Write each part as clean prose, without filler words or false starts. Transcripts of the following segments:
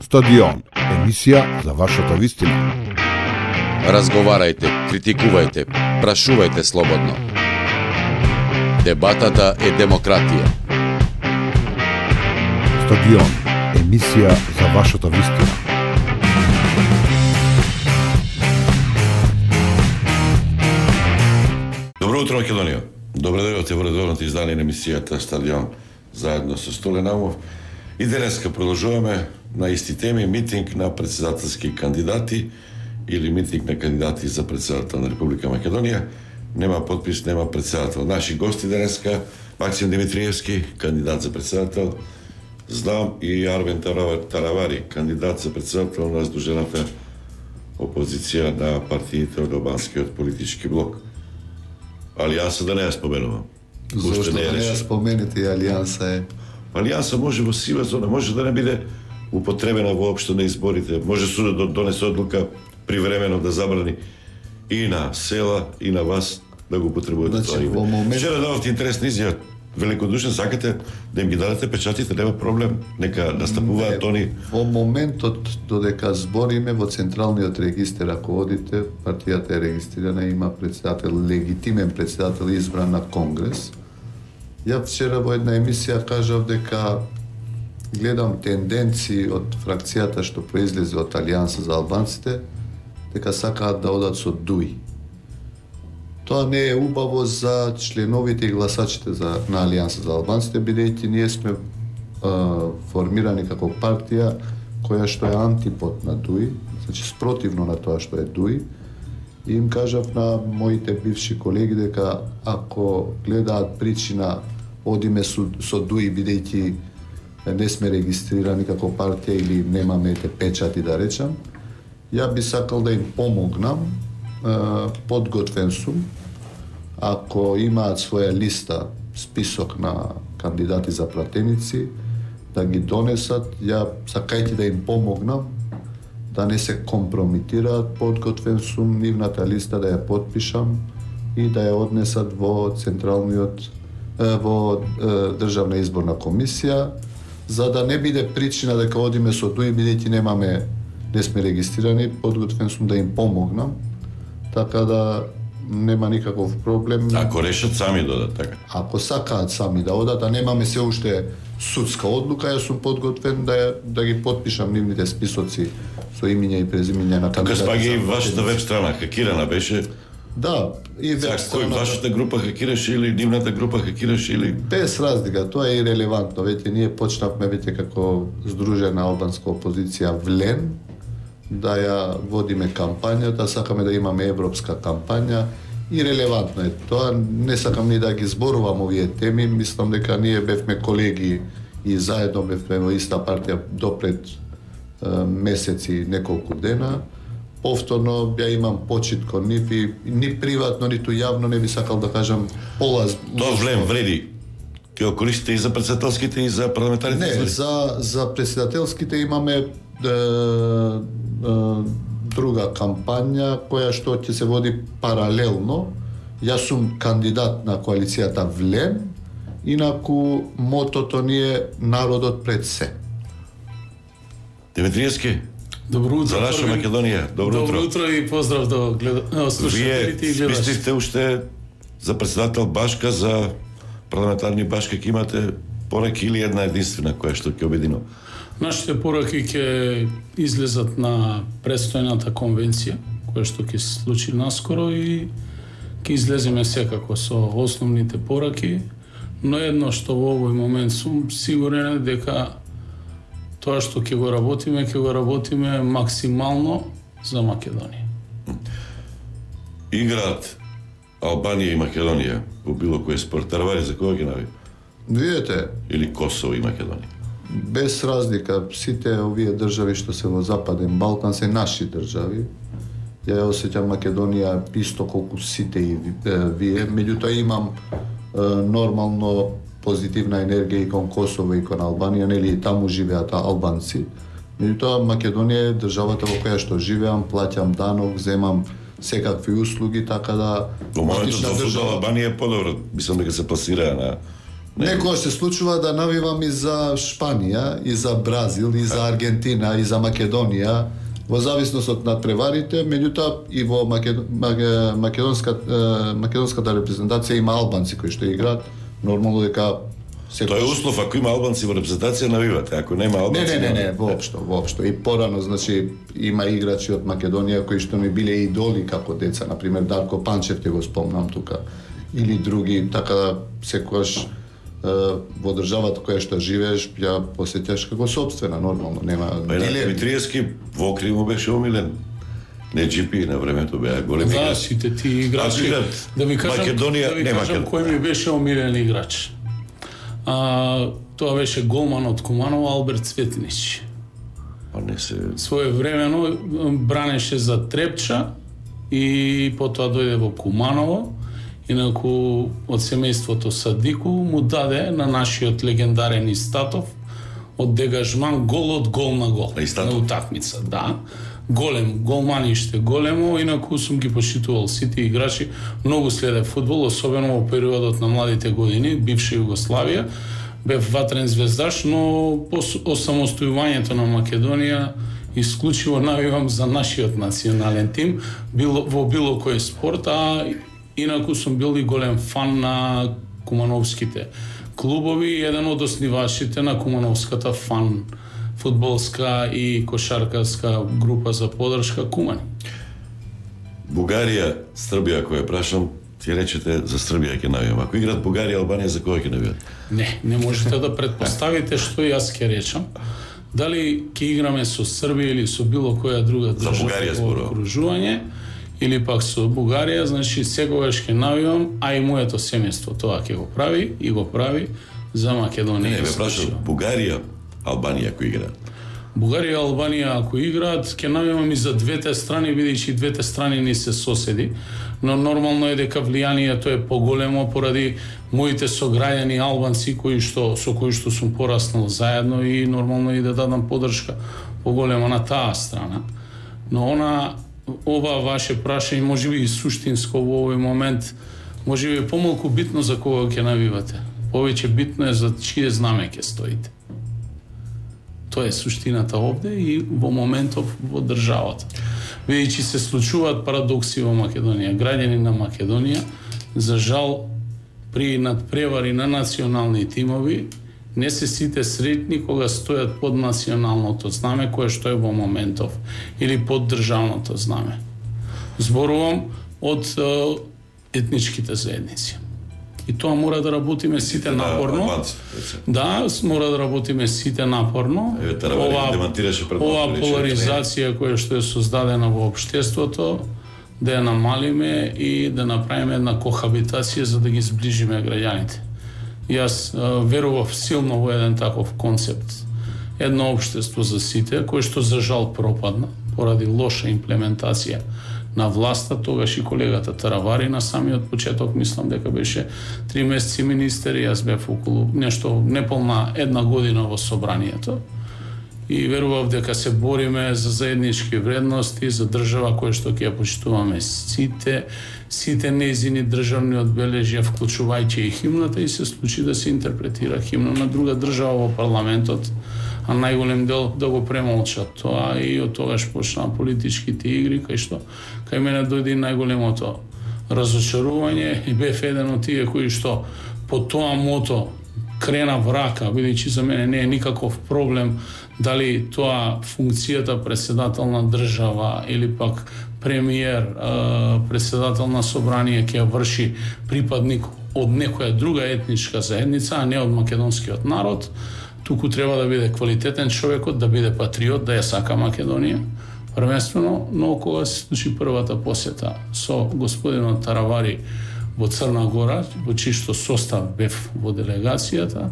Стадион, емисија за вашата вистина. Разговарајте, критикувајте, прашувајте слободно. Дебатата е демократија. Стадион, емисија за вашата вистина. Добро утро, Македонија. Добре дојдовте во редовното издание на емисијата Стадион заедно со Столе Наумов. И денеска продолжуваме на исти теми, митинг на председателски кандидати или митинг на кандидати за председател на Република Македонија. Нема подпис, нема председател. Наши гости денеска Максим Димитриевски, кандидат за председател, знам и Арвен Таравари, кандидат за председател на Сдружената опозиција на партиите од албанскиот политички блок. Алијанса да не ја споменувам. Зошто да не ја споменете, Алијанса е? Алијанса може во сива зона, може да не биде употребена воопшто на изборите, може судот да донесе одлука привремено да забрани и на села, и на вас да го употребувате тоа име. Вчера дадовте интересна изјава, великодушен, сакате да им ги дадете печатите, нема проблем, нека настапуваат они. Во моментот додека збориме во Централниот регистер, ако одите, партијата е регистрирана, има председател, легитимен председател избран на Конгрес. Ја вчера во една емисија кажав дека гледам тенденции од фракцијата што произлезе од Алијанса за албанците, дека сакаат да одат со ДУИ. Тоа не е убаво за членовите и гласачите на Алијанса за албанците, бидејќи ние сме формирани како партија која што е антипод на ДУИ, значи спротивно на тоа што е ДУИ. И им кажав на моите бивши колеги дека ако гледаат причина одиме со ДУИ бидејќи не сме регистрирани како партија или немаме печати да речам, ја би сакал да им помогнам, подготвен сум, ако имаат своја листа, список на кандидати за пратеници, да ги донесат, ја сакајќи да им помогнам, да не се компрометираат, подготвен сум нивната листа да ја подпишам и да ја однесат во Централниот, во Државна изборна комисија, за да не биде причина дека одиме со ДУИ, бидејќи не сме регистрирани, подготвен сум да им помогнам, така да нема никаков проблем. Ако решат сами да одат, така? Ако сакаат сами да одат, а немаме се уште судска одлука, јас сум подготвен да ги подпишам нивните списоци со имиња и презимиња на кандидати. Тука спаѓа и вашата веб страна, хакирана беше? Да, и веб страна. Кој вашата група хакираше или нивната група хакираше или? Без разлика, тоа е ирелевантно. Веќе ние почнавме како Сдружена албанска опозиција ВЛЕН, да ја водиме кампањата, сакаме да имаме европска кампања и релевантно е тоа. Не сакам ни да ги зборувам овие теми, мислам дека ние бевме колеги и заедно бевме во иста партија допред месеци, неколку дена. Повторно ја имам почит кон нив и ни приватно, ниту јавно не би сакал да кажам полаз. Тоа влем вреди. Ќе го користите и за председателските и за парламентарните избори? Не, за председателските имаме друга кампања која што ќе се води паралелно. Јас сум кандидат на коалицијата ВЛЕН, инаку мотото ни е народот пред се. Димитриевски, добро утро. За наша Македонија, добро утро. Добро утро и поздрав до слушателите и гледачите. Вие спистивте уште за председател Башка, за парламентарни Башка, ќе имате пораки или една единствена која што ќе обединува? Нашите пораки ќе излезат на предстојната конвенција, која што ќе се случи наскоро и ќе излеземе секако со основните пораки, но едно што во овој момент сум сигурен дека тоа што ќе го работиме максимално за Македонија. Играат Албанија и Македонија во било кој спорт. Таравари, за кога ги нави? Видете, Или Косово и Македонија? без разлика, сите овие држави што се во Западен Балкан се наши држави. Ја осеќам Македонија исто колку сите и вие, меѓутоа имам нормално позитивна енергија и кон Косово и кон Албанија, нели и таму живеат албанци. Меѓутоа Македонија е државата во која што живеам, плаќам данок, земам секакви услуги, така да Во моментот за Албанија е подобро, мислам дека се пласираа на Некогаш се случува да навивам и за Шпанија, и за Бразил, и за Аргентина, и за Македонија, во зависност од надпреварите, меѓутоа и во македонската репрезентација има албанци кои што играат, нормално дека Тоа е услов, ако има албанци во репрезентација навивате, ако нема албанци... Не, воопшто. И порано, значи, има играчи од Македонија кои што ми биле идоли како деца, например Дарко Панчев, ќе го спомнам тука, или други, така да секогаш во државата која што живееш, ја посеќаш како собствена, нормално, нема... Димитриевски во Окри му беше омилен. Не GP на времето беа големи играчи. Да, сите ти играчи. Да ви кажам кој ми беше омилен играч. Тоа беше голман од Куманово Алберт Цветнич. Своевремено бранеше за Трепча и потоа дојде во Куманово. Инаку од семејството Садику му даде на нашиот легендарен Истатов од дегажман гол од гол на гол на утакмица, да. Голем, голманиште големо, инаку сум ги почитувал сите играчи, многу следев фудбал, особено во периодот на младите години, бивша Југославија, бев ватрен звездаш, но по осамостојувањето на Македонија исклучиво навивам за нашиот национален тим, во било кој спорт, а инаку сум бил и голем фан на кумановските клубови, еден од основачите на кумановската фан фудбалска и кошаркарска група за поддршка Кумани. Бугарија, Србија, која прашам, ти речете за Србија ќе навијам. Ако играат Бугарија, Албанија, за кога ќе навијат? Не можете да претпоставите што јас ќе речам. Дали ќе играме со Србија или со било која друга држава во окружување, или пак со Бугарија, значи секогаш ќе навијам, а и моето семејство тоа ќе го прави и го прави за Македонија. Не, ме прашам, Бугарија, Албанија ако играат. Бугарија и Албанија ако играат, ќе навијам и за двете страни, бидејќи двете страни ни се соседи, но нормално е дека влијанието е поголемо поради моите сограѓани албанци со кои што сум пораснал заедно и нормално и да дадам поддршка поголема на таа страна. Но ова ваше прашање можеби и суштинско во овој момент, можеби е помалку битно за кога ќе навивате. Повеќе битно е за чие знаме ќе стоите. Тоа е суштината овде и во моментов во државата. Бидејќи се случуваат парадокси во Македонија. Граѓани на Македонија, за жал, при надпревари на национални тимови, не се сите сретни кога стојат под националното знаме, кое што е во моментов, или под државното знаме. Зборувам од етничките заедници. И тоа мора да работиме сите напорно. Да, мора да работиме сите напорно. Ова поларизација која што е создадена во општеството, да ја намалиме и да направиме една кохабитација за да ги зближиме граѓаните. Јас верував силно во еден таков концепт. Едно општество за сите, кој што за жал пропадна поради лоша имплементација на власта, тогаш и колегата Таравари на самиот почеток, мислам дека беше 3 месеци министер, јас бев околу нешто неполна една година во собранието и верував дека се бориме за заеднички вредности, за држава која што ќе ја почитуваме сите нејзини државни одбележја, вклучувајќи и химната, и се случи да се интерпретира химна на друга држава во парламентот, а најголем дел да го премолчат тоа и од тогаш почнаа политичките игри, кај што кај мене дојде најголемото разочарување и бев еден од тие кои што по тоа мото крена врака, бидејќи за мене не е никаков проблем дали тоа функцијата председател на држава или пак премиер, председател на собрание ќе врши припадник од некоја друга етничка заедница, а не од македонскиот народ. Туку треба да биде квалитетен човекот, да биде патриот, да ја сака Македонија. Првенствено, но кога се случи првата посета со господинот Таравари во Црна Гора, во чишто состав бев во делегацијата,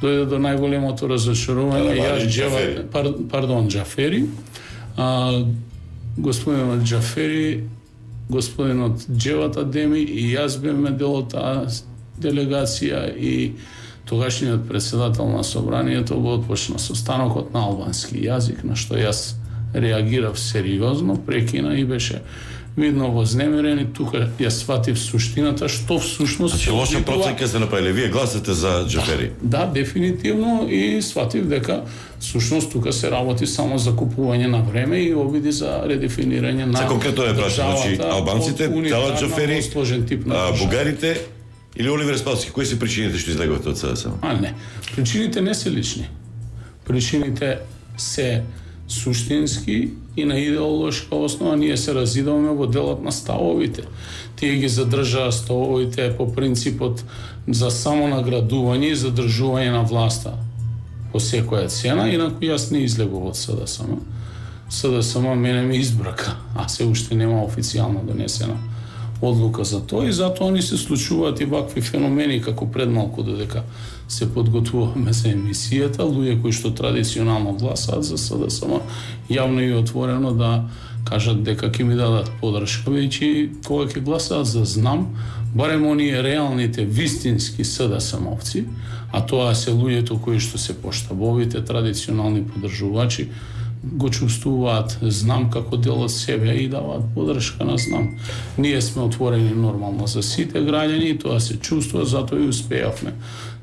дојде до најголемото разочарување. Џафери. Господинот Џафери, господинот Џеват Адеми и јас бевме дел од таа делегација и тогашниот председател на собранието го отпочна состанокот на албански јазик, на што јас реагирав сериозно, прекина и беше видно вознемирени, тука ја сватив суштината, што всушност... Значи, лоша проценка сте направили, вие гласате за Џафери. Да, дефинитивно, и сватив дека всушност тука се работи само за купување на време и обиди за редефинирање на... За конкретно е прашам, значи, албанците, дала Џафери, бугарите или Оливер Спалски, кои се причините што излегувате од СДСМ? Не. Причините не се лични. Причините се суштински и на идеолошка основа. Ние се разидуваме во делот на ставовите. Тие ги задржаа ставовите по принципот за самонаградување и задржување на власта по секоја цена, инаку јас не излегував од СДСМ. СДСМ мене ме избрака, а се уште нема официјално донесена одлука за тоа, и затоа ни се случуваат и вакви феномени како пред малку додека се подготвуваме за емисијата, луѓе кои што традиционално гласаат за СДСМ јавно и отворено да кажат дека ќе ми дадат подршка, бидејќи кога ќе гласаат за ЗНАМ, барем оние реалните вистински СДСМовци, а тоа се луѓето кои што се поштабовите традиционални поддржувачи, го чувствуваат ЗНАМ како дел од себе и даваат подршка на ЗНАМ. Ние сме отворени нормално за сите граѓани и тоа се чувствува, затоа и успеавме.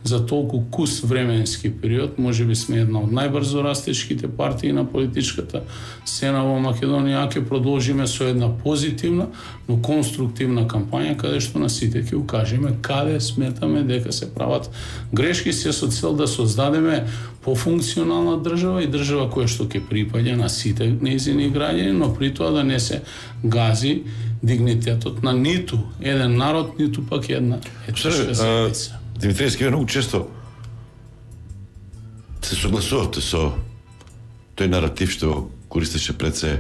За толку кус временски период, можеби сме една од најбрзо растечките партии на политичката сцена во Македонија, ќе продолжиме со една позитивна, но конструктивна кампања, каде што на сите ќе укажеме каде сметаме дека се прават грешки, се со цел да создадеме пофункционална држава и држава која што ќе припаѓа на сите нејзини граѓани, но при тоа да не се гази дигнитетот на ниту еден народ, ниту пак една етничка заедница. Димитриевски, вие многу често се согласувате со тој наратив што користеше пред се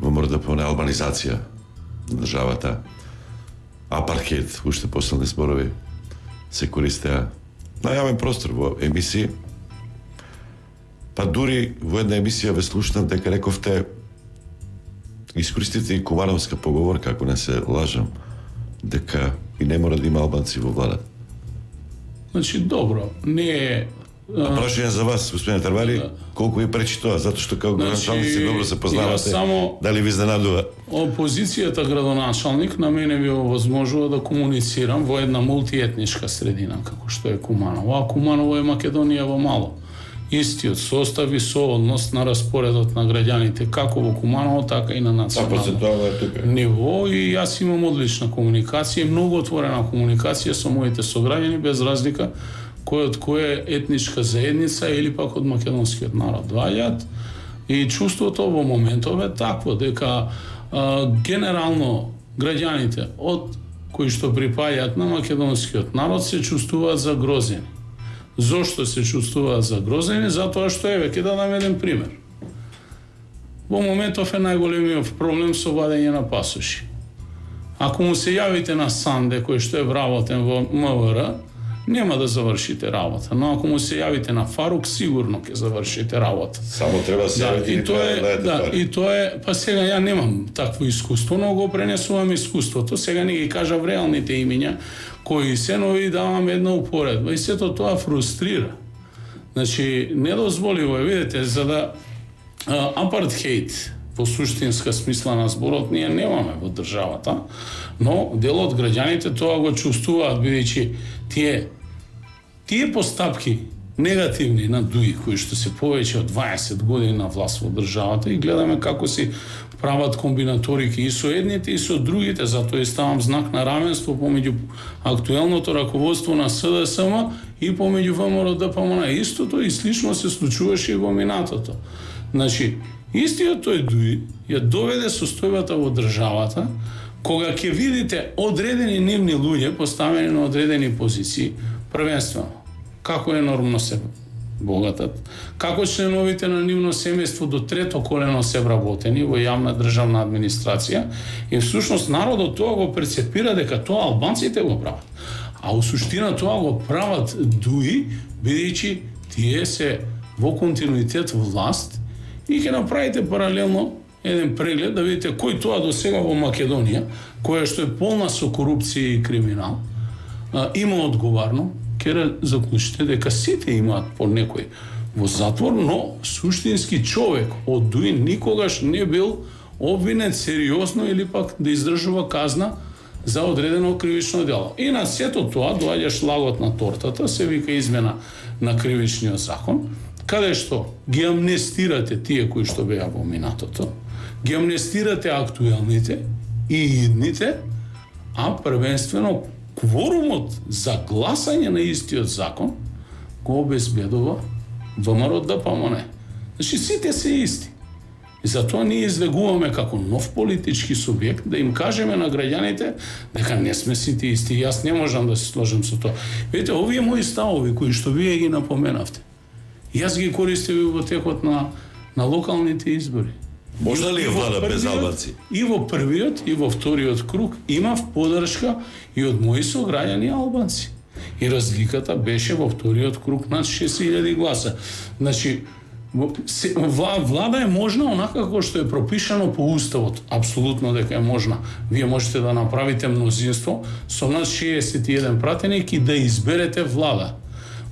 во МРДП на албанизација на државата, апархейд, уште последни зборови се користеа на јавен простор во емисии. Па дури во една емисија ве слушнав дека рековте искористите и Кумановска поговорка, ако не се лажам, дека и не мора да има албанци во влада. Значи, добро, не е... Прашање за вас, господин Тарвали, колку ви пречи тоа? Затоа што како градоначалници добро се познавате, дали ви изненадува? Опозицијата градоначалник на мене ви овозможува да комуницирам во една мултиетничка средина, како што е Куманово. А Куманово е Македонија во мало. Истиот состав и сооднос на распоредот на граѓаните, како во Куманово, така и на национално ниво. И јас имам одлична комуникација, многу отворена комуникација со моите сограѓани, без разлика кој од која етничка заедница или пак од македонскиот народ доаѓаат. И чувството во моментов е такво, дека генерално граѓаните од кои што припаѓаат на македонскиот народ се чувствуваат загрозени. Зошто се чувствуваат загрозени? Затоа што еве ќе дадам еден пример. Во моментов е најголемиот проблем со вадење на пасоши. Ако му се јавите на Санде, кој што е вработен во МВР, нема да завршите работа, но ако му се јавите на Фарук, сигурно ќе завршите работа. Само треба да се јавите и тоа и тоа е, па сега ја немам такво искуство, но го пренесувам искуството. Сега не ги кажав реалните имиња кои се, но и давам една упоредба. И сето тоа фрустрира. Значи, недозволиво е, видите, за да апартхейт во суштинска смисла на зборот ние немаме во државата, но дел од граѓаните тоа го чувствуваат, бидејќи тие постапки негативни на ДУИ, кои што се повеќе од 20 години на власт во државата, и гледаме како си прават комбинаторики и со едните и со другите, затоа и ставам знак на равенство помеѓу актуелното раководство на СДСМ и помеѓу ВМРО-ДПМН. Истото и слично се случуваше и во минатото. Значи, истиот тој ДУИ ја доведе состојбата во државата, кога ќе видите одредени нивни луѓе поставени на одредени позиции, првенствено, како енормно се богатат, како членовите на нивно семејство до трето колено се вработени во јавна државна администрација, и всушност народот тоа го перцепира дека тоа албанците го прават. А у суштина тоа го прават ДУИ, бидејќи тие се во континуитет власт, и ќе направите паралелно еден преглед да видите кој тоа до сега во Македонија, која што е полна со корупција и криминал, има одговарно, ќе заклучите дека сите имаат по некој во затвор, но суштински човек од ДУИ никогаш не бил обвинет сериозно или пак да издржува казна за одредено кривично дело. И на сето тоа доаѓа шлагот на тортата, се вика измена на кривичниот закон, каде што ги амнестирате тие кои што беа во минатото, ги амнестирате актуелните и идните, а првенствено кворумот за гласање на истиот закон го обезбедува ВМРО ДПМН. Значи сите се исти. И затоа ние излегуваме како нов политички субјект да им кажеме на граѓаните дека не сме сите исти. Јас не можам да се сложам со тоа. Видите, овие мои ставови кои што вие ги напоменавте, јас ги користев во текот на локалните избори. Можна ли е влада без албанци? И во првиот и во вториот круг имав поддршка и од мои сограѓани албанци. И разликата беше во вториот круг над 6000 гласа. Значи, влада е можна онака како што е пропишано по уставот. Апсолутно дека е можна. Вие можете да направите мнозинство со над 61 пратеник и да изберете влада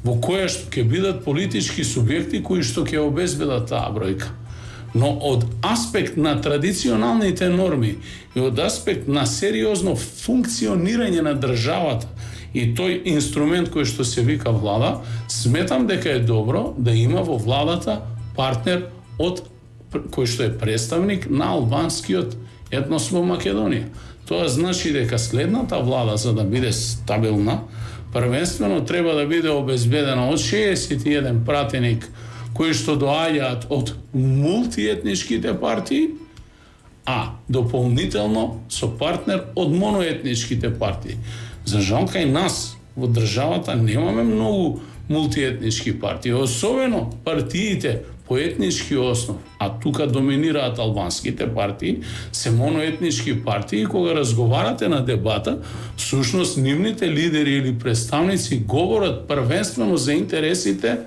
во која што ќе бидат политички субјекти кои што ќе обезбедат таа бројка. Но од аспект на традиционалните норми и од аспект на сериозно функционирање на државата и тој инструмент кој што се вика влада, сметам дека е добро да има во владата партнер од кој што е представник на албанскиот етнос во Македонија. Тоа значи дека следната влада, за да биде стабилна, првенствено треба да биде обезбедена од 61 пратеник кои што доаѓаат од мултиетничките партии, а дополнително со партнер од моноетничките партии. За жал, кај нас во државата немаме многу мултиетнички партии, особено партиите по етнички основ, а тука доминираат албанските партии, се моноетнички партии. Кога разговарате на дебата, всушност нивните лидери или представници говорат првенствено за интересите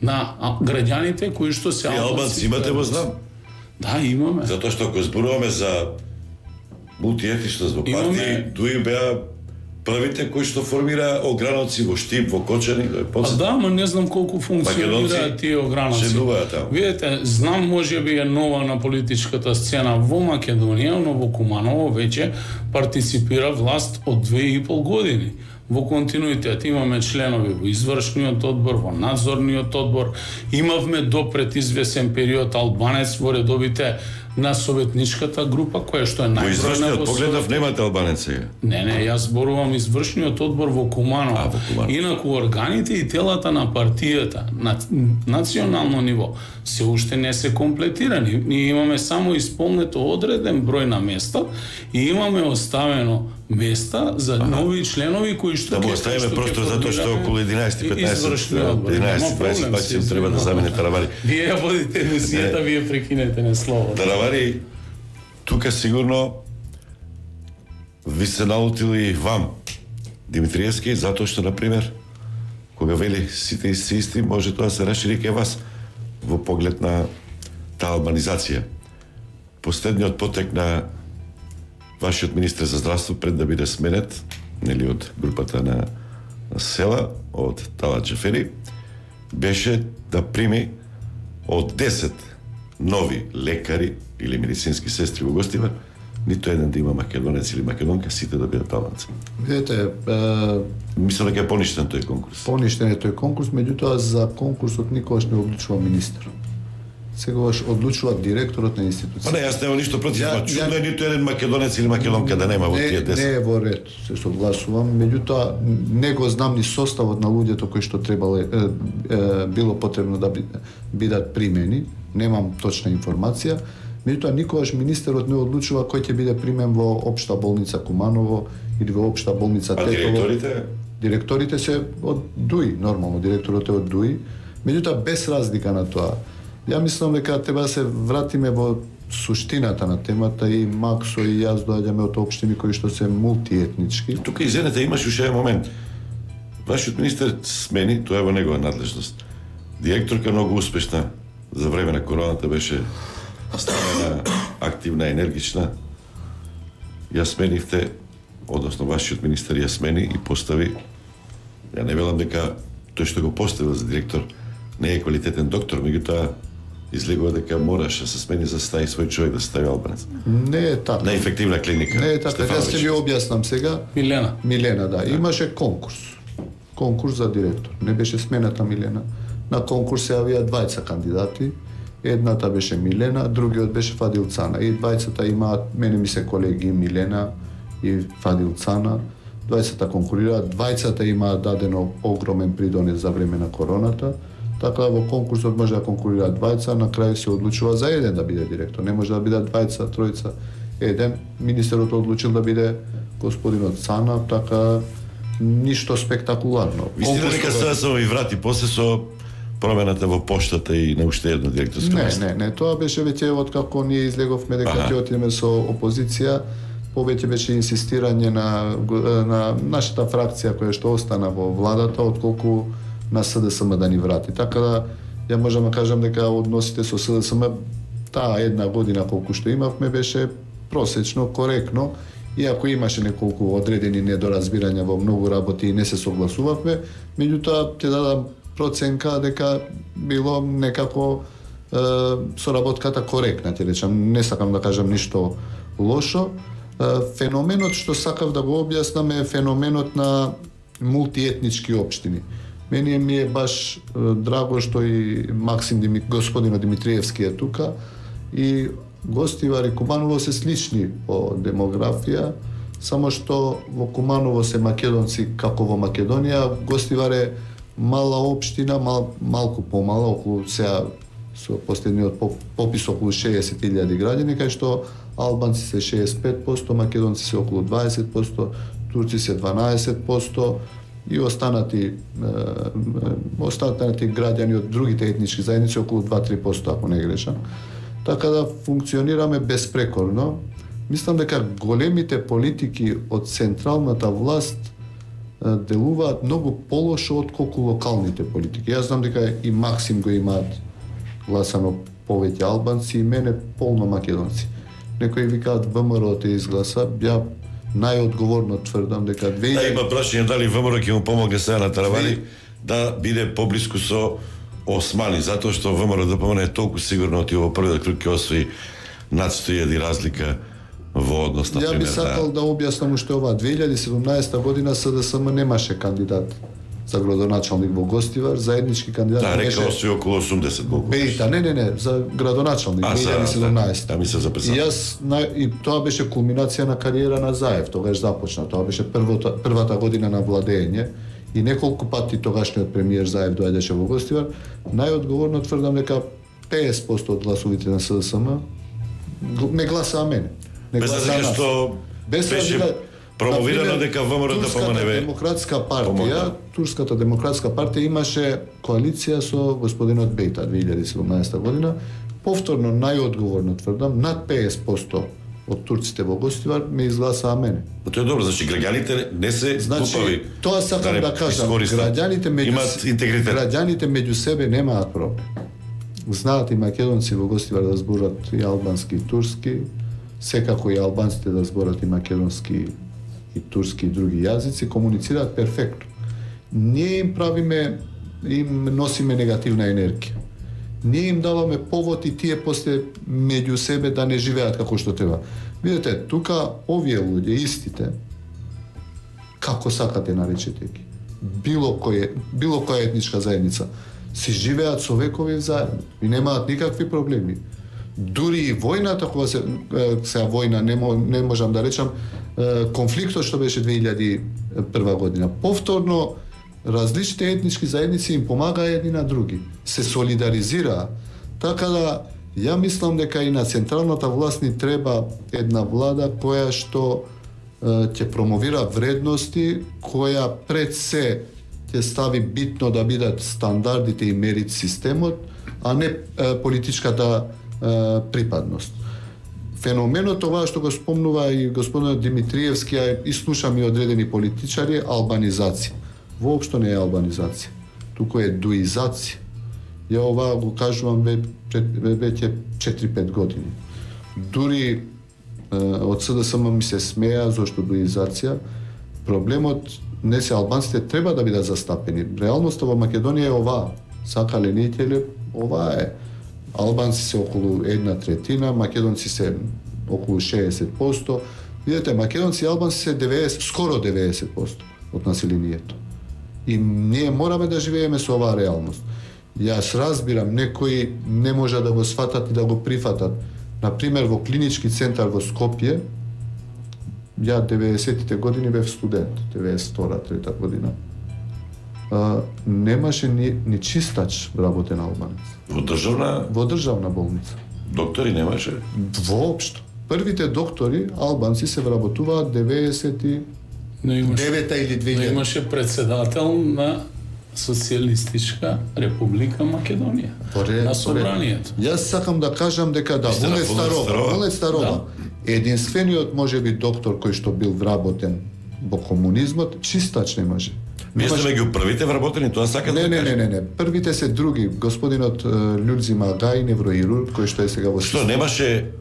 на граѓаните кои што се албанци. Имате во знам? Да, имаме. Затоа што ако зборуваме за мултиетничност во партии, туи беа првите кои што формира ограноци во Штип, во Кочани, да, ма не знам колку функционираат тие ограноци. Видете, знам можеби е нова на политичката сцена во Македонија, но во Куманово веќе партиципира власт од 2,5 години. Во континуитет имаме членови во извршниот одбор, во надзорниот одбор, имавме до пред извесен период албанец во редовите на советничката група, која што е најбројна во извршниот погледав немате албанеци. Не, јас зборувам извршниот одбор во Куманово. Инаку органите и телата на партијата на национално ниво се уште не се комплетирани. Ние имаме само исполнето одреден број на места и имаме оставено места за нови членови кои што да му оставиме просто затоа што околу 11-15 треба да замине Таравари. Вие ја водите емисијата, вие прекинете не слово. Таравари, тука сигурно ви се наутили вам Димитриевски, затоа што, например, кога вели сите исти, може тоа се расшири кај вас во поглед на таа албанизација. Последниот потек на вашиот министер за здравство пред да биде сменет, нели од групата на села, од Талат Джафери, беше да прими од 10 нови лекари или медицински сестри во гостива, ниту еден да има македонец или македонка, сите да бидат албанци. Видете, мислам дека е поништен тој конкурс. Поништен е тој конкурс, меѓутоа за конкурсот никогаш не одлучува министер. Сегаш одлучува директорот на институцијата. Па не, јас немам ништо против, чудно е ниту еден македонец или македонка да нема во тие 10. Не е во ред, се согласувам, меѓутоа не го знам ни составот на луѓето кои што требало било потребно да бидат примени, немам точна информација. Меѓутоа никогаш министерот не одлучува кој ќе биде примен во општа болница Куманово или во општа болница Тетово. А директорите? Директорите се од ДУИ, нормално, директорот е од ДУИ, меѓутоа без разлика на тоа. Ја мислам дека треба да се вратиме во суштината на темата и Максо и јас доаѓаме од општини кои што се мултиетнички. Тука извинете, имаш уште еден момент. Вашиот министер смени, тоа е во негова надлежност. Директорка многу успешна за време на короната беше ставена, активна, енергична. Ја сменивте, односно вашиот министер ја смени и постави. Ја не велам дека тој што го поставил за директор не е квалитетен доктор, меѓутоа излегува дека мораше да се смени за стави свој човек да стави албанец. Не е така. Неефективна клиника. Не е така. Јас ќе ви објаснам сега. Милена, да. Имаше конкурс. Конкурс за директор. Не беше смената Милена. На конкурс се јавија двајца кандидати. Едната беше Милена, другиот беше Фадил Цана. И двајцата имаат, мене ми се колеги Милена и Фадил Цана. Двајцата конкурираат, двајцата имаат дадено огромен придонес за време на короната. Така во конкурсот може да конкурираат двајца, на крај се одлучува за еден да биде директор. Не може да бидат двајца, тројца, еден. Министерот одлучил да биде господинот Цана, така ништо спектакуларно. Вистина дека сега се ви врати после со промената во поштата и на уште едно директорско место? Не, тоа беше веќе откако ние излеговме дека ќе отидеме со опозиција, повеќе беше инсистирање на нашата фракција која што остана во владата, отколку на СДСМ да ни врати. Така да, ја можам да кажам дека односите со СДСМ таа една година колку што имавме беше просечно, коректно, иако имаше неколку одредени недоразбирања во многу работи и не се согласувавме, меѓутоа ќе дадам проценка дека било некако соработката коректна, ќе речам, не сакам да кажам ништо лошо. Феноменот што сакав да го објаснам е феноменот на мултиетнички општини. Мене ми е баш драго што и господинот Димитриевски е тука и Гостивар и Куманово се слични по демографија, само што во Куманово се македонци како во Македонија, Гостивар е мала општина, малку помала, околу сега со последниот попис околу 60.000 граѓани, кај што албанци се 65%, македонци се околу 20%, турци се 12%, и останати граѓани од другите етнички заедници околу 2-3%, ако не грешам. Така да функционираме безпрекорно. Мислам дека големите политики од централната власт делуваат многу полошо отколку локалните политики. Јас знам дека и Максим го имаат гласано повеќе албанци и мене полно македонци. Некои викаат ВМРО те изгласа, ја најодговорно тврдам дека Да, има прашање дали ВМРО ќе му помогне сега на Таравали да биде поблиску со Османи, затоа што ВМРО ДПМН е толку сигурно отива во првиот круг ќе освои над 100.000 разлика во однос на Ја би сакал да објаснам уште ова. 2017 година СДСМ немаше кандидат за градоначалник во Гостивар, заеднички кандидат беше... Да, река околу 80 колку. Бејта, не, за градоначалник 2017. Да, мисля за председател. И јас и тоа беше кулминација на кариера на Заев, тогаш започна. Тоа беше првата година на владење и неколку пати тогашниот премиер Заев доаѓаше во Гостивар. Најодговорно тврдам дека 50% од гласовите на СДСМ не гласаа мене. Без разлика што беше промовирано дека ВМРО да помане демократска партија, Турската демократска партија имаше коалиција со господинот Бејта 2017 година. Повторно најодговорно тврдам, над 50% од турците во Гостивар ме изгласаа мене. Тоа е добро, значи граѓаните не се глупави. Тоа сакам да кажам, граѓаните меѓу себе немаат проблем. Знаат и македонци во Гостивар да зборат и албански и турски, секако и албанците да зборат и македонски и турски и други јазици, комуницираат перфектно. Ние им правиме, им носиме негативна енергија. Ние им даваме повод и тие после меѓу себе да не живеат како што треба. Видете, тука овие луѓе, истите, како сакате наречете ги, било која етничка заедница, си живеат со векови заедно и немаат никакви проблеми. Дури и војната, кога сега војна не можам да речам, конфликтот што беше 2001 година. Повторно, различните етнички заедници им помагаа едни на други. Се солидаризираа. Така да, ја мислам дека и на централната власт ни треба една влада која што ќе промовира вредности, која пред се ќе стави битно да бидат стандардите и мерит системот, а не политичката припадност. Феноменот ова што го спомнува и господинот Димитриевски, а и слушам и одредени политичари, албанизација. Воопшто не е албанизација, туку е дуизација. Ја ова го кажувам веќе 4-5 години. Дури од СДСМ ми се смеа зашто дуизација. Проблемот не се албанците треба да бидат застапени. Реалноста во Македонија е оваа. Сакале не ова е. Албанци се околу 1/3, македонци се околу 60%. Видете, македонци и албанци се 90, скоро 90% од населението. И ние мораме да живееме со оваа реалност. Јас разбирам, некои не може да го сватат и да го прифатат. Например, во клинички центар во Скопје, ја 90-тите години бев студент, 92-3 година. Немаше ни чистач вработен албанец. Во државна болница. Доктори немаше? Воопшто. Првите доктори албанци се вработуваат 99 или 2000. Но имаше председател на Социјалистичка република Македонија. На собранието. Јас сакам да кажам дека да, Вулет Старова, единствениот можеби доктор кој што бил вработен во комунизмот, чистач немаше. Вие сте меѓу првите вработени, тоа сака да кажете? Не. Првите се други. Господинот Људзим Агај, невроирург, кој што е сега во Што немаше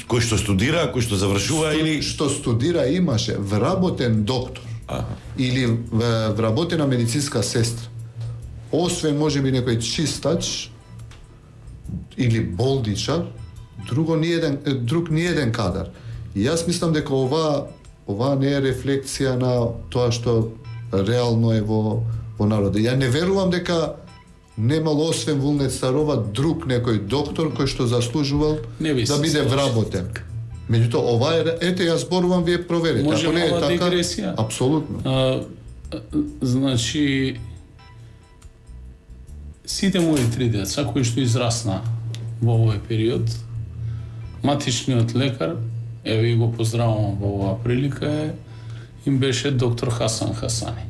кој што студира, кој што завршува или што студира имаше вработен доктор. Или вработена медицинска сестра. Освен можеби некој чистач или болдичар, друг ни еден кадар. И јас мислам дека ова не е рефлексија на тоа што реално е во народот. Ја не верувам дека немало освен Вулет Старова друг некој доктор кој што заслужувал да биде вработен. Меѓутоа, ова е, ете, јас зборувам, вие проверите. Може не е мала така, дигресија? Апсолутно. Значи, сите мои 3 деца кои што израсна во овој период, матичниот лекар, еве и го поздравувам во оваа прилика, им беше доктор Хасан Хасани.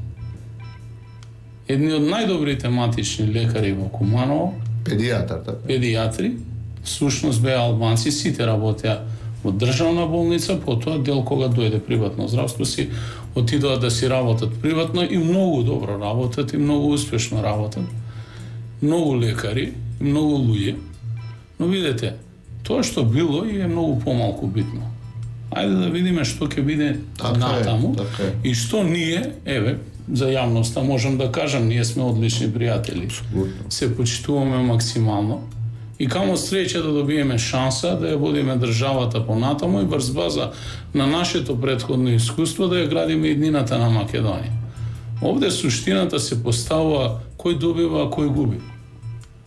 Едни од најдобрите матични лекари во Куманово, педијатри, всушност беа албанци, сите работеа во државна болница, потоа дел кога дојде приватно здравство си отидоа да си работат приватно и многу добро работат и многу успешно работат. Многу лекари, многу луѓе. Но видете, тоа што било и е многу помалку битно. Ајде да видиме што ќе биде натаму и што ние, еве, за јавноста можам да кажам, ние сме одлични пријатели. Се почитуваме максимално и камо среќа да добиеме шанса да ја водиме државата понатаму и врз база на нашето претходно искуство да ја градиме иднината на Македонија. Овде суштината се поставува кој добива, а кој губи.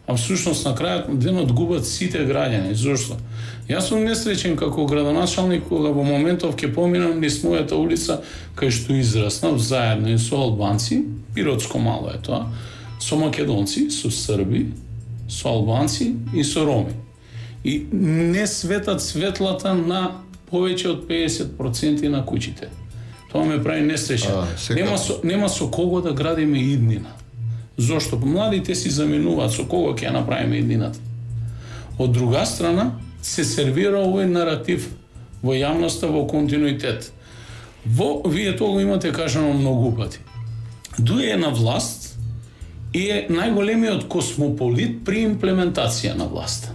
А всушност на крајот на денот губат сите граѓани. Зошто? Јас сум несреќен како градоначалник кога во моментов ќе поминам низ мојата улица кај што израснав заедно и со албанци, пиротско мало е тоа, со македонци, со срби, со албанци и со роми. И не светат светлата на повеќе од 50% на куќите. Тоа ме прави несреќен. Нема со кого да градиме иднина. Зошто? Младите си заменуваат со кого ќе ја направиме иднината. Од друга страна, се сервира овој наратив во јавноста во континуитет. Вие тоа го имате кажано многу пати. Дуе на власт и е најголемиот космополит при имплементација на власта.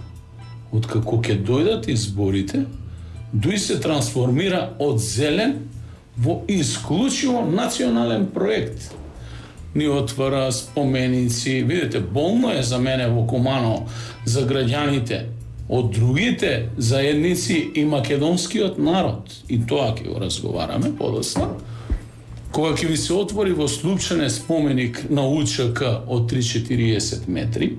Откако ќе дојдат изборите, Дуј се трансформира од зелен во исклучиво национален проект. Ни отвара споменици, видите, болно е за мене во Куманово, за граѓаните, од другите заедници и македонскиот народ. И тоа ќе го разговараме подоцна. Кога ќе ви се отвори во Слупчане споменик на УЧК од 3-40 метри,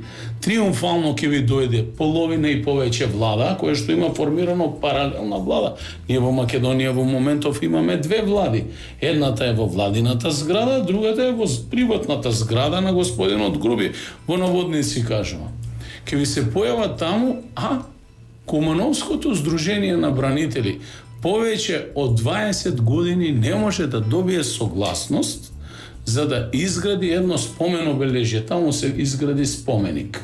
триумфално ќе ви дојде половина и повеќе влада, која што има формирано паралелна влада. Ние во Македонија во моментов имаме 2 влади. Едната е во владината зграда, другата е во приватната зграда на господинот Груби, во наводници кажува. Ќе ви се појава таму, Кумановското здружение на бранители повеќе од 20 години не може да добие согласност за да изгради едно спомен обележје. Таму се изгради споменик.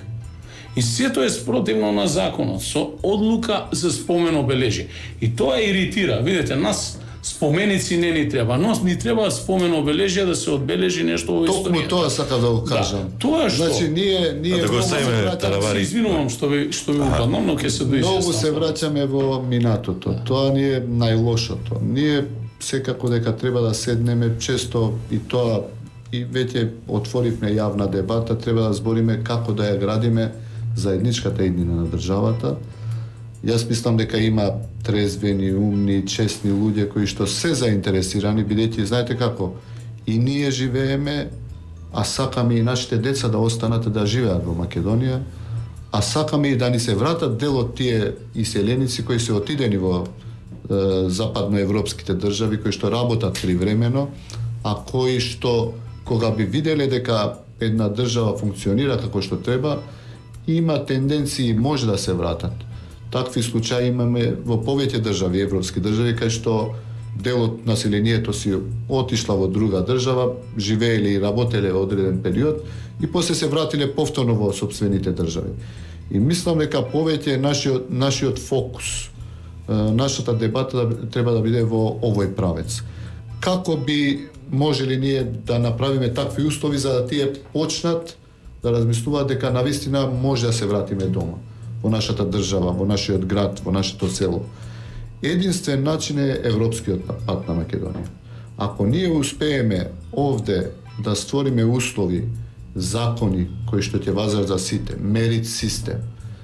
И сето е спротивно на законот, со одлука за спомен обележје. И тоа иритира. Видите, нас споменици не ни треба, но ни треба спомен обележје да се одбележи нешто во историјата. Токму тоа сакам да го кажам. Да, тоа што? Значи ние да го ставиме таравари. Извинувам што ви упаднам, но ќе се дојде. Многу се враќаме во минатото. Тоа ни е најлошото. Ние секако дека треба да седнеме често и тоа и веќе отворивме јавна дебата, треба да збориме како да ја градиме заедничката иднина на државата. Јас мислам дека има трезвени, умни, честни луѓе кои што се заинтересирани, бидејќи знаете како, и ние живееме, а сакаме и нашите деца да останат да живеат во Македонија, а сакаме и да ни се вратат дел од тие иселеници кои се отидени во западноевропските држави, кои што работат привремено, а кои што кога би виделе дека една држава функционира како што треба, има тенденции може да се вратат. Такви случаи имаме во повеќе држави, европски држави, кај што дел од населението си отишла во друга држава, живееле и работеле одреден период и после се вратиле повторно во сопствените држави. И мислам дека повеќе нашиот фокус, нашата дебата треба да биде во овој правец. Како би можели ние да направиме такви услови за да тие почнат да размислуваат дека навистина може да се вратиме дома, во нашата држава, во нашиот град, во нашето село. Единствен начин е европскиот пат на Македонија. Ако ние успееме овде да створиме услови, закони кои што ќе важат за сите, мерит систем,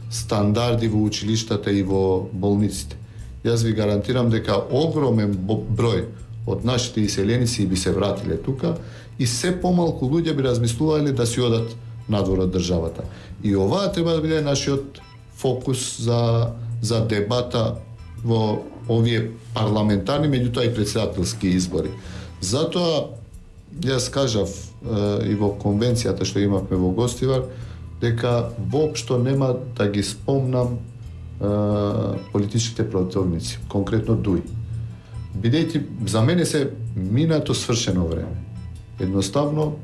стандарди во училиштата и во болниците, јас ви гарантирам дека огромен број од нашите иселеници би се вратиле тука и се помалку луѓе би размислувале да си одат надвор од државата. И оваа треба да биде нашиот фокус за дебата во овие парламентарни, меѓутоа и претседателски избори. Затоа јас кажав и во конвенцијата што имавме во Гостивар дека воопшто нема да ги спомнам политичките противници, конкретно ДУИ. Бидејќи за мене се минато свршено време. Едноставно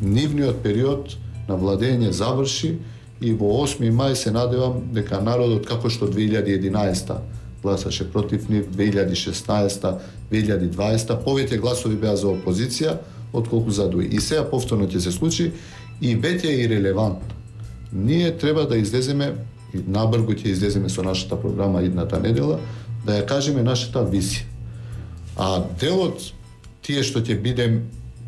нивниот период на владење заврши и во 8 мај се надевам дека народот, како што 2011 гласаше против нив, 2016, 2020, повеќе гласови беа за опозиција отколку за ДУИ. И сега повторно ќе се случи и веќе е ирелевантно. Ние треба да излеземе, и набргу ќе излеземе со нашата програма идната недела, да ја кажеме нашата визија. А делот тие што ќе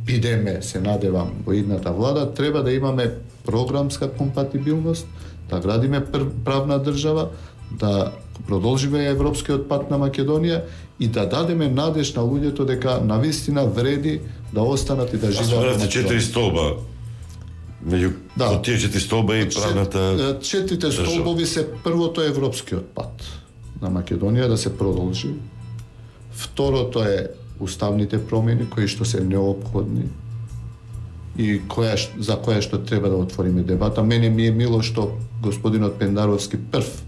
бидеме, се надевам, во идната влада, треба да имаме програмска компатибилност, да градиме правна држава, да продолжиме европскиот пат на Македонија и да дадеме надеж на луѓето дека навистина вреди да останат и да живеат во Македонија. 4 столба. Меѓу тие 4 столба и правната... Четирите столбови се првото европскиот пат на Македонија да се продолжи. Второто е уставните промени кои што се неопходни и за која што треба да отвориме дебата. Мене ми е мило што господинот Пендаровски прв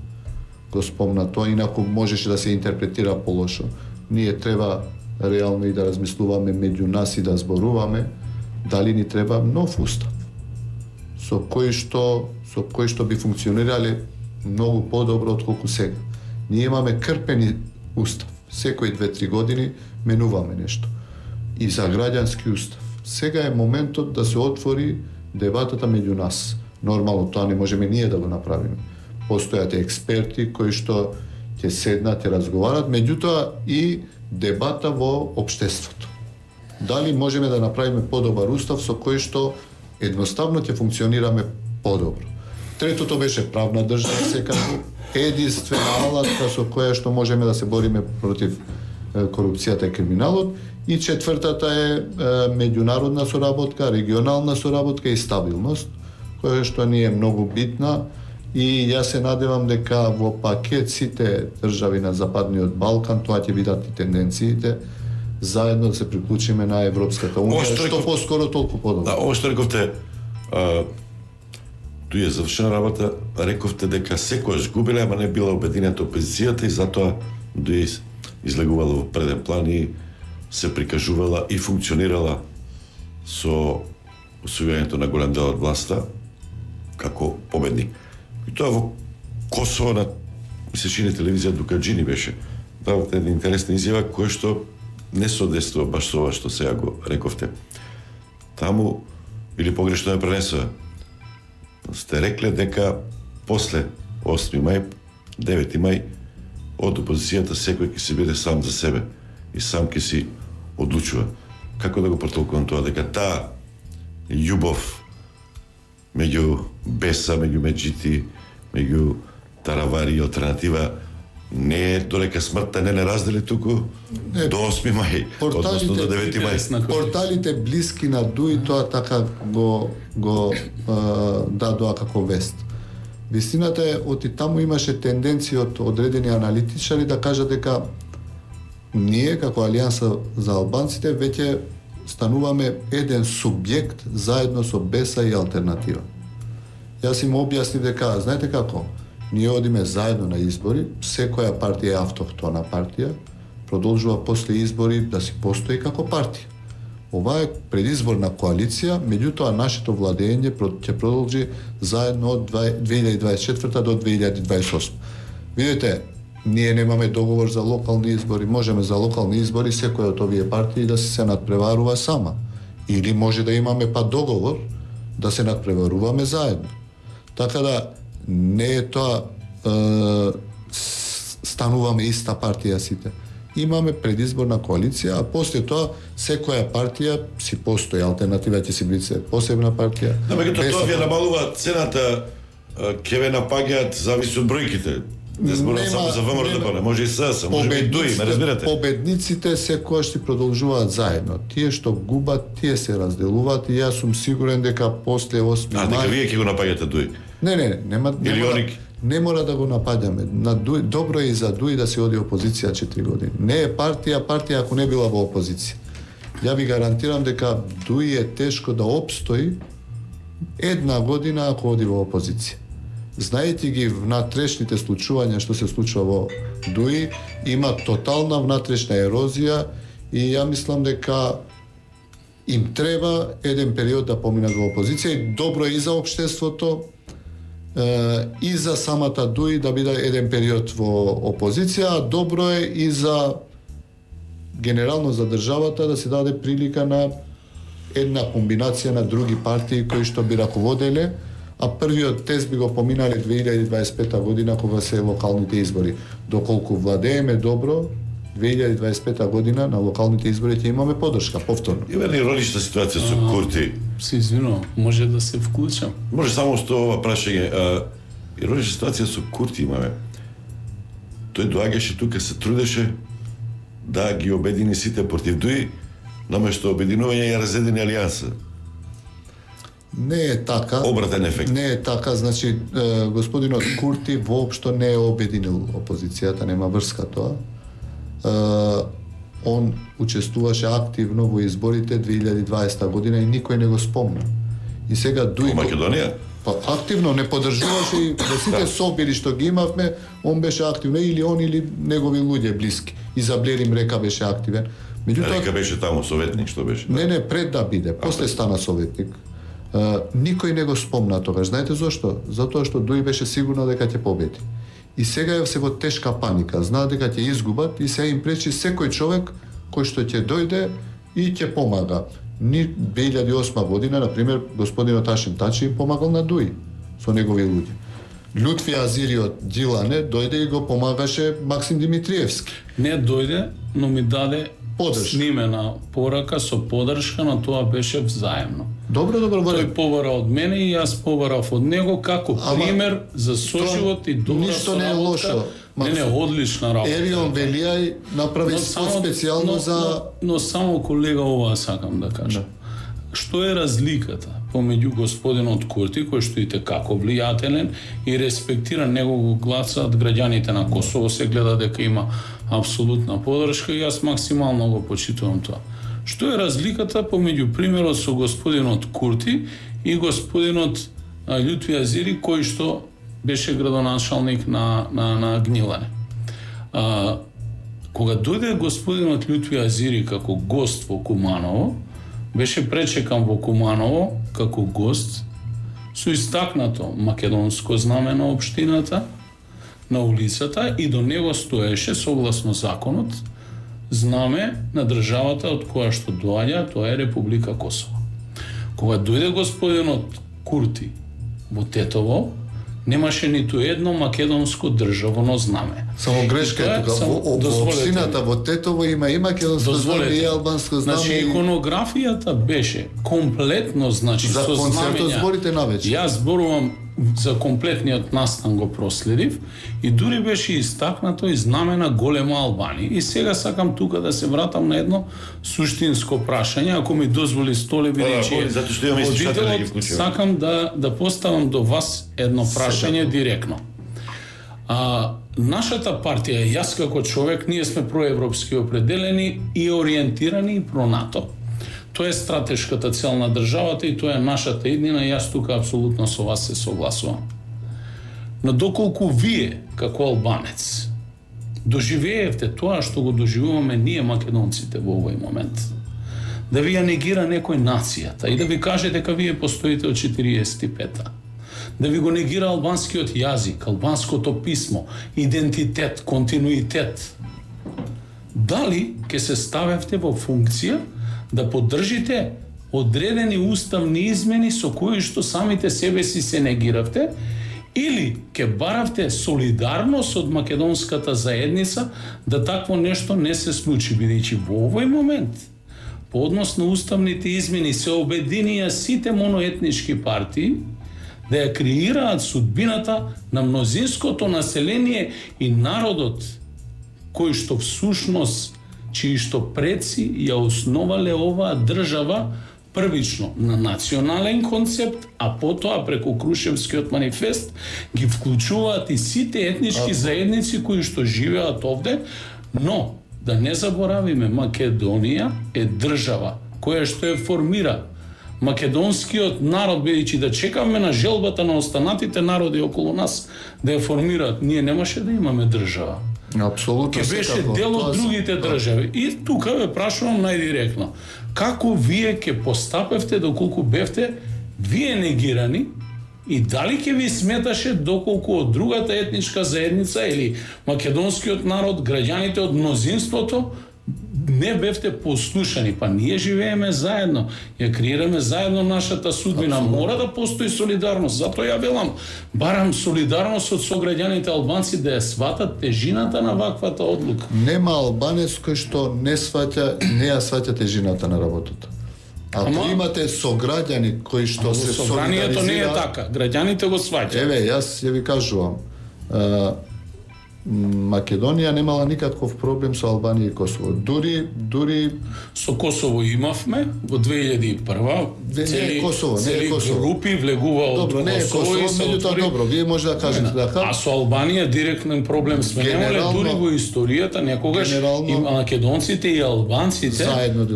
го спомна тоа, инаку можеше да се интерпретира полошо. Ние треба реално и да размислуваме меѓу нас и да зборуваме дали ни треба нов устав со кој што би функционирале многу подобро отколку сега. Ние имаме крпени устав. Секои 2-3 години менуваме нешто. И за граѓански устав. Сега е моментот да се отвори дебатата меѓу нас. Нормално тоа не можеме ние да го направиме. Постојат експерти кои што ќе седнат и разговарат, меѓутоа и дебата во општеството. Дали можеме да направиме подобар устав со кој што едноставно ќе функционираме подобро. Третото беше правна држава, секако единствена алатка со која што можеме да се бориме против корупцијата и криминалот. И четвртата е меѓународна соработка, регионална соработка и стабилност, која што ни е многу битна. И јас се надевам дека во пакет сите држави на Западниот Балкан, тоа ќе бидат и тенденциите, заедно да се приклучиме на Европската унија, што поскоро толку подобро. Да, ово што рековте, туј е завршена работа, рековте дека секојаш губеле, ама не била обединета опозицијата и затоа дуи излегувала во преден план и се прикажувала и функционирала со освојувањето на голем дел од власта како победник. И тоа во Косово на мисечини телевизија Дукаджини беше. Давате една интересна изјава која што не соодействува баш со ова што сега го рековте. Таму, или погрешно ја пренесува, сте рекле дека после 8 мај, 9 мај, од опозицијата секој ќе се биде сам за себе и сам ќе си одлучува. Како да го протолкувам тоа? Дека таа љубов меѓу Беса, меѓу Меджити, меѓу Таравари и Алтернатива не е додека смртта не раздели туку до 8 мај, односно до 9 мај. Порталите блиски на Дуи тоа така го дадоа како вест. Вистината е, оти таму имаше тенденција од одредени аналитичари да кажат дека ние, како Алијанса за албанците, веќе стануваме еден субјект заедно со Беса и Алтернатива. Јас им објаснив дека, знаете како, ние одиме заедно на избори, секоја партија е автохтона партија, продолжува после избори да си постои како партија. Ова е предизборна коалиција, меѓутоа нашето владење ќе продолжи заедно од 2024 до 2028. Видите, ние немаме договор за локални избори, можеме за локални избори секој од овие партии да се надпреварува сама. Или може да имаме па договор да се надпреваруваме заедно. Така да не е тоа стануваме иста партија сите. Имаме предизборна коалиција, а после тоа секоја партија си постои, Алтернатива ќе си биде посебна партија. Да, меѓутоа тоа ви намалува цената, ќе ве напаѓаат зависи од бројките. Не зборам само за ВМРО, може и СС, може и ДУИ, ме разбирате? Победниците секојаш си продолжуваат заедно. Тие што губат, тие се разделуваат и јас сум сигурен дека после 8 мај... дека вие ќе го напаѓате ДУИ? Не мора да го напаѓаме. Добро е и за ДУИ да се оди опозиција 4 години. Не е партија ако не била во опозиција. Ја ви гарантирам дека ДУИ е тешко да опстои една година ако оди во опозиција. Знаете ги внатрешните случувања што се случува во ДУИ, има тотална внатрешна ерозија и ја мислам дека им треба еден период да поминат во опозиција и добро е и за општеството и за самата ДУИ да биде еден период во опозиција, а добро е и за генерално за државата да се даде прилика на една комбинација на други партии кои што би раководеле, а првиот тест би го поминале 2025 година кога се локалните избори. Доколку владееме добро, 2025 година на локалните избори ќе имаме поддршка повторно. Има ли иронична ситуација со Курти? Се извинувам, може да се вклучам. Може само што ова прашање. Иронична ситуација со Курти имаме. Тој доаѓаше тука, се трудеше да ги обедини сите против ДУИ, наместо обединување ја разедини Алијанса. Не е така. Обратен ефект. Не е така, значи господинот Курти воопшто не е обединил опозицијата, нема врска тоа. Он учествуваше активно во изборите 2020 година и никој не го спомна. И сега ДУИ... Македонија? Па активно не поддржуваше и во сите собери што ги имавме, он беше активно, или он или негови луѓе блиски. И за Блерим Река беше активен. Река беше таму советник, што беше? Не, пред да биде, после стана советник. Никој не го спомна тогаш. Знаете зошто? Затоа што ДУИ беше сигурно дека ќе победи. И сега е се во тешка паника. Знаат дека ќе изгубат и се им пречи секој човек кој што ќе дојде и ќе помага. 2008 година, например, господинот Ашим Тачи им помагал на ДУИ со негови луѓе. Лютви Азири од Джилане дојде и го помагаше Максим Димитриевски. Не дојде, но ми даде снимена порака со поддршка, но тоа беше взаемно. Добро. Тој побара од мене и јас побарав од него како пример за соживот и добра соработка. Ништо не е лошо. Не, одлична работа. Ерион Велијај направи специјално за... Но само колега ова сакам да кажам. Што е разликата помеѓу господинот Курти, кој што и како влијателен и респектира негово гласат граѓаните на Косово, се гледа дека има апсолутна поддршка и јас максимално го почитувам тоа. Што е разликата помеѓу примерот со господинот Курти и господинот Лютви Азири, кој што беше градоначалник на Гнилане. Кога дојде господинот Лютви Азири како гост во Куманово, беше пречекан во Куманово како гост со истакнато македонско знаме на општината, на улицата, и до него стоеше согласно законот знаме на државата од која што доаѓа, тоа е Република Косово. Кога дојде господинот Курти во Тетово, немаше ниту едно македонско државно знаме. Само грешка е тука. Во општината во Тетово има и македонско знаме и албанско знаме. Значи, иконографијата беше комплетно, значи, за со концертот зборите навечер. Јас зборувам за комплетниот настан го проследив и дури беше истакнато и знамена голема Албанија. И сега сакам тука да се вратам на едно суштинско прашање, ако ми дозволи Столе, бидејќи затоа што имаме слушатели да ги вклучиме. Сакам да поставам до вас едно прашање директно. Нашата партија, јас како човек, ние сме проевропски определени и ориентирани и про-НАТО. Тоа е стратешката цел на државата и тоа е нашата иднина, јас тука апсолутно со вас се согласувам. Но доколку вие, како албанец, доживеевте тоа што го доживуваме ние македонците во овој момент, да ви ја негира некој нацијата и да ви каже дека вие постоите од 45-та, да ви го негира албанскиот јазик, албанското писмо, идентитет, континуитет, дали ќе се ставевте во функција да поддржите одредени уставни измени со кои што самите себе си се негиравте, или ќе баравте солидарност од македонската заедница да такво нешто не се случи, бидејќи во овој момент по однос на уставните измени се обединија сите моноетнички партии да ја креираат судбината на мнозинското население и народот кој што всушност чии што предци ја основале оваа држава првично на национален концепт, а потоа преку Крушевскиот манифест ги вклучуваат и сите етнички заедници кои што живеат овде, но да не заборавиме, Македонија е држава која што ја формира македонскиот народ, бидејќи да чекаме на желбата на останатите народи околу нас да ја формираат, ние немаше да имаме држава. Апсолутно Ке беше дел од другите држави. И тука ве прашувам најдиректно. Како вие ќе постапевте доколку бевте вие негирани и дали ќе ви сметаше доколку од другата етничка заедница или македонскиот народ, граѓаните од мнозинството не бевте послушани, па ние живееме заедно, ја креираме заедно нашата судбина. Мора да постои солидарност. Затоа ја велам, барам солидарност од сограѓаните албанци да ја сватат тежината на ваквата одлука. Нема албанец кој што не ја сваќа тежината на работата. Ако имате сограѓани кои што се солидаризираат... Собранието не е така, граѓаните го сваќаат. Еве, јас ја ви кажувам, Македонија немала никаков проблем со Албанија и Косово. Дури со Косово имавме во 2001-ва цели групи влегува од Косово. Не е Косово, меѓутоа добро, вие може да кажете дека. А со Албанија директен проблем сме немале, дури во историјата некогаш и македонците и албанците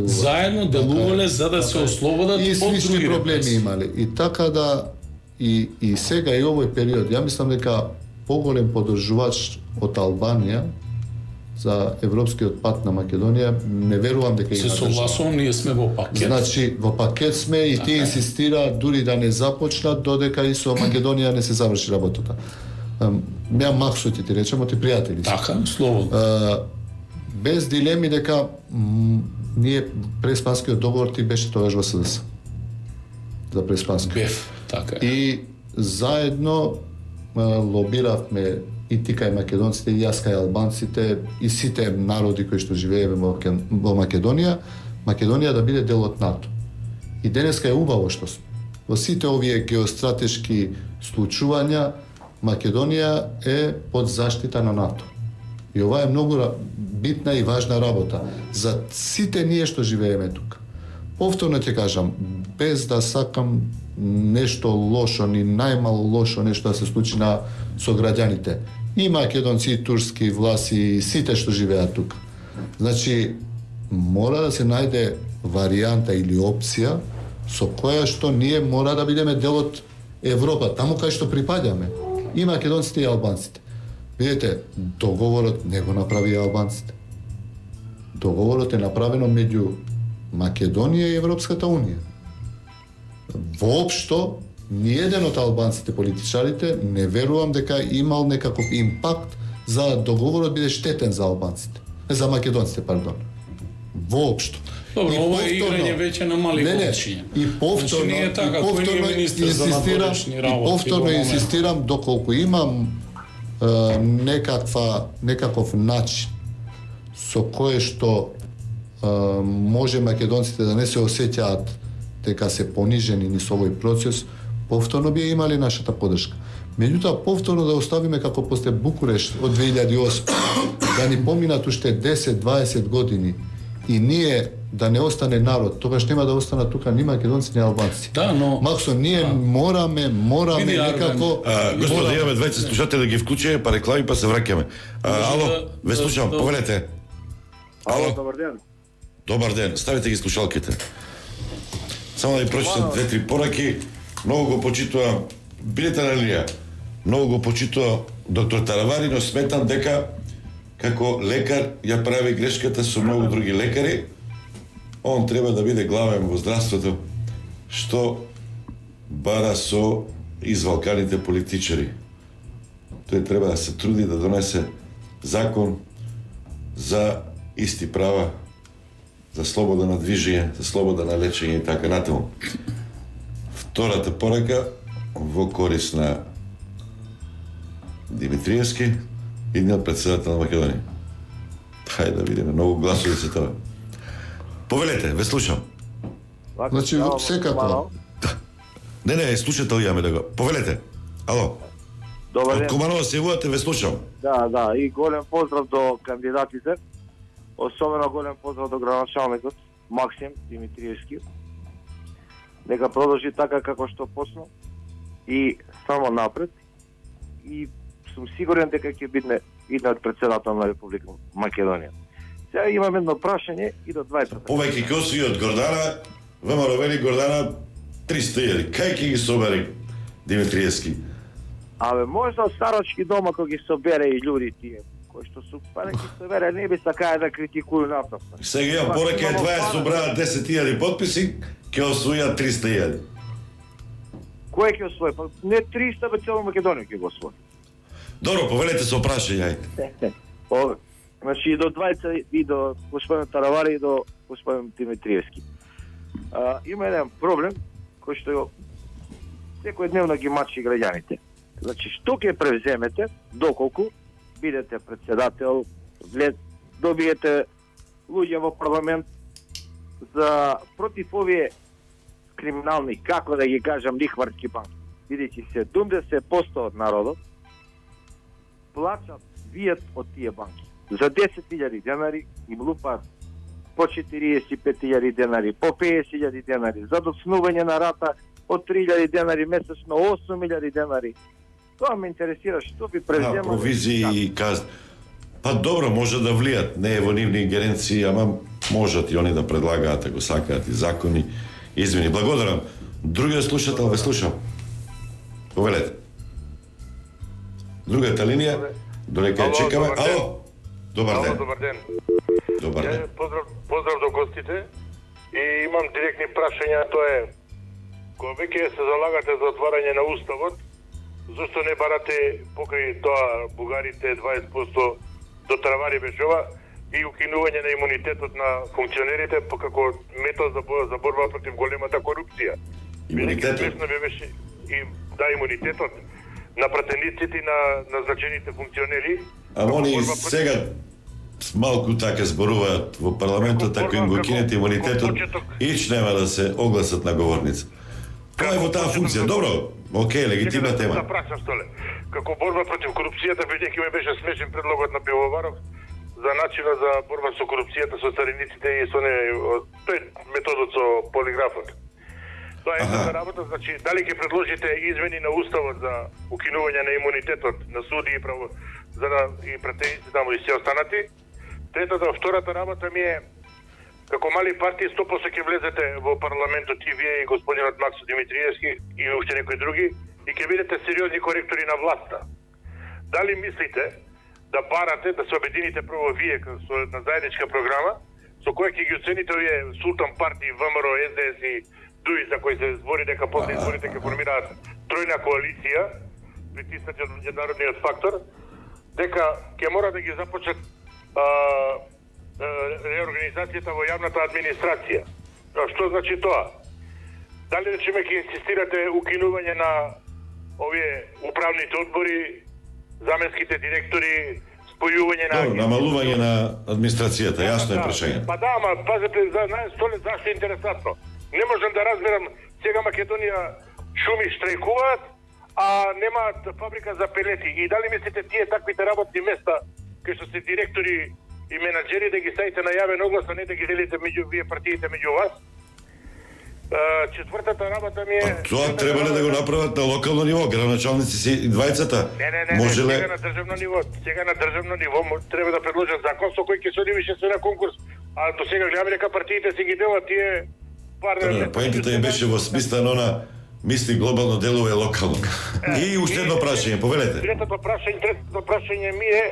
заедно делувале за да се ослободат од други проблеми имале. И така да и сега и овој период, ја мислам дека поголем поддржувач од Албанија за европскиот пат на Македонија, не верувам дека има држава. Се согласувам, ние сме во пакет. Значи, во пакет сме и тие инсистира дури да не започнат додека и со Македонија не се заврши работата. Ја Максот ти речемо, ти пријатели. Така, слободно. Без дилеми дека ние преспанскиот договор ти беше тогаш во СДС. За преспански. Бев, така е. И заедно лобиравме и ти кај македонците, и јас кај албанците, и сите народи кои што живееме во Македонија, Македонија да биде дел од НАТО. И денеска е убаво што сме. Во сите овие геостратешки случувања, Македонија е под заштита на НАТО. И ова е многу битна и важна работа за сите ние што живееме тука. Повторно ќе кажам, без да сакам нешто лошо, ни најмало лошо нешто да се случи на сограѓаните. И македонци, и турски власти, и сите што живеат тука. Значи, мора да се најде варијанта или опција со која што ние мора да бидеме дел од Европа, таму кај што припаѓаме. И македонците, и албанците. Видете, договорот не го направи албанците. Договорот е направено меѓу Македонија и Европската Унија. Воопшто, ниеден од албанците политичарите не верувам дека имал некаков импакт за договорот биде штетен за албанците. За македонците, пардон. Воопшто. Добро, ова е играње веќе на мали количиња. И повторно инсистирам доколку имам некаков начин со кој што може македонците да не се осеќаат дека се понижени низ овој процес, повторно би имали нашата поддршка. Меѓутоа, повторно да оставиме како после Букурешт од 2008, да ни поминат уште 10-20 години и ние да не остане народ, тогаш нема да останат тука ни македонци, ни албанци. Да, но Максо, ние мораме некако... Господи, имаме двајца слушатели да ги вклучиме, па реклами, па се враќаме. Ало, ве слушам, повелете. Ало, добар ден. Добар ден, ставите ги слушалките. Само да ви прочитам 2-3 пораки. Многу го почитувам, бидете на линија, многу го почитувам доктор Таравари, но сметам дека како лекар ја прави грешката со многу други лекари. Он треба да биде главен во здравството, што бара со извалканите политичари. Тој треба да се труди да донесе закон за исти права, за слобода на движење, за слобода на лечење и така натаму. Втората порака во корис на Димитриевски, идниот председател на Македонија. Хајде да видиме, многу гласови се тоа. Повелете, ве слушам. Значи, секако. Не, слушател јаме да го. Повелете. Ало. Добар ден. Куманова се јавувате, ве слушам. Да, и голем поздрав до кандидатите. Особено голем поздрав до градоначалникот Максим Димитриевски. Нека продолжи така како што почна и само напред. И сум сигурен дека ќе биде идниот председател на Република Македонија. Сега имам едно прашање и до двајца. Повеќе коси од Гордана, ВМРО вели Гордана 300.000. Кај ќе ги собери Димитриевски? Абе, можда од старачки дома кој ги собере и луѓе тие кои што су параки собере, не би сакаја да критикуju натаму. Сега ја порака е 20 собраат 10.000 подписи, ќе освојат 300.000. Кој ќе освои? Па не 300, бе цело Македонија ќе го освои. Добро, повелете со прашање, ајде. Значи и до двајца, и до господин Таравари, и до господин Димитриевски. Има еден проблем кој што секојдневно ги мачи граѓаните. Значи, што ќе превземете доколку бидете председател, добиете луѓе во парламент за против овие криминални, како да ги кажам, лихварски банки. Бидејќи 70% од народот плачат вијат од тие банки. За 10.000 денари им лупат по 45.000 денари, по 50.000 денари, за доцнување на рата од 3.000 денари месечно, 8.000 денари. Тоа ме интересира, што би преземале... Провизии и казни. Па добро, може да влијат, не е во нивни ингеренции, ама можат и они да предлагаат, ако сакаат и закони, измени. Благодарам. Другиот слушател, ве слушам. Повелете. Другата линија, додека ја чекаме. Ало, добар ден. Добар ден. Добар ден. Поздрав до гостите и имам директни прашања, тоа е кога веќе се залагате за отварање на уставот, зашто не барате покрај тоа бугарите 20% до Таравари Бешова и укинување на имунитетот на функционерите како метод за борба против големата корупција. Имунитетот? Имунитетот на пратениците на назначените функционери. А они сега малку така зборуваат во парламентот, ако им го кинете имунитетот, ич нема да се огласат на говорница. Тоа е во таа функција. Добро, окей, легитимна тема. Да прашам столе. Како борба против корупцијата, бидејќи ме беше смешен предлогот на Пивоваров за начина за борба со корупцијата со цариниците и со тој методот со полиграфот. Тоа е една работа, значи дали ќе предложите измени на уставот за укинување на имунитетот на суди и и пратеници таму и се останати. Втората работа ми е како мали партии 100% ќе влезете во парламентот и вие и господинот Максо Димитриевски и уште некои други и ќе бидете сериозни коректори на власта. Дали мислите да барате да се обедините прво вие на заедничка програма со која ќе ги оцените овие султан партии ВМРО, СДС и ДУИ за кои се збори дека после изборите ќе формираат тројна коалиција, притиснати од меѓународниот фактор, дека ќе мора да ги започнат реорганизацијата во јавната администрација. Што значи тоа? Дали речеме ќе инсистирате укинување на овие управните одбори, заменските директори, спојување на... Намалување на администрацијата, јасно е прашање. Па да, пазете, зашто е интересантно. Не можам да разберам, сега Македонија шуми штрајкуваат, а немаат фабрика за пелети. И дали мислите тие таквите работни места, кај што се директори и менаџери, да ги ставите на јавен оглас, а не да ги делите меѓу вие партиите меѓу вас? Четвртата работа ми е... Тоа требале да го направат на локално ниво, градоначалници си и двајцата. Не, сега на државно ниво. Сега на државно ниво треба да предложат закон со кој ќе се оди више на конкурс. А до сега гледаме дека партиите си ги делат тие пар... Поентата им беше во смисла на она мисли глобално, делува локално. И уште едно прашање, повелете. Третото прашање ми е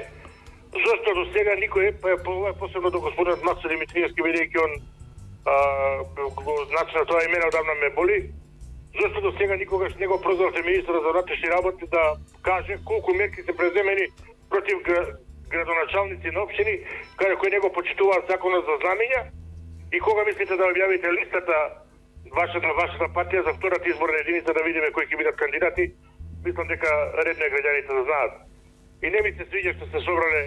зошто до сега никој, посебно до господинот Максим Димитриевски, бидејќи он значи на тоа име одамна ме боли, зашто до сега никогаш не го прозвавте министерот за внатрешни работи да каже колку мерки се преземени против градоначалници на општини кои не го почитуваат законот за знамења и кога мислите да објавите листата вашата партија за втората изборна единица да видиме кои ќе бидат кандидати? Мислам дека редно е граѓаните да знаат. И не ми се свиѓа што се собрале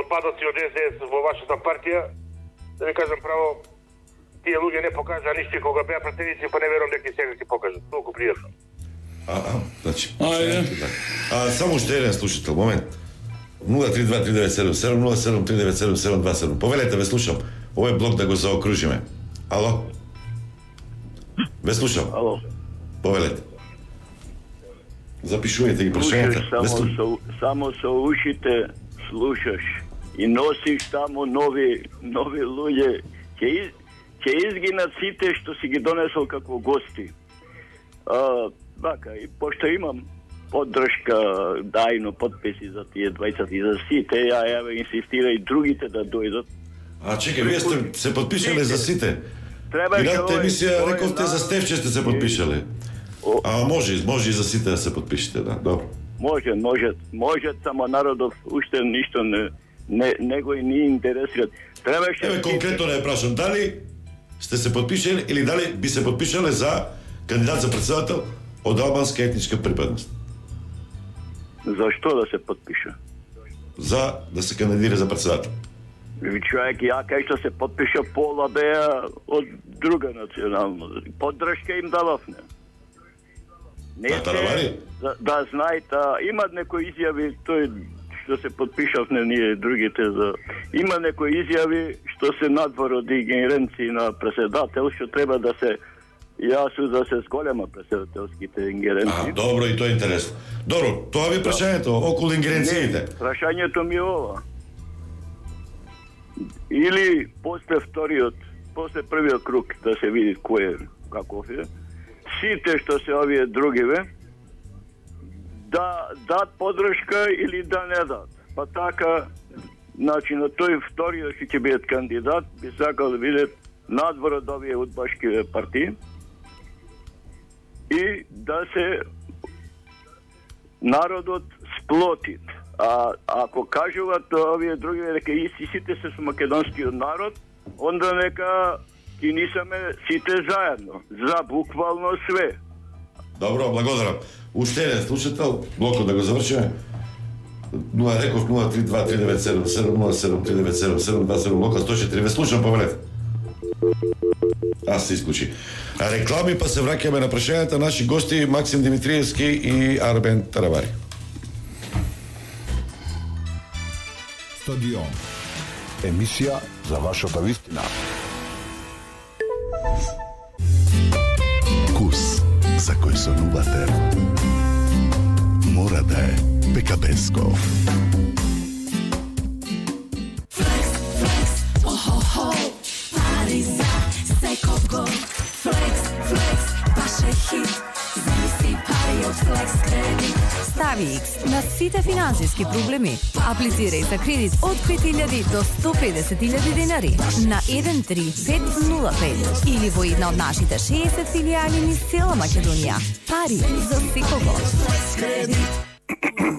отпадоци од СДС во вашата партија. Да ви кажам право, тие луѓе не покажаа ништо кога беа пратеници, па не верувам дека и сега ќе покажат. Толку пријатно. Значи. Само уште еден слушател, момент. 032-397-7, 07397-727. Повелете, ве слушам. Овој блок да го заокружиме. Ало? Ве слушам. Ало. Повелете. Запишувајте ги прашањата. Само со ушите слушаш и носиш тамо нови луѓе. Ќе изгинат сите што си ги донесол како гости. Бака, и пошто имам поддршка, дајно подписи за тие двајцата и за сите, ја инсистира и другите да дојдат. Чекај, вие сте се подпишале за сите? Минатата емисија рековте за Стефче сте се подпишале. Може и за сите да се подпишете, да, добро. Може, само народов уште ништо не го и не интересира. Конкретно не прашам, дали сте се подпишали или дали би се подпишале за кандидат за председател од албанска етничка припадност? Зашто да се подпиша? За да се кандидира за председател. Човек, ја кај што се подпиша пола беа од друга национална. Поддршка им дававне. Да знаете, имат некои изјави, тој што се подпишавме ние другите за... Има некои изјави што се надвор од ингеренции на председател, што треба да се... Јас да се зголема председателските ингеренции. Добро, и тоа е интересно. Добро, тоа ви прашањето околу ингеренциите. Прашањето ми е ова. Или после првиот круг да се види кој е, каков е, сите што се овие другиве, да дат поддршка или да не дат. Па така, значи на тој вториот што ќе биде кандидат, би сакал да биде надвор од овие удбашки партии и да се народот сплотит. А ако кажуваат овие други дека сите се со македонскиот народ, онда нека и нисаме сите заедно, за буквално све. Добро, благодарам. Уште еден слушател, блокот да го завршиме. 032-397-7, блока 104, ве слушам, повелете. Се исклучи. Реклами, па се враќаме на прашањата. Наши гости Максим Димитриевски и Арбен Таравари. Стадион. Емисија за вашата вистина. Вкус за кој сонувате мора да е Пекабеско. Пари за секого. Флекс, баш е хит. Замисли пари од Флекс кредит. Стави X на сите финансиски проблеми. Аплицирај за кредит од 5.000 до 150.000 денари на 13505 или во една од нашите 60 филијали низ цела Македонија. Пари за секого.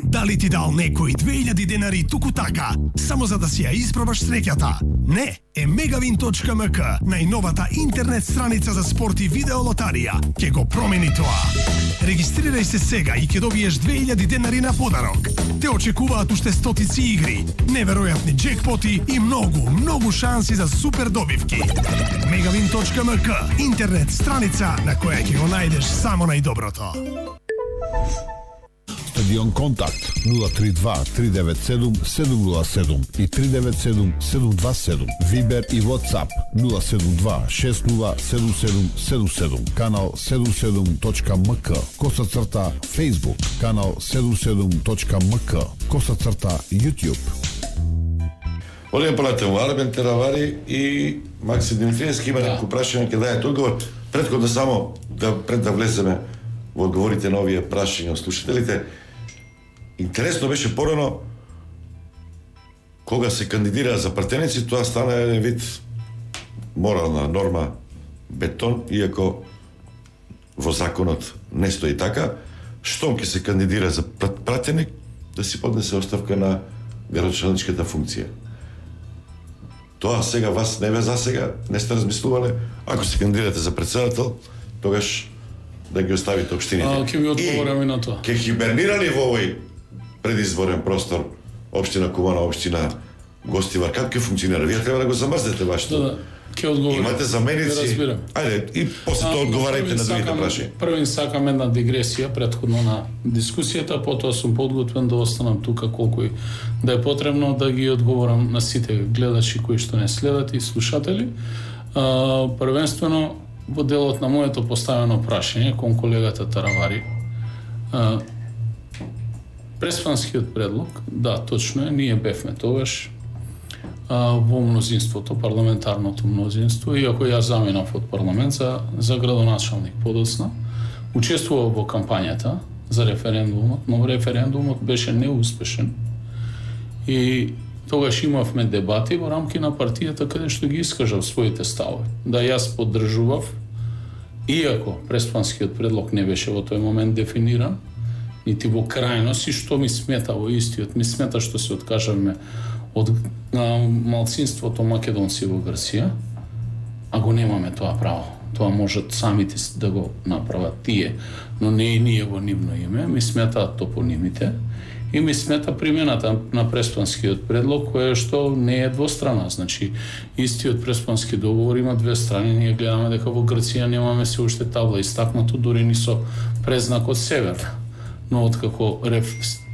Дали ти дал некој 2000 денари туку така, само за да си ја испробаш среќата? Не, е megavin.mk, најновата интернет страница за спорт и видеолотарија. Ќе го промени тоа. Регистрирај се сега и ќе добиеш 2000 денари на подарок. Те очекуваат уште стотици игри, неверојатни джекпоти и многу шанси за супер добивки. megavin.mk, интернет страница на која ќе го најдеш само најдоброто. Стадион Контакт 032-397-707 и 397-727. Вибер и WhatsApp 072-607777. Канал 77.mk. _. Facebook. Канал 77.mk. _ YouTube. Олеј полетен Арбен Теравари и Максим Димитриевски има некој прашање ќе дајат одговор. Претходно само пред да влеземе во одговорите на овие прашања од слушателите. Интересно беше порано кога се кандидира за пратеници, тоа стана еден вид морална норма бетон, иако во законот не стои така, штом ќе се кандидира за пратеник, да си поднесе оставка на градоначалничката функција. Тоа сега вас не ве засега, не сте размислувале, ако се кандидирате за председател, тогаш да ги оставите општините. Ќе ми одговорам и на тоа. Ќе хибернира ли во овој предизборен простор општина Кумана, општина Гостивар, како ќе функционира? Вие треба да го замрзнете вашето. Да, ќе одговорам. Имате заменици. Ајде, и после тоа одговарајте на другите прашања. Првин сакам една дигресија претходно на дискусијата, потоа сум подготвен да останам тука колку и да е потребно да ги одговорам на сите гледачи кои што не следат и слушатели. Првенствено во делот на моето поставено прашање кон колегата Таравари. Преспанскиот предлог, да, точно е, ние бевме тогаш во мнозинството, парламентарното мнозинство, иако ја заминав од парламент за градоначалник подоцна, учествував во кампањата за референдумот, но референдумот беше неуспешен и тогаш имавме дебати во рамки на партијата каде што ги искажав своите ставови. Да, јас поддржував, иако преспанскиот предлог не беше во тој момент дефиниран, нити во крајност, и што ми смета во истиот, ми смета што се откажавме од малцинството македонци во Грција, а го немаме тоа право. Тоа можат самите да го направат тие, но не и ние во нивно име, ми сметаат топонимите и ми смета примената на преспанскиот предлог, која што не е двострана. Значи, истиот преспански договор има две страни, ние гледаме дека во Грција немаме се уште табла истакнато, дури ни со презнак од север. Но откако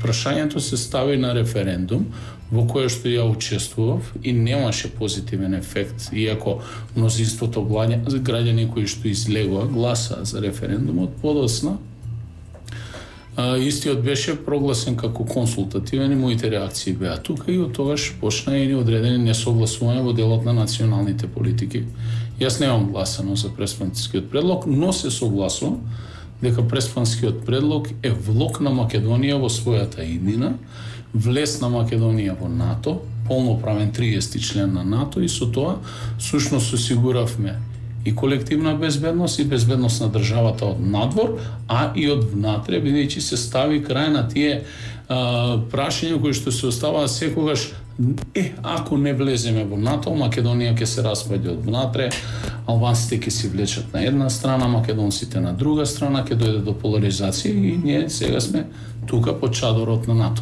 прашањето се стави на референдум, во кое што ја учествував и немаше позитивен ефект, иако мнозинството граѓани кои што излегоа гласа за референдумот подоцна, истиот беше прогласен како консултативен и моите реакции беа тука и од тогаш почна и одредени несогласување во делот на националните политики. Јас немам гласано за преспанскиот предлог, но се согласувам дека преспанскиот предлог е влог на Македонија во својата иднина, влез на Македонија во НАТО, полноправен 30 член на НАТО, и со тоа сушност осигуравме и колективна безбедност и безбедност на државата од надвор, а и од внатре, бидејќи се стави крај на тие прашања кои што се оставаат секогаш. Ако не влеземе во НАТО, Македонија ќе се распаѓа од внатре, албанците ќе се влечат на една страна, македонците на друга страна, ќе дојде до поларизација и ние сега сме тука под чадорот на НАТО.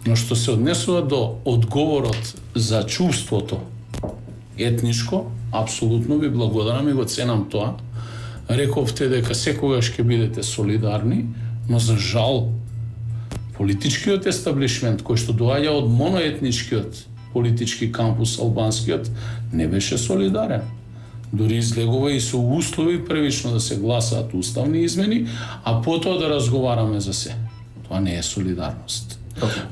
Но што се однесува до одговорот за чувството етничко, апсолутно ви благодарам и го ценам тоа. Рековте дека секогаш ќе бидете солидарни, но за жал политичкиот естаблишмент кој што доаѓа од моноетничкиот политички кампус албанскиот не беше солидарен. Дури излегува и со услови првично да се гласаат уставни измени, а потоа да разговараме за се. Тоа не е солидарност.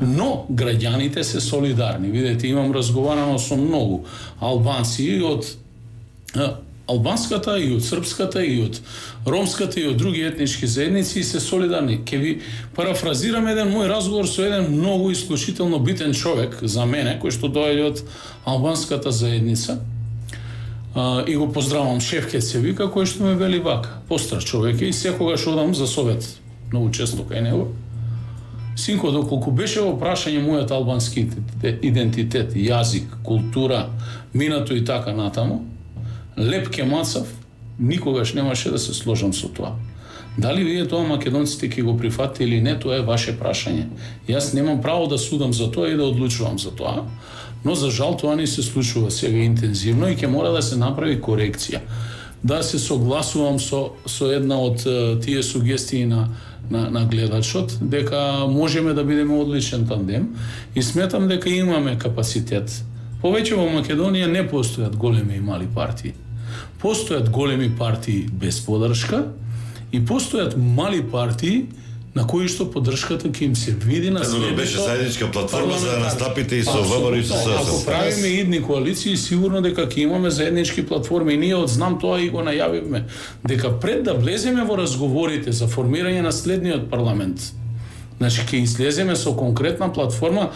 Но граѓаните се солидарни. Видете, имам разговарано со многу албанци и од албанската, и од српската, и од ромската, и од други етнички заедници, и се солидарни. Ке ви парафразирам еден мој разговор со еден многу исклучително битен човек за мене, кој што доаѓа од албанската заедница. И го поздравам, Шефкет се вика, кој што ме вели вака. Постар човек е и секогаш одам за совет. Многу често кај него. Синко, доколку беше во прашање мојот албански идентитет, јазик, култура, минато и така натаму, Леп Кемацов, никогаш немаше да се сложам со тоа. Дали вие тоа македонците ќе го прифатите или не, тоа е ваше прашање. Јас немам право да судам за тоа и да одлучувам за тоа, но за жал тоа не се случува сега интензивно и ќе мора да се направи корекција. Да се согласувам со една од тие сугестии на гледачот, дека можеме да бидеме одличен тандем и сметам дека имаме капацитет. Повеќе во Македонија не постојат големи и мали партии. Постојат големи партии без подршка и постојат мали партии на кои што поддршката ќе им се види на следното. Беше заедничка платформа за да настапите и со ВМРО и со СДСМ. Ако правиме идни коалиции, сигурно дека ќе имаме заеднички платформи и ние одзнам тоа и го најавивме, дека пред да влеземе во разговорите за формирање на следниот парламент, значи ќе излеземе со конкретна платформа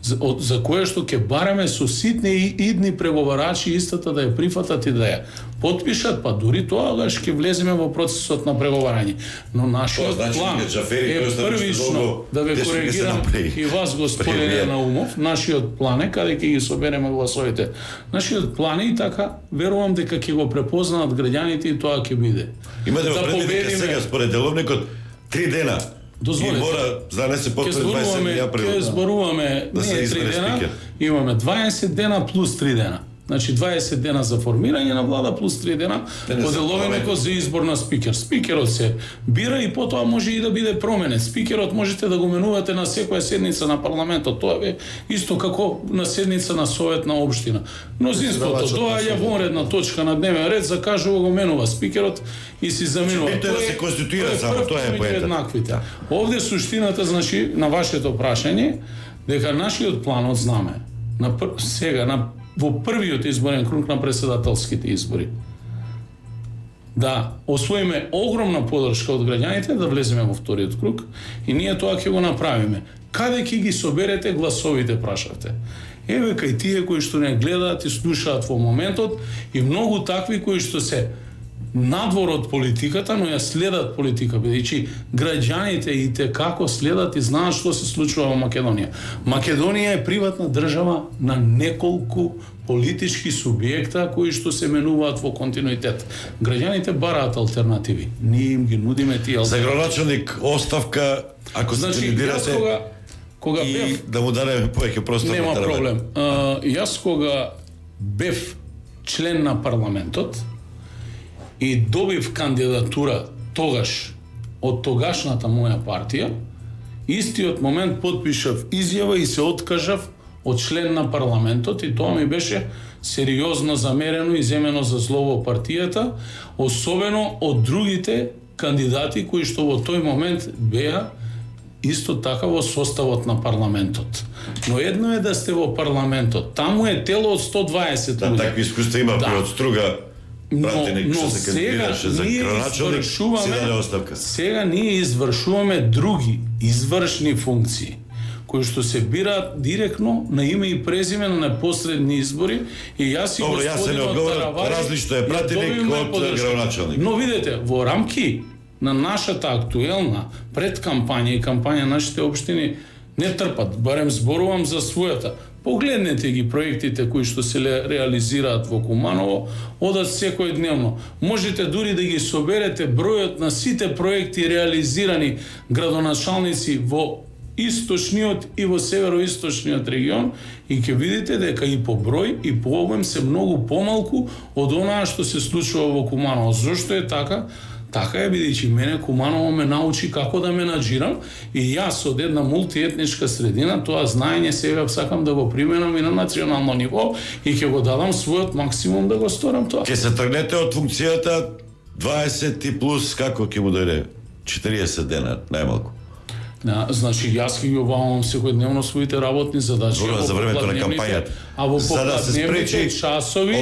за кое што ќе бараме со ситни и идни преговарачи истата да ја прифатат и да ја потпишат, па дури тогаш ќе влеземе во процесот на преговарање. Но нашиот план е првично да ве коригирам и вас, господине Наумов, нашиот план е каде ќе ги собереме гласовите. Нашиот план е и така верувам дека ќе го препознаат граѓаните и тоа ќе биде. Имате во предвид сега според деловникот 3 дена. Дозволете. И мора, за да не се потврди 27 април. Ке зборуваме, да не 3 дена, имаме 20 дена плюс 3 дена. Значи 20 дена за формирање на влада плюс 3 дена по деловникот за избор на спикер. Спикерот се бира и потоа може и да биде променет. Спикерот можете да го менувате на секоја седница на парламентот. Тоа е исто како на седница на совет на општина. Мнозинството доаѓа во редна точка на дневен ред, закажува го менува спикерот и си заменува. Тоа да се конституира само, тоа е поентата. Овде суштината, значи, на вашето прашање, дека нашиот план од знаме во првиот изборен круг на претседателските избори да освоиме огромна поддршка од граѓаните, да влеземе во вториот круг и ние тоа ќе го направиме. Каде ќе ги соберете гласовите, прашавте? Еве кај тие кои што не гледаат и слушаат во моментот и многу такви кои што се надвор од политиката, но ја следат политика, бидејќи граѓаните и те како следат и знаат што се случува во Македонија. Македонија е приватна држава на неколку политички субјекта кои што се менуваат во континуитет. Граѓаните бараат алтернативи. Ние им ги нудиме тие алтернативи. За градоначалник оставка, ако се кандидирате, кога и бев, да му дадеме повеќе простор. Нема проблем. Јас кога бев член на парламентот и добив кандидатура тогаш од тогашната моја партија, истиот момент потпишав изјава и се откажав од член на парламентот и тоа ми беше сериозно замерено и земено за зло во партијата, особено од другите кандидати кои што во тој момент беа исто така во составот на парламентот. Но едно е да сте во парламентот, таму е тело од 120 луѓе. Да, такви искуства има при од Струга. Но сега ние извршуваме други извршни функции кои што се бираат директно на име и презиме на непосредни избори и јас и господинот Таравари различно е пратеник од градоначалник. Но видете, во рамки на нашата актуелна предкампања и кампања нашите општини не трпат, барем зборувам за својата. Погледнете ги проектите кои што се реализираат во Куманово, одат секојдневно. Можете дури да ги соберете бројот на сите проекти реализирани градоначалници во источниот и во североисточниот регион и ќе видите дека и по број и по обем се многу помалку од онаа што се случува во Куманово. Зошто е така? Така е, бидејќи мене Куманово ме научи како да менаџирам и јас од една мултиетничка средина тоа знаење сега сакам да го применам и на национално ниво и ќе го дадам својот максимум да го сторам тоа. Ќе се тргнете од функцијата 20 и плюс, како ќе му дојде 40 дена најмалку. Значи јас ќе ги обавам секојдневно своите работни задачи за времето на кампањата. За да се спречи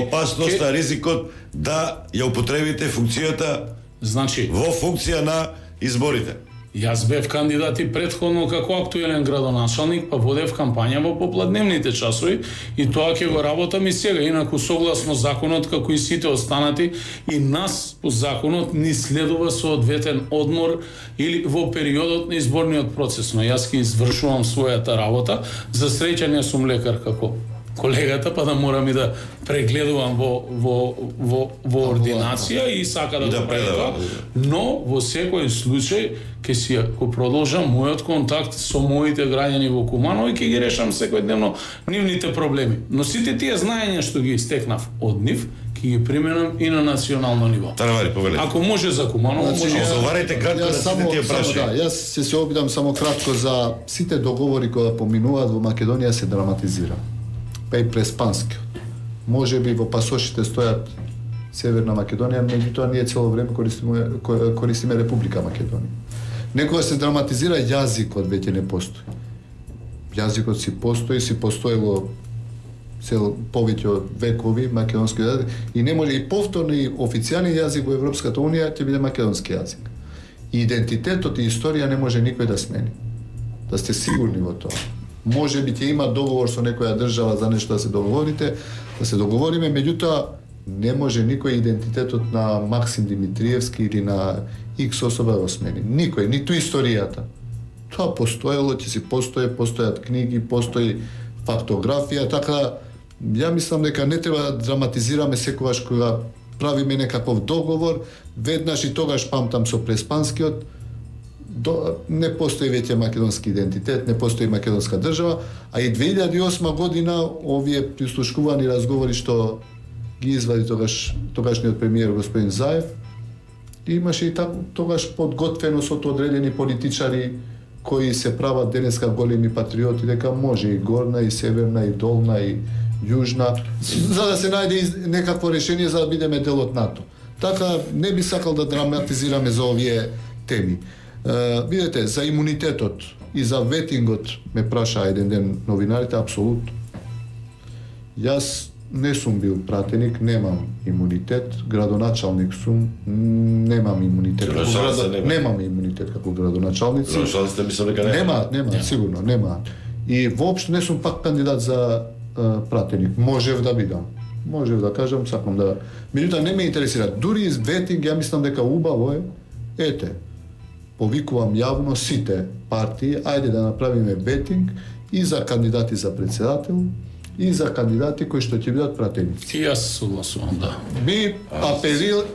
опасноста, ризикот да ја употребите функцијата во функција на изборите. Јас бев кандидат и претходно како актуелен градоначалник, па водев кампања во попладневните часови и тоа ќе го работам и сега. Инаку согласно законот, како и сите останати, и нас по законот ни следува соодветен одмор или во периодот на изборниот процес. Но јас ќе извршувам својата работа. За среќа не сум лекар како колегата, па да морам и да прегледувам во ординација и сака да го правам тоа, но во секој случај ќе продолжам мојот контакт со моите граѓани во Куманово и ќе ги решам секојдневно нивните проблеми. Но сите тие знаења што ги стекнав од нив, ќе ги применам и на национално ниво. Таравари, повелете. Ако може за Куманово, може и за... Одговарете кратко на сите тие прашања. Јас се обидам само кратко за сите договори кои поминуваат во Македонија се драматизира. Па и преспанскиот. Може би во пасошите стојат Северна Македонија, меѓутоа ние цело време користиме Република Македонија. Некогаш се драматизира, јазикот веќе не постои. Јазикот си постоело повеќе од векови македонски јазик и не може и повторно и официјален јазик во Европската унија ќе биде македонски јазик. И идентитетот и историја не може никој да смени. Да сте сигурни во тоа. Може би ќе има договор со некоја држава за нешто да се договориме, меѓутоа не може никој идентитетот на Максим Димитриевски или на X особа да го смени. Никој, ниту историјата. Тоа постоело, ќе си постојат книги, постои фактографија, така ја мислам дека не треба да драматизираме секогаш кога правиме некаков договор, веднаш и тогаш памтам со преспанскиот, не постои веќе македонски идентитет, не постои македонска држава, а и 2008 година овие прислушкувани разговори што ги извади тогашниот премиер господин Заев, имаше и тогаш подготвеност од одредени политичари кои се прават денеска големи патриоти, дека може и горна, и северна, и долна, и јужна, за да се најде некакво решение за да бидеме дел од НАТО. Така не би сакал да драматизираме за овие теми. Видете, за имунитетот и за ветингот ме праша еден ден новинарите, апсолутно. Јас не сум бил пратеник, немам имунитет, градоначалник сум, немам имунитет. Немам имунитет како градоначалници. Градоначалниците мислам дека немаат, сигурно, немаат. И воопшто не сум пак кандидат за пратеник. Можев да бидам. Можев да кажам, сакам да... Меѓутоа не ме интересира. Дури из ветинг, ја мислам дека убаво е, ете, повикувам јавно сите партии, ајде да направиме ветинг и за кандидати за председател, и за кандидати кои што ќе бидат пратеници. И јас согласувам, да. Би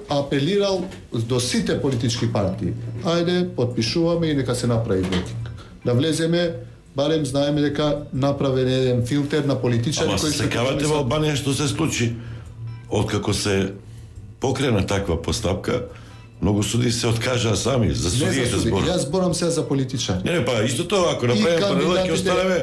апелирал до сите политички партии. Ајде, подпишуваме и нека се направи ветинг. Да влеземе, барем знаеме дека направен еден филтер на политичари кои се секавате во Албанија што се случи. Откако се покрена таква постапка, многу суди се откажаа сами за судиите збор. Јас зборам сега за политичари. Не, па исто тоа, ако направиме паралел, ќе останеме,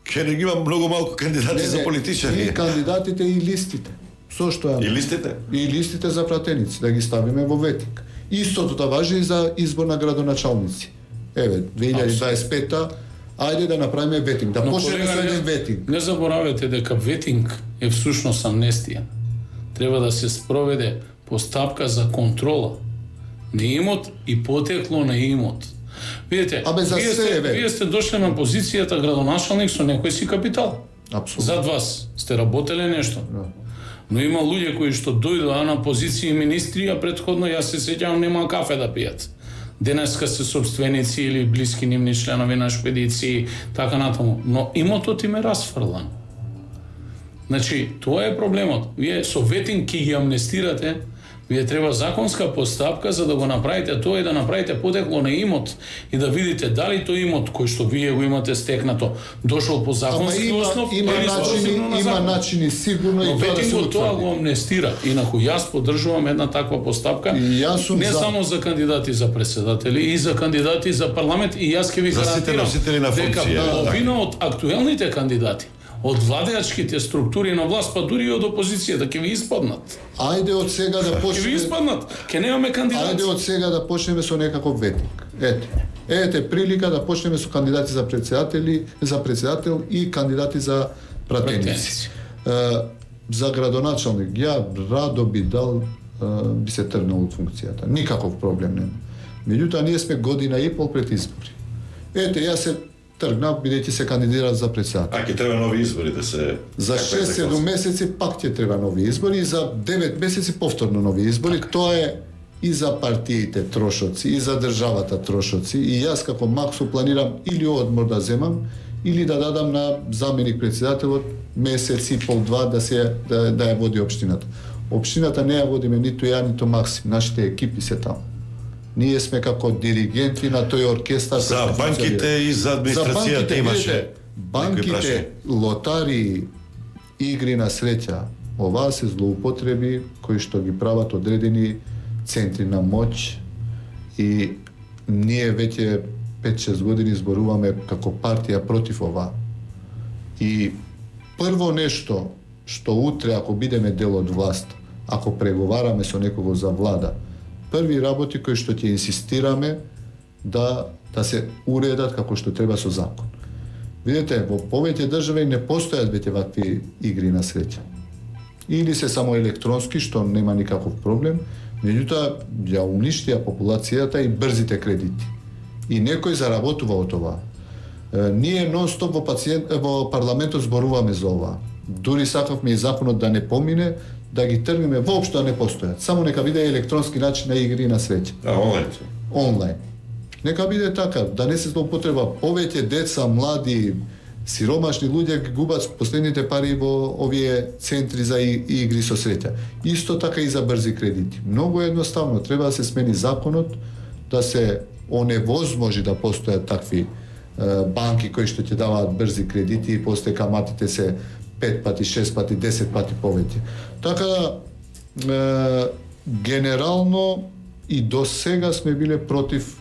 ќе не ги има многу малку кандидати за политичари. И кандидатите и листите. Со што ја? И листите? И листите за пратеници, да ги ставиме во ветинг. Истото тоа важи и за избор на градоначалници. Еве, 2025-та, ајде да направиме ветинг, да почнеме со еден ветинг. Не заборавете дека ветинг е всушност амнестија. Треба да се спроведе постапка за контрола на имот и потекло на имот. Видите, вие сте дошли на позицијата градоначалник со некој си капитал. Апсолутно. Зад вас сте работеле нешто. Но има луѓе кои што дојдоа на позиции министри, а претходно јас се сеќавам нема кафе да пијат. Денеска се собственици или блиски нивни членови на шпедиции, така натаму. Но имотот им е расфрлан. Значи, тоа е проблемот. Вие со ветинг ќе ги амнестирате, вие треба законска постапка за да го направите тоа и да направите потекло на имот и да видите дали тој имот кој што вие го имате стекнато дошол по законски основ или има начини сигурно и тоа да се утврди. Тоа го амнестира. Инаку јас поддржувам една таква постапка не само за кандидати за председатели и за кандидати за парламент и јас ќе ви гарантирам дека половина од актуелните кандидати од владеачките структури на власт, па дури и од опозицијата ќе ви испаднат. Ајде од сега да почнеме. Ќе ви испаднат. Ќе немаме кандидати. Ајде од сега да почнеме со некаков ветинг. Ете прилика да почнеме со кандидати за председател и кандидати за пратеници. За градоначалник ја радо би се тргнал од функцијата. Никаков проблем нема. Меѓутоа, ние сме година и пол пред избори. Ете, јас се тргнав, бидејќи се кандидирав за председател. Ќе треба нови избори да се... За 6-7 месеци пак ќе треба нови избори и за 9 месеци повторно нови избори. Тоа е и за партиите трошоци, и за државата трошоци. И јас како Максо планирам или одмор да земам, или да дадам на заменик председателот месец и пол-два да ја води општината. Општината не ја водиме ниту ја, ниту Максим. Нашите екипи се таму. Ние сме како диригенти на тој оркестар. За банките и за администрацијата имаше банките, лотари, игри на среќа. Ова се злоупотреби кои што ги прават одредени центри на моќ и ние веќе 5-6 години зборуваме како партија против ова. И прво нешто што утре ако бидеме дел од власт, ако преговараме со некого за влада, први работи кои што ќе инсистираме да се уредат како што треба со закон. Видете, во повеќе држави не постојат веќе вакви игри на среќа. Или се само електронски, што нема никаков проблем, меѓутоа ја уништија популацијата и брзите кредити. И некој заработува од това. Ние нон-стоп во парламентот зборуваме за ова. Дури сакавме и законот да не помине, да ги тргнеме, воопшто не постојат. Само нека биде електронски начин на игри на среќа. Онлайн. Нека биде така, да не се злоупотреба. Повеќе деца, млади, сиромашни луѓе ги губат последните пари во овие центри за игри со среќа. Исто така и за брзи кредити. Многу едноставно, треба да се смени законот, да се оневозможи да постојат такви банки кои што ќе даваат брзи кредити и после каматите се 5 пати, 6 пати, 10 пати повеќе. Така генерално и до сега сме биле против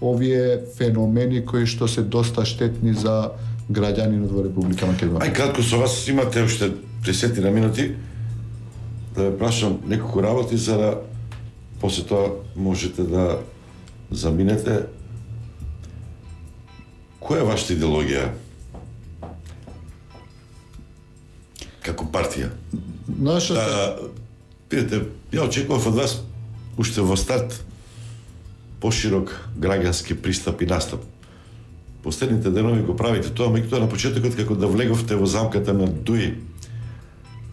овие феномени кои што се доста штетни за граѓанинот во Република Македонија. Кратко со вас имате уште 10 минути да ве прашам неколку работи за да после тоа можете да заминете. Која е вашата идеологија како партија? Видите, ја очекував од вас уште во старт поширок граѓански пристап и настап. Последните денови го правите тоа, меѓутоа на почетокот како да влеговте во замката на Дуи,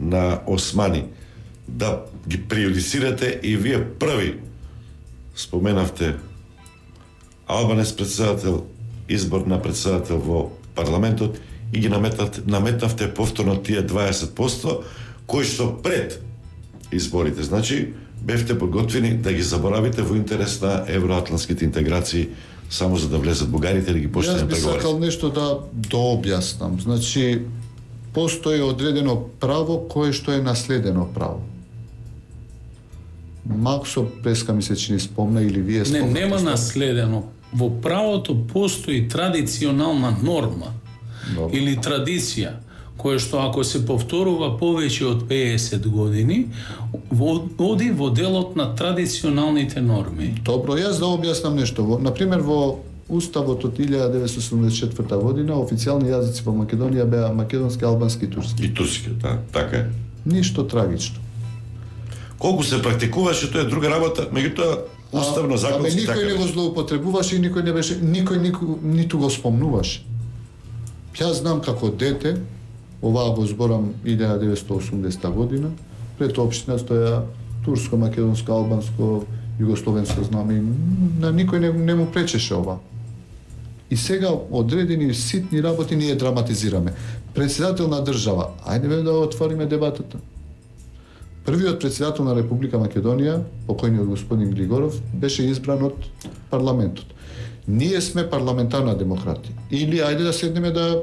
на Османи, да ги преюдицирате и вие први споменавте Албанец председател, избор на председател во парламентот и ги наметнавте повторно тие 20% кои што пред изборите. Значи, бевте подготвени да ги заборавите во интерес на евроатлантските интеграции само за да влезат бугарите да ги почнат преговори. Јас би сакал нешто да дообјаснам. Значи, постои одредено право кое што е наследено право. Максо преска ми се чини спомна или вие спомнате? Не, нема наследено. Во правото постои традиционална норма или традиција, која што ако се повторува повеќе од 50 години, оди во делот на традиционалните норми. Добро, јас да објаснам нешто. Например, во Уставот од 1974 година официјални јазици во Македонија беа македонски, албански и турски. И турски, да, така е. Ништо трагично. Колку се практикуваше, тоа е друга работа, меѓутоа уставно законски така. Никој не го злоупотребуваше и никој не беше, никој ниту го спомнуваше. Јас знам како дете, оваа го зборам 1980 година, пред општина стоја турско, македонско, албанско, југословенско знаме и на никој не му пречеше ова. И сега одредени ситни работи ние драматизираме. Председател на држава, ајде да отвориме дебатата. Првиот председател на Република Македонија, покојниот господин Григоров, беше избран од парламентот. Ние сме парламентарна демократија. Или ајде да седнеме да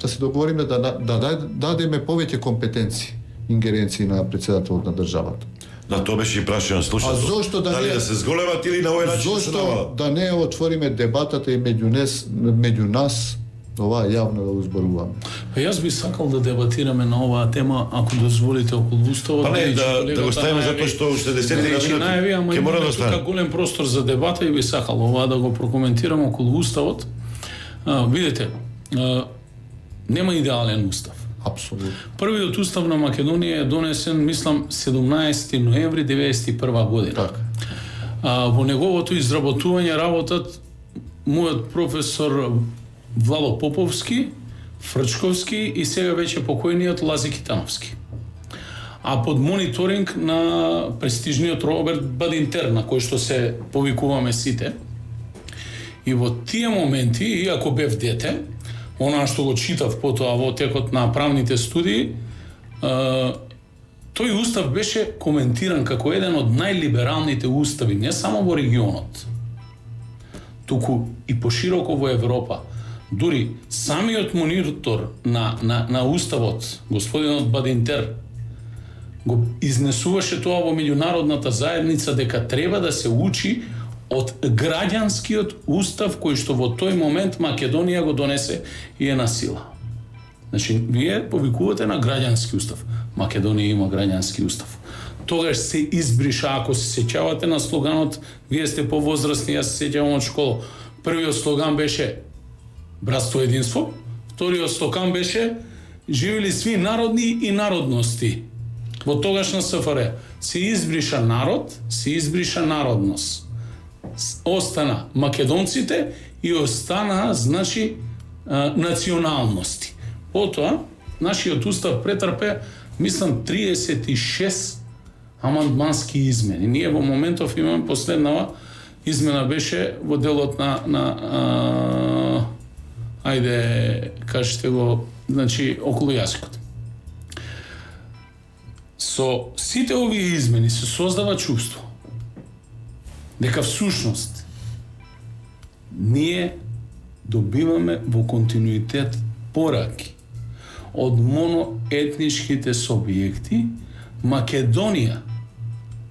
се договориме да дадеме повеќе компетенции, ингеренции на председателот на државата. На тоа беше и прашање слушателот. А зошто дали да се зголемат или на овој начин да се намалат? Зошто да не отвориме дебатата и меѓу нас, ова јавно да узборуваме? Јас би сакал да дебатираме на оваа тема, ако дозволите, околу уставот. Не, да го ставиме затоа што уште 10 минути ќе мора да остане. Тука голем простор за дебата и би сакал ова да го прокоментирам околу уставот. Видите, нема идеален устав. Апсолутно. Првиот устав на Македонија е донесен, мислам, 17 ноември 1991 година. Така. Во неговото изработување работат мојот професор Владо Поповски, Фрчковски и сега веќе покојниот Лази Китановски. А под мониторинг на престижниот Роберт Бадинтер, на кој што се повикуваме сите. И во тие моменти, иако бев дете, она што го читав потоа во текот на правните студии, тој устав беше коментиран како еден од најлибералните устави, не само во регионот, туку и пошироко во Европа. Дури самиот монитор на уставот, господинот Бадинтер, го изнесуваше тоа во меѓународната заедница дека треба да се учи од граѓанскиот устав кој што во тој момент Македонија го донесе и е на сила. Значи, вие повикувате на граѓански устав. Македонија има граѓански устав. Тогаш се избриша, ако се сеќавате на слоганот, вие сте повозрастни, јас се сеќавам од школа. Првиот слоган беше братство единство, вториот слоган беше живели сви народни и народности. Во тогашна СФР се избриша народ, се избриша народност. Остана македонците и остана, значи, националности. Потоа, нашиот устав претрпе, мислам, 36 амандмански измени. Ние во моментов имаме последнава измена беше во делот на ајде, кажете го, значи, околу јазикот. Со сите овие измени се создава чувство дека всушност ние добиваме во континуитет пораки од моноетничките субјекти. Македонија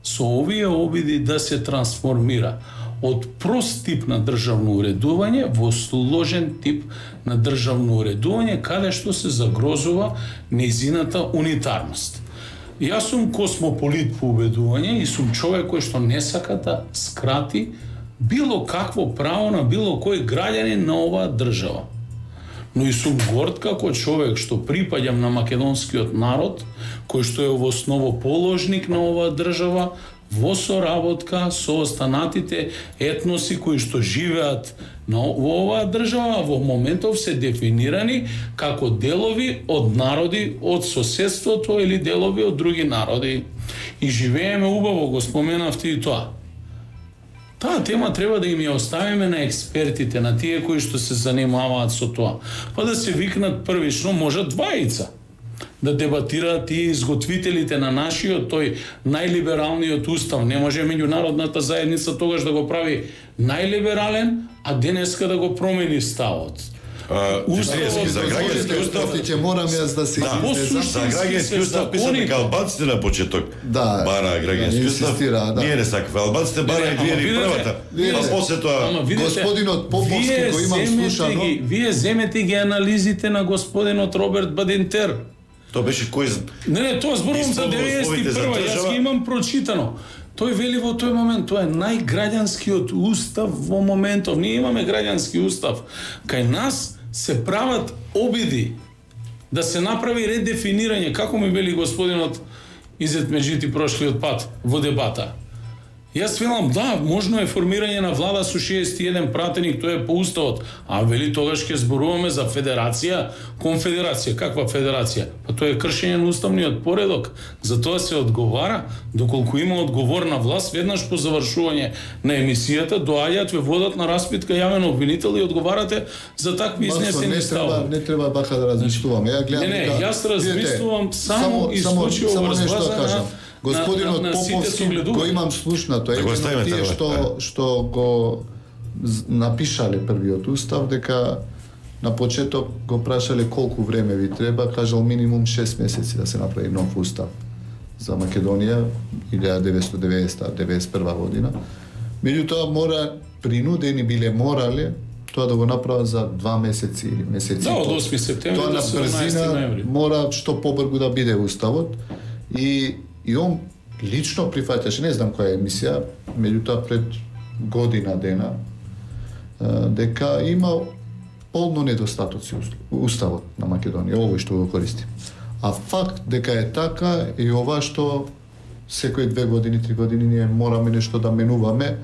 со овие обиди да се трансформира од прост тип на државно уредување во сложен тип на државно уредување каде што се загрозува нејзината унитарност. Јас сум космополит по убедување и сум човек кој што не сака да скрати било какво право на било кој граѓанин на оваа држава. Но и сум горд како човек што припаѓам на македонскиот народ, кој што е во основоположник на оваа држава, во соработка со останатите етноси кои што живеат во оваа држава, во моментов се дефинирани како делови од народи од соседството или делови од други народи. И живееме убаво, го споменавте и тоа. Таа тема треба да им ја оставиме на експертите, на тие кои што се занимаваат со тоа. Па да се викнат првично, може двајца, да дебатираат и изготвителите на нашиот тој најлибералниот устав. Не може меѓународната заедница тогаш да го прави најлиберален, а денеска да го промени ставот. Уставот за граѓански устав ќе морам јас да се излезам. За граѓански устав писаме дека албанците на почеток бара граѓански устав. Ние не сакаме албанците бара и вие првата. А после тоа господинот Поповски го имам слушано. Вие земете ги анализите на господинот Роберт Бадинтер. Тоа беше кој? Не, тоа зборувам за 91-а, јас ги имам прочитано. Тој вели во тој момент, тоа е најграѓанскиот устав во моментов. Ние имаме граѓански устав. Кај нас се прават обиди да се направи редефинирање, како ми вели господинот Изет Меджити прошлиот пат во дебата. Јас велам, да, можно е формирање на влада со 61 пратеник, тоа е по уставот, а вели тогаш ќе зборуваме за федерација, конфедерација. Каква федерација? Па тоа е кршење на уставниот поредок. За тоа се одговара, доколку има одговорна власт, веднаш по завршување на емисијата, доаѓаат ве водат на распитка јавен обвинител и одговарате за такви изнесени ставови. Не треба бака да размислуваме. Ја гледам дека јас размислувам само исклучиво врз база на господинот Поповски го имам слушнато. Едно тие што го напишале првиот устав, дека на почеток го прашале колку време ви треба, кажал минимум 6 месеци да се направи нов устав за Македонија 1990-91 година. Меѓутоа мора принудени биле морале тоа да го направат за 2 месеци или месеци. Да, од 8 септември до 17 ноември. Мора што побрзо да биде уставот и он лично прифаќаше, не знам која емисија, меѓутоа пред година дена, дека има полно недостатоци уставот на Македонија, овој што го користим. А факт дека е така е ова што секои 2 години, 3 години ние мораме нешто да менуваме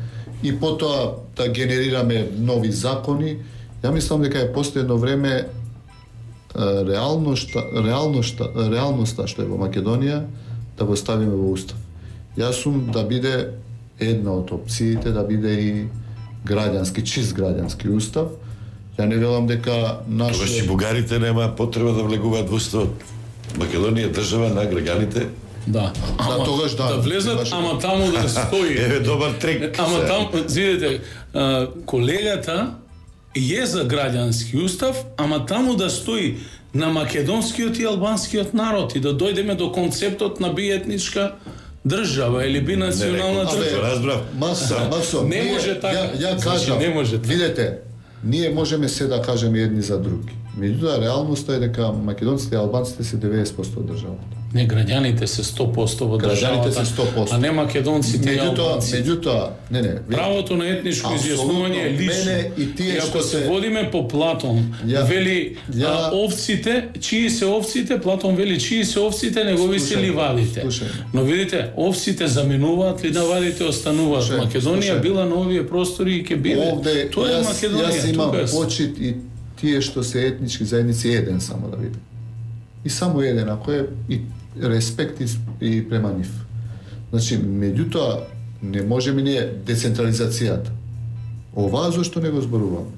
и потоа да генерираме нови закони. Ја мислам дека е последно време реалноста што е во Македонија да го ставиме во устав. Јас сум да биде една од опциите да биде и граѓански, чист граѓански устав. Ја не велам дека Тогаш и бугарите нема потреба да влегуваат во уставот. Македонија е држава на граѓаните. Да. Тогаш да влезат, ама таму да стои. Еве добар трик. Ама таму, видите, колегата е за граѓански устав, ама таму да стои на македонскиот и албанскиот народ и да дојдеме до концептот на биетничка држава или бинационална држава. Разбрав. Масо. Не може така. Ја кажам, не може така. Видете, ние можеме се да кажеме едни за други. Меѓутоа, реалноста е дека македонците и албанците се 90% од државата. Не, граѓаните се 100% во државата, се 100%. а не македонците и албанците. Меѓутоа, правото на етничко изјаснување е лично. И ако се водиме по Платон, вели овците, чии се овците, Платон вели чии се овците, негови се ливадите. Но видите, овците заменуваат, ливадите остануваат. Македонија била на овие простори и ќе биде. Тоа е Македонија. Јас имам почит и тие што се етнички заедници еден само да видим. И само еден, ако е и респект и према нив. Значи, меѓутоа, не можеме ние децентрализацијата. Оваа зашто не го зборуваме?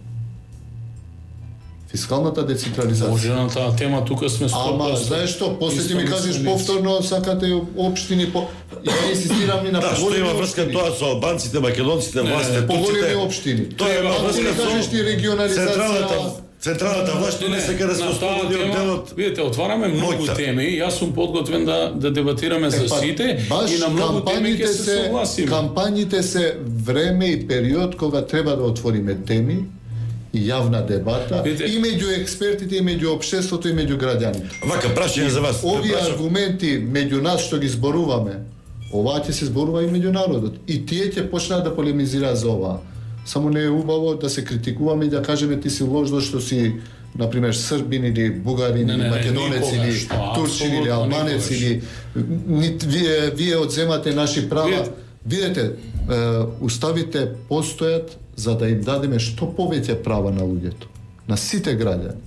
Фискалната децентрализација. Може на таа тема тука сме 100%. Ама, знаеш што, после ти ми кажеш повторно, сакате општини, ја инсистирам и на поголеми општини. Да, што има врска тоа со албанците, македонците, властите, поголеми општини. Тоа има врска со регионализација. Централната власт не сека да се ослободи од делот. Видите, отвараме многу теми. Јас сум подготвен да дебатираме за сите и на многу теми ќе се согласиме. Кампањите се време и период кога треба да отвориме теми и јавна дебата и меѓу експертите, и меѓу општеството, и меѓу граѓаните. Вака, прашање за вас. Овие аргументи меѓу нас што ги зборуваме, оваа ќе се зборува и меѓу народот. И тие ќе почнат да полемизираат за оваа. Само не е убаво да се критикуваме и да кажеме ти си лош што си, например, србин или бугарин или македонец или турчин или албанец или вие одземате наши права. Видете, уставите постојат за да им дадеме што повеќе права на луѓето, на сите граѓани.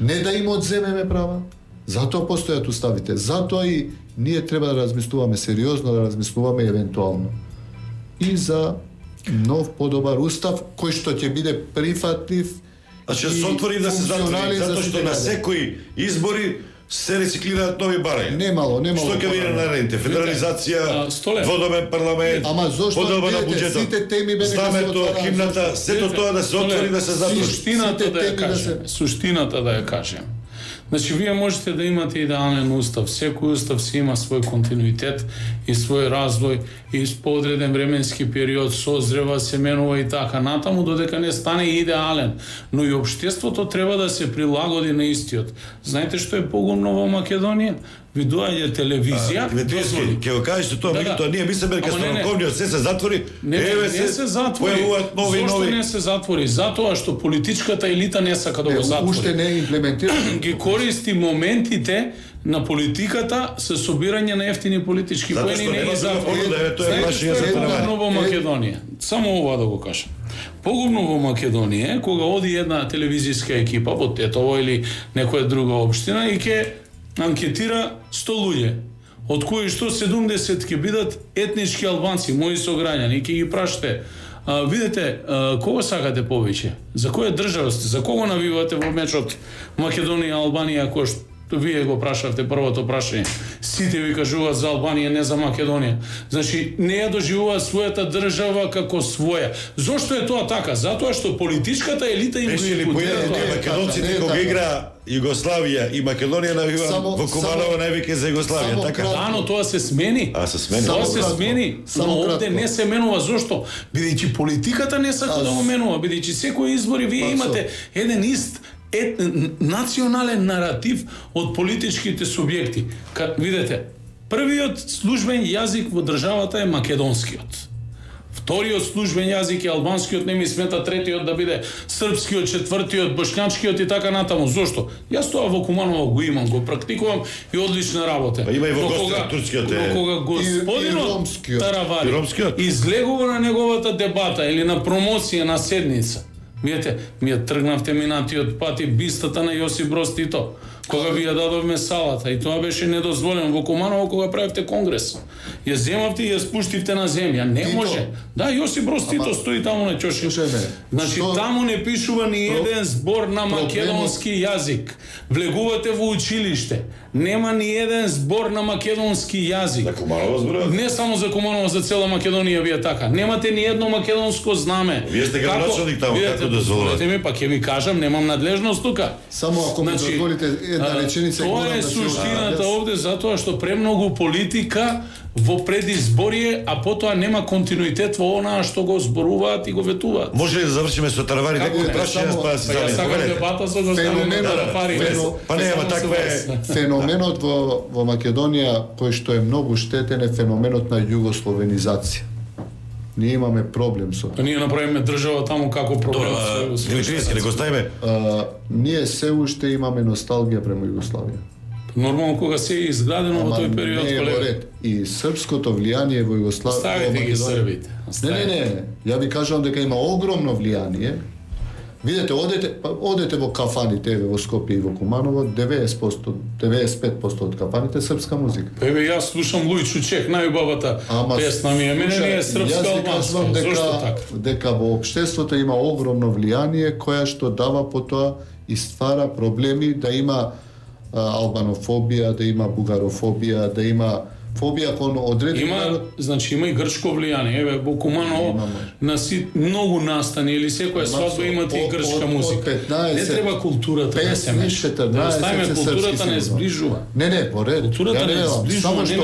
Не да им одземеме права, затоа постојат уставите. Затоа и ние треба да размислуваме сериозно, да размислуваме евентуално и за нов подобар устав кој што ќе биде прифатлив. Значи се отвори да се затвори, затоа што на секои избори се рециклираат нови барања. Немало. Што ќе биде наредните? Федерализација, дводомен парламент, поделба на буџетот, сите теми бе знамето, химната, сето тоа да се отвори да се затвори. Суштината да ја кажем. Значи, вие можете да имате идеален устав. Секој устав си има свој континуитет и свој развој и по одреден временски период созрева, се менува и така натаму, додека не стане идеален. Но и општеството треба да се прилагоди на истиот. Знаете што е погумно во Македонија? Ви доаѓа телевизија. Ќе го кажете тоа, меѓутоа ние мислиме дека станковниот се затвори. Не се затвори. Зошто не се затвори? Затоа што политичката елита не сака да го затвори. Уште не е имплементирано. Ги користи моментите на политиката со собирање на ефтини политички поени, не ги затвори. Знаете што е погубно во Македонија? Само ова да го кажам. Погубно во Македонија е кога оди една телевизиска екипа во Тетово или некоја друга општина и ќе анкетира 100 луѓе, од кои што 70 ќе бидат етнички албанци, мои сограѓани, и ќе ги прашате, видите, кого сакате повеќе? За која држава сте? За кого навивате во мечот Македонија, Албанија, кој што вие го прашавте првото прашање? Сите ви кажуваат за Албанија, не за Македонија. Значи, не ја доживуваат својата држава како своја. Зошто е тоа така? Затоа што политичката елита им го импутира тоа. Македонците кога игра Југославија и Македонија навива во Куманово највеќе за Југославија, така? Да, но тоа се смени. Се смени. Тоа се смени, но овде не се менува. Зошто? Бидејќи политиката не сака да го менува, бидејќи секои избори вие имате еден ист национален наратив од политичките субјекти. Видете, првиот службен јазик во државата е македонскиот. вториот службен јазик е албанскиот, не ми смета третиот да биде српскиот, четвртиот боšnjačкиот и така натаму. Зошто? Јас тоа во Куманово го имам, го практикувам и одлична работа. Има и во Костар, турскиот е. Кога господинот Таравари излегува на неговата дебата или на промоција на седница, видите, ми ја тргнавте минатиот пат и бистата на Јосип Broz Тито, кога ви ја дадовме салата, и тоа беше недозволено во Куманово кога правевте конгрес. Ја земавте и ја спуштивте на земја. Не може. Да, Јосип Broz Тито стои таму на ќоши. Значи, таму не пишува ни еден збор на македонски јазик. Влегувате во училиште. Нема ни еден збор на македонски јазик. За Куманово зборувате? Не само за Куманово, за цела Македонија вие така. Немате ни едно македонско знаме. Вие сте градоначалник таму, како дозволувате? Ми, па ќе ви кажам, немам надлежност тука. Само ако ми дозволите една реченица, тоа е суштината овде, затоа што премногу политика во предизборие, а потоа нема континуитет во онаа што го зборуваат и го ветуваат. Може ли да завршиме со Таравари некој прашање па да се Јас сакам дебата со господин Таравари. Па не, ама таква е. Феноменот во Македонија кој што е многу штетен е феноменот на југословенизација. Ние имаме проблем со тоа. Ние направиме држава таму како проблем. Димитриевски, не го ставиме. Ние се уште имаме носталгија према Југославија. Нормално кога се е изградено во тој период, колега. И српското влијание во Југославија. Ставете ги србите. Не. Ја ви кажувам дека има огромно влијание. Видете, одете во кафаните во Скопје и во Куманово, 95% од кафаните српска музика. Еве јас слушам Лујчо Чех, најубавата песна ми е, мене не е српска албанска. Зошто така? Дека во општеството има огромно влијание која што дава потоа и ствара проблеми да има албанофобија, да има бугарофобија, да има фобија кон одреден народ. Значи има и грчко влијание. Еве во Куманово на многу настани или секоја свадба имате и грчка музика. Не треба културата да се меша. Културата не зближува. Не, по ред. Културата не зближува, само што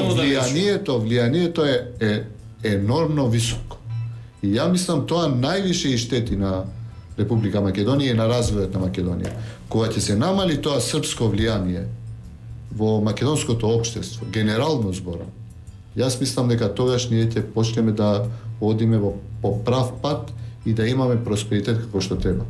влијанието е енормно високо. И ја мислам тоа највише и штети на Република Македонија и на развојот на Македонија. Кога ќе се намали тоа српско влијание во македонското општество, генерално зборам, јас мислам дека тогаш ние ќе почнеме да одиме по прав пат и да имаме просперитет како што треба.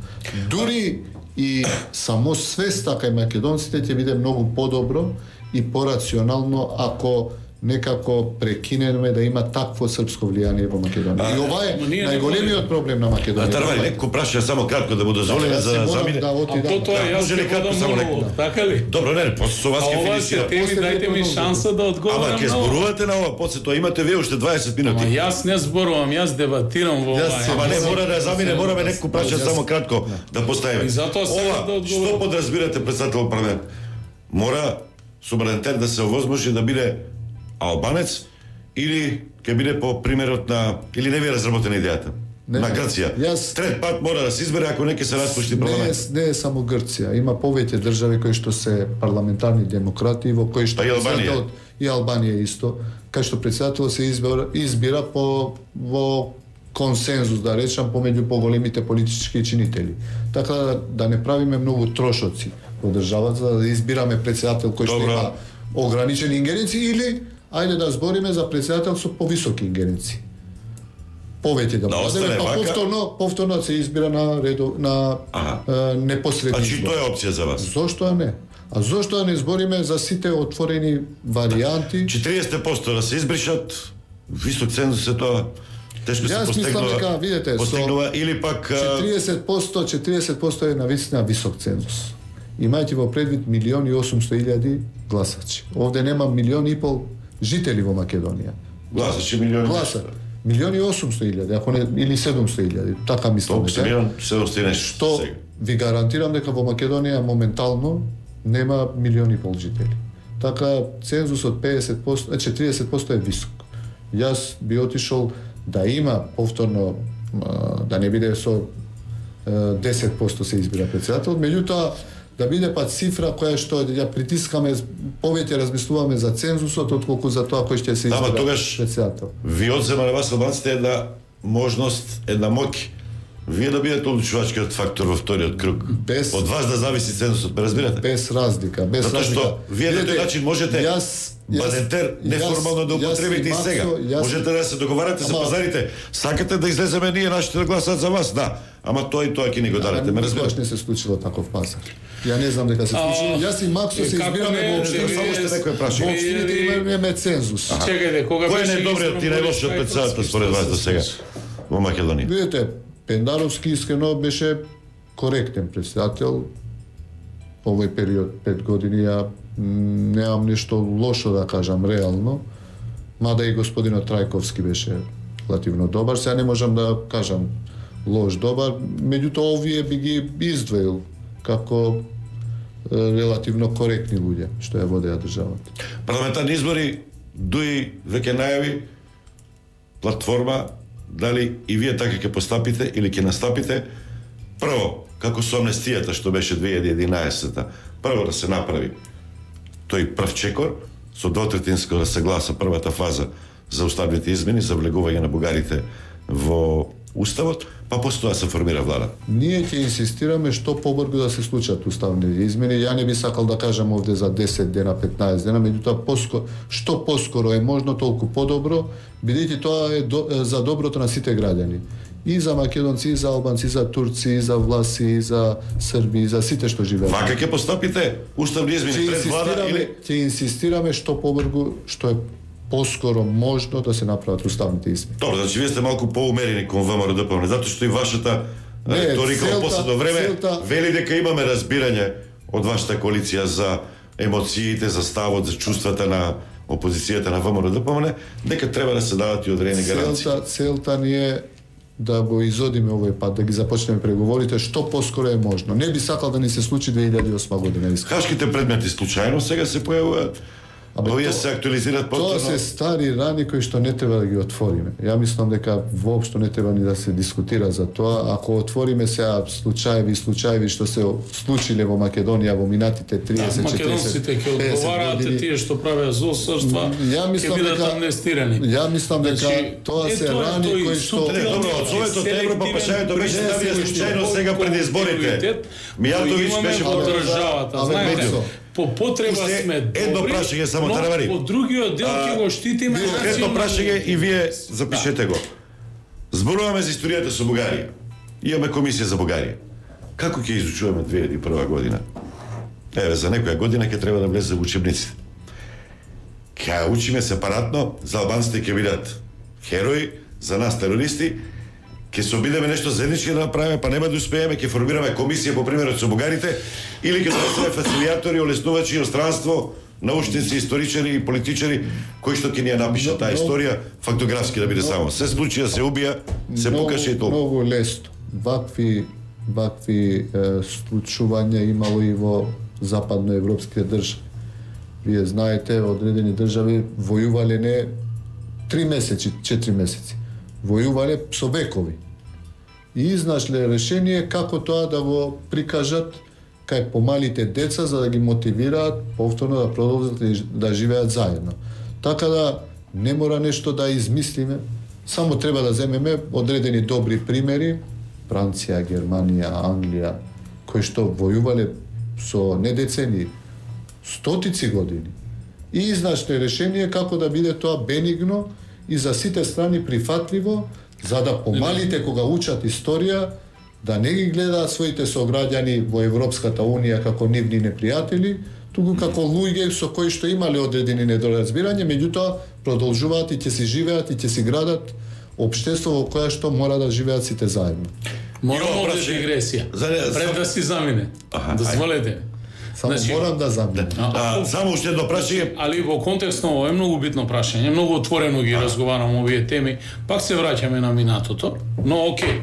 Дури и само свеста кај македонците ќе биде многу подобро и порационално ако некако прекинеме да има такво српско влијание во Македонија. И ова е најголемиот проблем на Македонија. Тарвари, некој праша само кратко да му дозволиме за замине. Потоа јас ќе бидам монолог, така ли? Добро, не, после со вас ќе финисирам. Дајте ми шанса да одговорам. Ама ќе зборувате на ова, после тоа имате вие уште 20 минути. Ама јас не зборувам, јас дебатирам во ова. Ама не мора да замине, мораме некој праша само кратко да поставиме. Ова, што подразбирате председател парламент? Мора суверенитет да се овозможи да биде албанец или ќе биде по примерот на или не ви е разработена идејата на Грција. Трет пат мора да се избере ако не ќе се распушти парламент. Не е само Грција, има повеќе држави кои што се парламентарни демократи во кои што и Албанија исто, кај што председател се избира во консензус, да речам, помеѓу поголемите политички чинители. Така да не правиме многу трошоци во државата, да избираме председател кој што има ограничени ингеренции или ајде да збориме за председател со повисоки ингеренции. Повеќе да бъдеме, па повторно се избира на непосредни избори. Значи тоа е опција за вас? Зошто не? А зошто да не збориме за сите отворени варианти? 40% да се избришат, висок цензус е тоа. Тешко се постигнува или пак 40% е навистина висок цензус. Имајте во предвид 1.800.000 гласачи. Овде нема 1.500.000 жители во Македонија. Гласачи 1.800.000, ако не или 700.000, така мислам. Што ви гарантирам дека во Македонија моментално нема 1.500.000 жители. Така цензусот 40% е висок. Јас би отишол да има повторно, да не биде со 10% се избира председател, меѓутоа да биде па цифра која што ја притискаме, повеќе размислуваме за цензусот отколку за тоа кој ќе се избира председател. Ви одзема на вас албанците една можност, една моќ вие да бидете одлучувачкиот фактор во вториот круг. Од вас да зависи цензусот, ме разбирате? Без разлика, без Затоа разлика. што вие на тој начин можете бадентер неформално да употребите и сега. Можете да се договарате за пазарите. Сакате да излеземе ние нашите да гласат за вас, да. Ама тоа и тоа ќе ни го дадете, ме разбирате? Не се случило таков пазар. Ја не знам дека се случило. Јас и Максо се избираме во општина, само што некој праша. Во општините имаме цензус. Чекајте, кога кој беше е најдобриот и најлошиот председател според вас до сега во Македонија? Видете, Пендаровски искрено беше коректен председател. Овој период 5 години ја немам нешто лошо да кажам реално, мада и господинот Трајковски беше релативно добар. Сега не можам да кажам лош добар, меѓутоа овие би ги издвоил како релативно коректни луѓе што ја водеа државата. Парламентарни избори дуи веќе најави платформа дали и вие така ќе постапите или ќе настапите. Прво, како со амнестијата што беше 2011-та, прво да се направи тој прв чекор со двотретинско да се гласа првата фаза за уставните измени за влегување на бугарите во Уставот, па после тоа се формира влада. Ние ќе инсистираме што побрзо да се случат уставни измени. Ја не би сакал да кажам овде за 10 дена, 15 дена, меѓутоа што поскоро е можно, толку подобро, бидејќи тоа е за доброто на сите граѓани. И за македонци, и за албанци, и за турци, и за власи, и за срби, и за сите што живеат. Вака ќе постапите уставни измени пред влада или ќе инсистираме што побрзо, што е поскоро можно да се направат уставните измени. Добро, значи вие сте малку поумерени кон ВМРО-ДПМН, затоа што и вашата риторика во последно време вели дека имаме разбирање од вашата коалиција за емоциите, за ставот, за чувствата на опозицијата на ВМРО-ДПМН, дека треба да се дадат и одредени гаранции. Целта ни е да го изодиме овој пат, да ги започнеме преговорите што поскоро е можно. Не би сакал да ни се случи 2008 година. Хашките предмети случајно сега се појавуваат. Овие се актуализираат повторно. Тоа се стари рани кои што не треба да ги отвориме. Ја мислам дека воопшто не треба ни да се дискутира за тоа. Ако отвориме сега случаеви што се случиле во Македонија во минатите 30-40 македонците ќе одговараат, тие што правеа злосрдства ќе бидат амнестирани. Ја мислам дека тоа се рани кои што добро, од своето Европа пашањето беше ставија случајно сега пред изборите. Мијатовиќ беше во државата, знаете. По потреба сме добри, едно прашање само Таравари. По другиот дел ќе го штитиме национално. Едно прашање и вие запишете го. Зборуваме за историјата со Бугарија. Имаме комисија за Бугарија. Како ќе изучуваме 2001 година? Еве, за некоја година ќе треба да влезе во учебниците. Ќе учиме сепаратно, за албанците ќе бидат херои, за нас терористи, ќе се обидеме нешто заеднички да направиме, па нема да успееме, ќе формираме комисија по примерот со бугарите, или ќе се фацилитатори, олеснувачи иностранство, научници, историчари и политичари кои што ќе ни ја напишат таа историја фактографски да биде само. Се случи да се убија, се покаже и толку. Многу лесно. Вакви случувања имало и во западноевропските држави. Вие знаете, одредени држави војувале не 3 месеци, 4 месеци. Војувале со векови. И изнашле решение како тоа да го прикажат кај помалите деца за да ги мотивираат повторно да продолжат да живеат заедно. Така да не мора нешто да измислиме, само треба да земеме одредени добри примери, Франција, Германија, Англија, кои што војувале со не децени, стотици години. И изнашле решение како да биде тоа бенигно и за сите страни прифатливо, за да помалите кога учат историја, да не ги гледаат своите сограѓани во Европската Унија како нивни непријатели, туку како луѓе со кои што имале одредени недоразбирање, меѓутоа продолжуваат и ќе си живеат и ќе си градат општество во кое што мора да живеат сите заедно. Морamo да дигресија. Пред да си замине. Дозволете. Само морам да заминем. Само уште едно прашање. Али во контекст на ово е многу битно прашање, многу отворено ги разговарам овие теми. Пак се враќаме на минатото, но окей.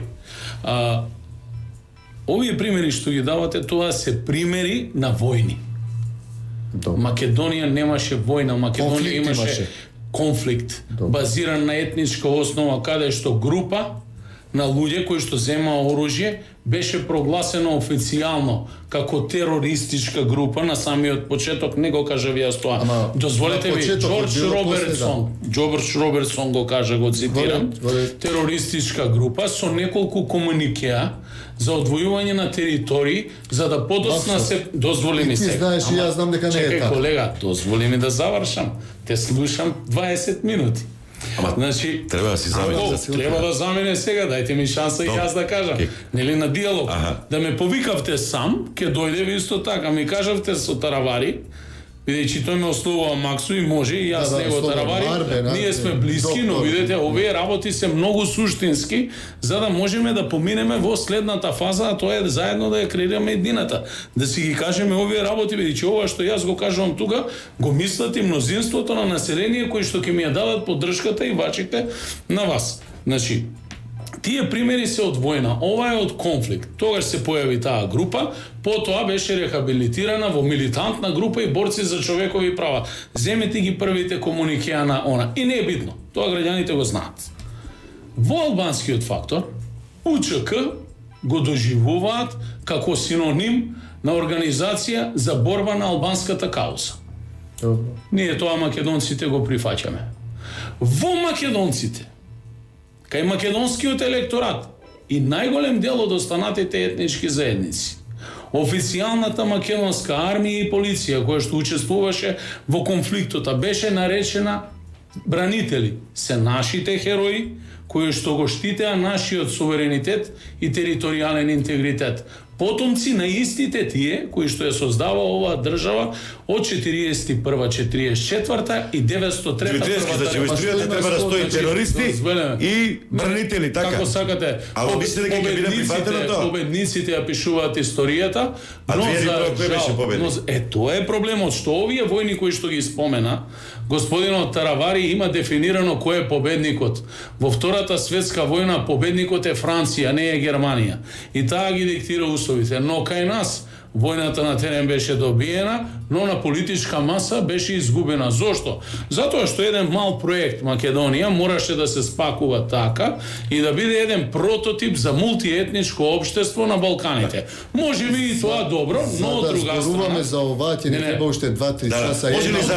Овие примери што ги давате, тоа се примери на војни. Македонија немаше војна, Македонија имаше конфликт базиран на етничка основа, каде што група на луѓе кои што земаа оружје беше прогласено официјално како терористичка група на самиот почеток, не го кажав јас тоа. Дозволете ми, Џорџ Робертсон го кажа, го цитирам, терористичка група со неколку комуникеа за одвојување на територии за да подоцна се дозволи ми се. Ти знаеш и јас знам дека не е така. Колега, дозволи ми да завршам. Те слушам 20 минути. Значи, треба да си замине. Треба да замине сега, дајте ми шанса и јас да кажам. Нели на диалог. Да ме повикавте сам, ќе дојде ви исто така, ми кажавте со Таравари, бидејќи тој ме ослувува Максу и може и јас него Таравари, ние сме блиски, но видете, овие работи се многу суштински, за да можеме да поминеме во следната фаза, а тоа е заедно да ја креираме едината. Да си ги кажеме овие работи, бидејќи ова што јас го кажувам тука, го мислат и мнозинството на население кои што ќе ми ја дадат поддршката и вачите на вас. Значи, тие примери се од војна, ова е од конфликт. Тогаш се појави таа група, потоа беше рехабилитирана во милитантна група и борци за човекови права. Земете ги првите комуникеа на она. И не е битно, тоа граѓаните го знаат. Во албанскиот фактор, УЧК го доживуваат како синоним на организација за борба на албанската кауза. Ние тоа македонците го прифаќаме. Во македонците, кај македонскиот електорат и најголем дел од останатите етнички заедници, официјалната македонска армија и полиција која што учествуваше во конфликтот беше наречена бранители. Се нашите херои кои што го штитеа нашиот суверенитет и територијален интегритет. Потомци на истите тие кои што ја создава оваа држава од 41-44 и 903 Значи, во историјата треба да стои терористи и бранители, така? Како сакате. Ало мислите дека ќе биде прифатено тоа? Победниците ја пишуваат историјата, но за жал, тоа е проблемот, што овие војни кои што ги спомена, господинот Таравари има дефинирано кој е победникот. Во Втората светска војна победникот е Франција, не е Германија. И таа ги диктира условите, но кај нас војната на терен беше добиена, но на политичка маса беше изгубена. Зошто? Затоа што еден мал проект Македонија мораше да се спакува така и да биде еден прототип за мултиетничко општество на Балканите. Може би и тоа добро, но од друга страна... за ова, ќе не треба уште 2-3 часа. Може ли за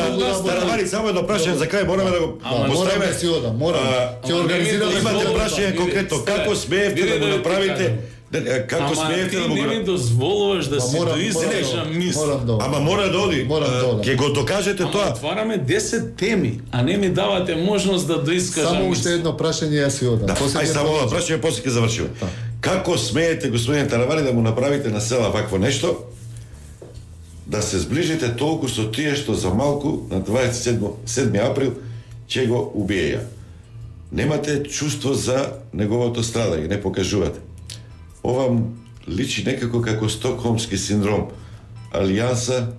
Таравари само едно прашање за крај, мораме да го поставиме. Мораме си одам, ќе организираме. Имате прашање конкретно, како смеевте да го направите? Како смеете да не ми дозволуваш да си доизлежа мисла. Ама мора да оди. Ќе го докажете тоа. Отвараме 10 теми, а не ми давате можност да доискажам. Само уште едно прашање, јас си одам. Ај само едно прашање, после ќе завршиме. Како смеете, господин Таравари, да му направите на села вакво нешто, да се зближите толку со тие што за малку на 27 април ќе го убиеја? Немате чувство за неговото страдање, не покажувате. Ова личи некако како стокхолмски синдром. Алијанса,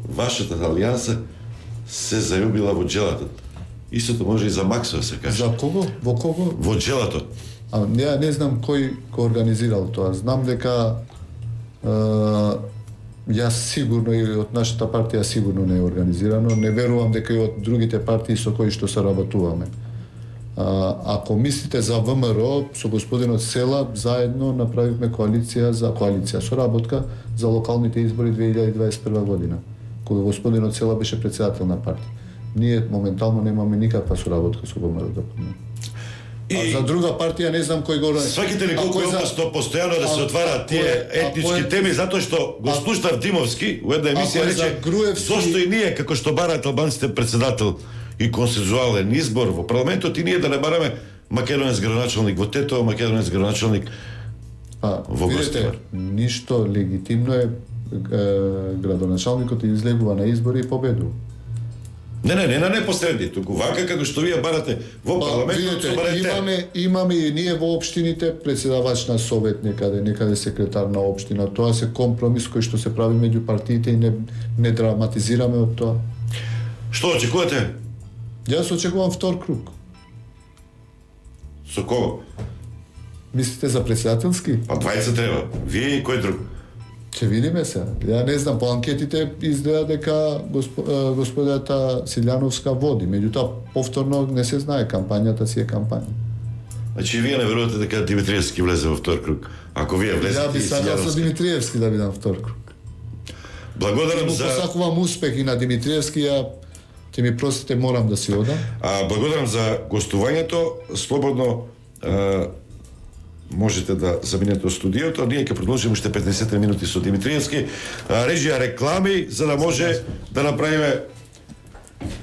вашата алијанса се зајубила во джелатот. Истото може и за Максо се каже. За кого? Во кого? Во джелатот. Ја не знам кој го организирал тоа. Знам дека јас сигурно и од нашата партија сигурно не е организирано. Не верувам дека и од другите партии со кои што соработуваме. Ако мислите за ВМРО, со господинот Села, заедно направивме коалиција соработка за локалните избори 2021 година, кога господинот Села беше председател на партија. Ние моментално немаме никаква соработка со ВМРО. А за друга партија не знам кој го... Сваките ли колку е опасно постојано да се отвараат тие етнички теми, затоа што го слушнав Димовски, во една емисија рече, зошто и ние, како што бараат албанците председател и консензуален избор во парламентот, и ние да не бараме македонец градоначалник во Тетово, македонец градоначалник во Гостивар. Ништо легитимно е градоначалникот излегува на избори и победува. Не на непосредни, туку вака како што вие барате во парламентот, имаме и ние во општините председавач на совет некаде секретар на општина. Тоа се компромис кој што се прави меѓу партиите и не драматизираме од тоа. Што очекувате? Јас очекувам втор круг. Со кого? Мислите за председателски? Па двајца треба. Вие и кој друг? Ќе видиме се. Ја не знам, по анкетите изгледа дека господата Силјановска води. Меѓутоа, повторно не се знае, кампањата си е кампања. Значи вие не верувате дека Димитриевски влезе во втор круг. Ако вие влезете... Ја би сакал со Димитриевски да бидам втор круг. Благодарам за... Посакувам успех и на Димитриевски, ќе ми простите, морам да си одам. Благодарам за гостувањето. Слободно можете да заминете од студиото. Ние ќе продолжиме уште 15 минути со Димитриевски. Режија реклами, за да може да направиме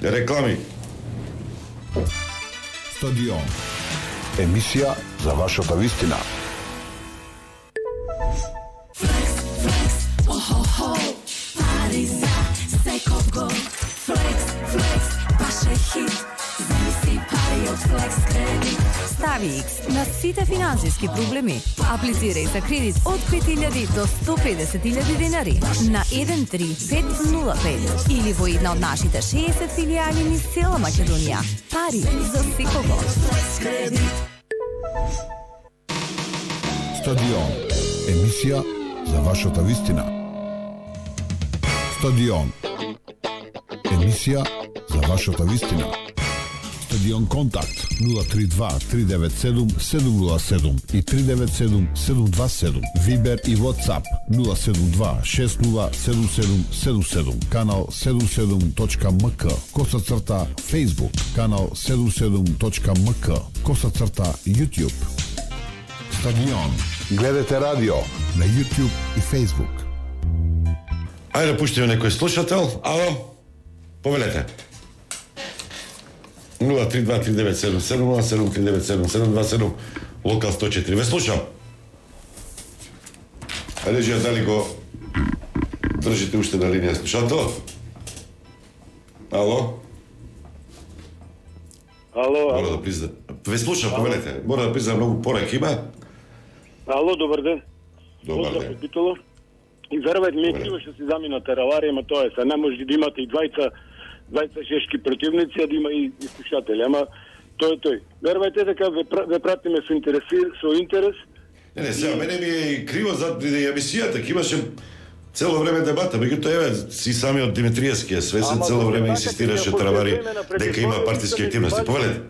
реклами. Стадион. Емисија за вашата вистина. Пари за секој гол. Флекс, баш е хит. Замисли пари од Флекс кредит. Стави X на сите финансиски проблеми. Аплицирај за кредит од 5.000 до 150.000 денари на 13505 или во една од нашите 60 филијали низ цела Македонија. Пари за секого. Стадион. Емисија за вашата вистина. Стадион. Емисија за вашата вистина. Стадион Контакт 032-397-707 и 397-727. Вибер и WhatsApp 072-607777. Канал 77.mk. _. Facebook. Канал 77.mk. _ YouTube. Стадион. Гледате радио на YouTube и Facebook. Ајде да пуштиме некој слушател. Ало? Повелете. 032-397-707-397-727 Локал 104. Ве слушам. Режија, дали го држите уште на линија слушател? Ало? Мора да признам. Ве слушам, повелете. Мора да признам, многу пораки има. Ало, добар ден. Добар ден. И верувајте ми, криво што се замина Тераварија, ама тоа е се. Не може да имате и двајца чешки противници, а да има и слушатели. Ама тој. Верувајте дека ве пратиме со интерес. Не, сега, мене ми е криво за емисијата, ке имаше цело време дебата, меѓутоа еве си сами од Димитриевски е свесен, цело време инсистираше Теравари дека има партиски активности. Повелете.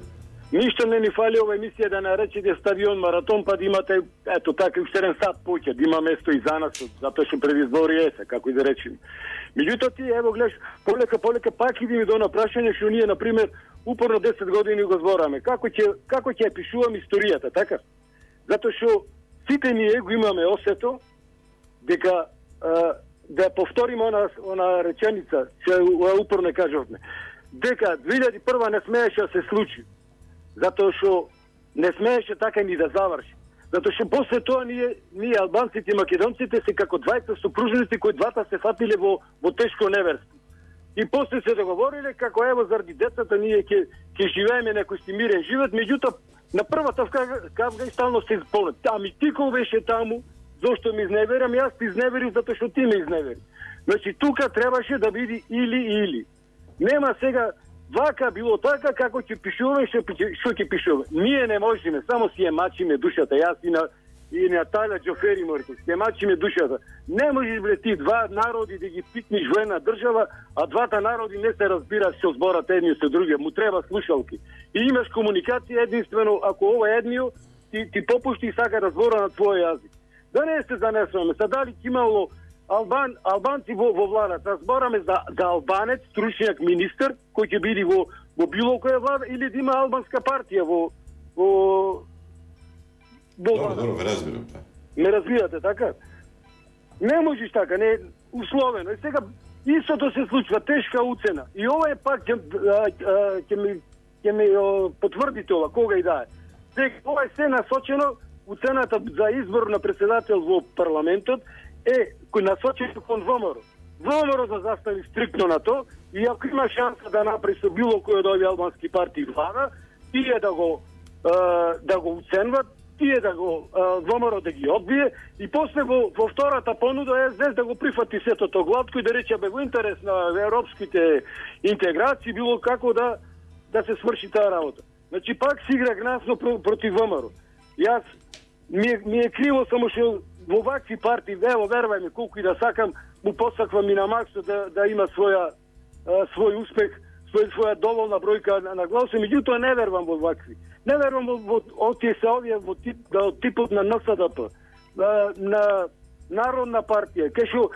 Ништо не ни фали ова емисија да наречете стадион маратон, па да имате, ето така, уште еден сат поќе, да има место и за нас, затоа што предизбори е се, како и да речем. Меѓутоа ти, ево гледаш, полека пак иди ми до напрашање, што ние, например, упорно 10 години го збораме. Како ќе пишувам историјата, така? Затоа што сите ние го имаме осето дека да повториме она реченица, што упорно кажавме, дека 2001 не смееше да се случи. Затоа што не смееше така ни да заврши. Затоа што после тоа ние албанците и македонците се како двајца супружници кои двата се фатиле во тешко неверство. И после се договориле како ево заради децата ние ќе живееме некој си мирен живот, меѓутоа на првата кавга и стално се изполнат. Ами ти кој беше таму, зошто ми изневерам, јас ти изневерив затоа што ти ме изневери. Значи тука требаше да биде или. Нема сега вака било така како ќе пишуваме, што ќе пишуваме. Ние не можеме, само си ја мачиме душата. Јас и Наталя Џофери морите, си ја мачиме душата. Не можеш бре ти два народи да ги пикниш во една држава, а двата народи не се разбираат што зборат едни со други. Му треба слушалки. И имаш комуникација единствено ако ова едниот ти попушти и сака да збора на твој јазик. Да не се занесуваме. Са дали ќе имало албанци во владата, збораме за албанец, стручњак министер, кој ќе биде во било која влада, или да има албанска партија во Добро, ве разбирам. Не разбирате, така? Не можеш така, не условено. И сега истото се случва, тешка уцена. И ова е пак ќе ми потврдите ова, кога и да е. Сега ова е се насочено, уцената за избор на председател во парламентот е кој насочено кон ВМРО. ВМРО да застави стриктно на то и ако има шанса да направи со било кој од овие албански партии влада, тие да го уценват, тие да го ВМРО да ги одбие и после во втората понуда СДС да го прифати сетото гладко и да рече бе во интерес на европските интеграции било како да се сврши таа работа. Значи пак си игра гнасно против ВМРО. Јас ми е криво само што во вакви партии, ево верувај ми колку и да сакам, му посаквам и на Максо да има свој успех своја доволна бројка на гласови, меѓутоа не верувам во вакви. Не верувам во овие се овие во типот на НСДП, на Народна партија, кај што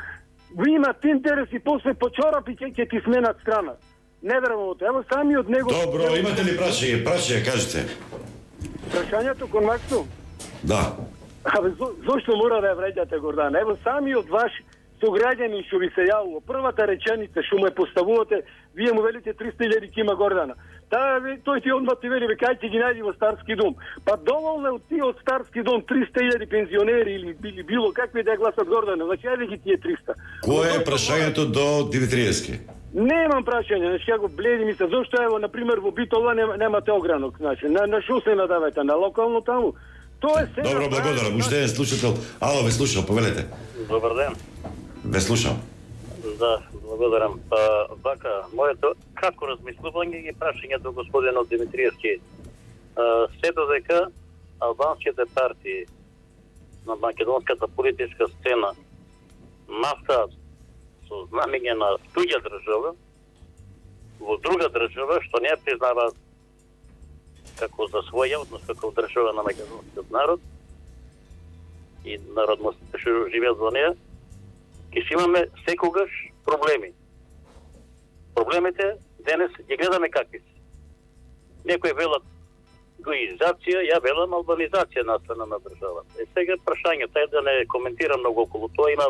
ви имат интерес и после по чорапи ќе ти сменат страна. Не верувам во тоа. Ево сами од него. Добро, имате ли прашање? Прашање, кажете. Прашањето кон Максо? Да. Абе, зошто мора да ја вреѓате, Гордан? Ево сами од ваши сограѓани што ви се јавува. Првата реченица што ме поставувате, вие му велите 300.000 кима Гордана. Тој ти одма ти вели, кај ти ги најди во Старски дом. Па доволно е од тие од Старски дом 300.000 пензионери или било какви да гласат Гордана. Значи, ајде ги тие 300. Кое е прашањето до Димитриевски? Немам прашање, значи како бледи ми се, зошто ево, например, во Битола немате огранок, значи, на шо се надавате, на локално таму? Тоа е се. Добро, благодарам. Уште еден слушател. Ало, ве слушам, повелете. Добар ден. Ве слушам. Да, благодарам. Вака, моето кратко размислување и прашање до господинот Димитриевски. Се додека албанските партии на македонската политичка сцена настават со знамење на туѓа држава во друга држава што не ја признава како за своја, односно како држава на македонскиот народ и народностите што живеат во неја, ќе имаме секогаш проблеми. Проблемите денес ги гледаме какви се. Некои велат гуизација, ја велам албанизација на страна на државата. Е сега прашањето е да не коментирам многу околу тоа, има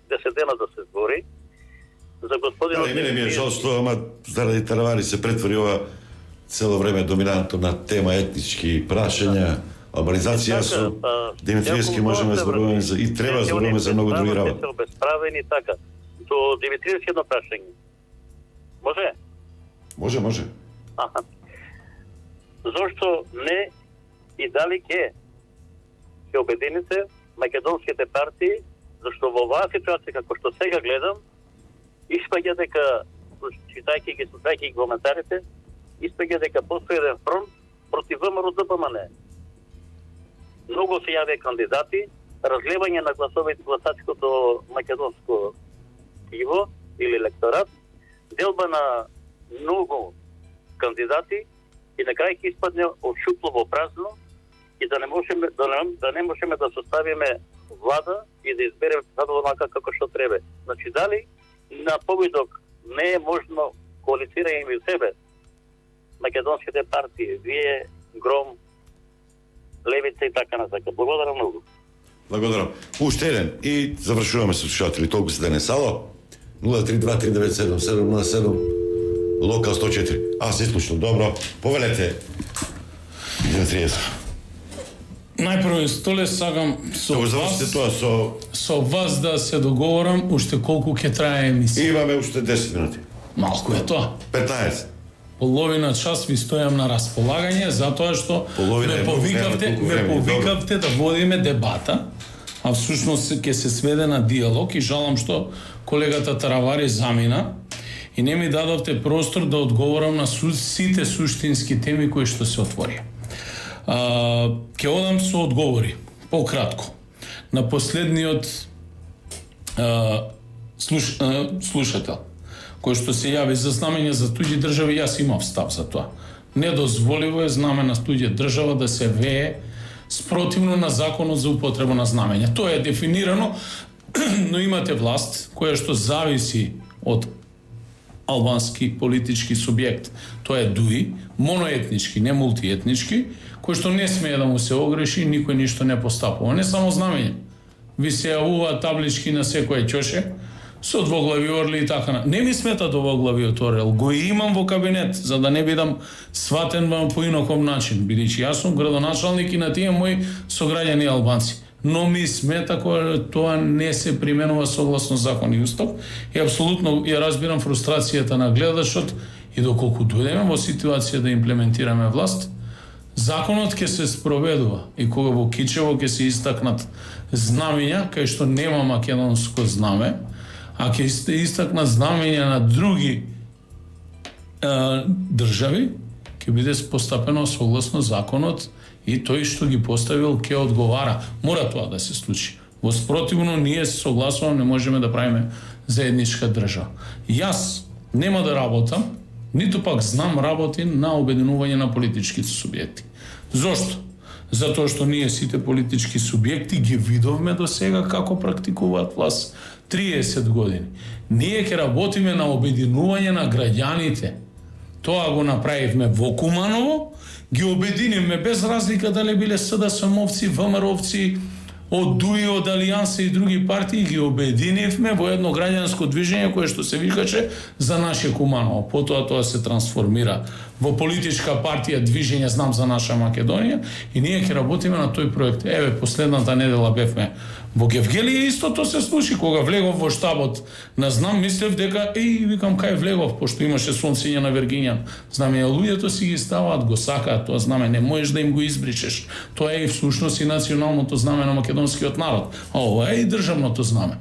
10 дена да се збори. За господинот... Не ми е жал што, ама заради Таравари се претвори ова цело време доминантно на тема етнички прашања, албанизација со Димитриевски можеме да зборуваме и треба да зборуваме за многу други работи. Се обесправени така. До Димитриевски едно прашање. Може? Може. Аха. Зошто не и дали ќе обедините македонските партии, зашто во оваа ситуација како што сега гледам, испаѓа дека, читајќи ги, слушајќи ги коментарите, испаѓа дека постои еден фронт против ВМРО-ДПМН. Многу се јаве кандидати, разлевање на гласачкото македонско тиво или електорат, делба на многу кандидати и на крај ќе испадне од шупло во празно и да не можеме да составиме влада и да избереме задоволно како што треба. Значи, дали на повидок не е можно коалицирање меѓу себе македонските партии, вие, Гром, Левица и така натака. Благодарам многу. Благодарам. Уште еден и завршуваме со слушатели. Толку се денес. Ало? 032-397-707 Локал 104. Аз се слушам. Добро. Повелете. Најпрво столе сагам со вас да се договорам уште колку ќе трае емисија. Имаме уште 10 минути. Малку е тоа. 15. Половина час ви стојам на располагање затоа што ме повикавте да водиме дебата, а всушност ќе се сведе на диалог и жалам што колегата Таравари замина и не ми дадовте простор да одговорам на сите суштински теми кои што се отворија. Ќе одам со одговори, пократко. На последниот слушател, кој што се јави за знамење за туѓи држави, јас имав став за тоа. Недозволиво е знаме на туѓа држава да се вее спротивно на законот за употреба на знамења. Тоа е дефинирано, но имате власт која што зависи од албански политички субјект. Тоа е ДУИ, моноетнички, не мултиетнички, кој што не смее да му се огреши, никој ништо не постапува. Не само знамење. Ви се јавува таблички на секој ќоше, со двоглави орли и така. Не ми смета двоглавиот орел, го имам во кабинет, за да не бидам сватен по инаков начин, бидејќи јас сум градоначалник и на тие мои сограѓани албанци. Но ми смета кога тоа не се применува согласно закон и устав и апсолутно ја разбирам фрустрацијата на гледачот и доколку дојдеме во ситуација да имплементираме власт, законот ќе се спроведува и кога во Кичево ќе се истакнат знамења кај што нема македонско знаме, а ќе се истакнат знамења на други држави, ќе биде постапено согласно законот и тој што ги поставил ќе одговара. Мора тоа да се случи. Во спротивно ние се согласуваме, не можеме да правиме заедничка држава. Јас нема да работам ниту пак знам работи на обединување на политичките субјекти. Зошто? Затоа што ние сите политички субјекти ги видовме до сега како практикуваат власт 30 години. Ние ќе работиме на обединување на граѓаните. Тоа го направивме во Куманово, ги обединивме без разлика дали биле СДСМовци, ВМРО-овци, од ДУИ, од Алијанса и други партии, ги обединивме во едно граѓанско движење кое што се викаше За наше Куманово. Потоа тоа се трансформира во политичка партија Движење Знам за наша Македонија и ние ќе работиме на тој проект. Еве, последната недела бевме во Гевгелија, истото се случи кога влегов во штабот на Знам, мислев дека викам кај влегов, пошто имаше сонцење на Вергињан. Знаме, луѓето си ги ставаат, го сакаат тоа знаме, не можеш да им го избричеш. Тоа е и всушност и националното знаме на македонскиот народ. А ова е и државното знаме.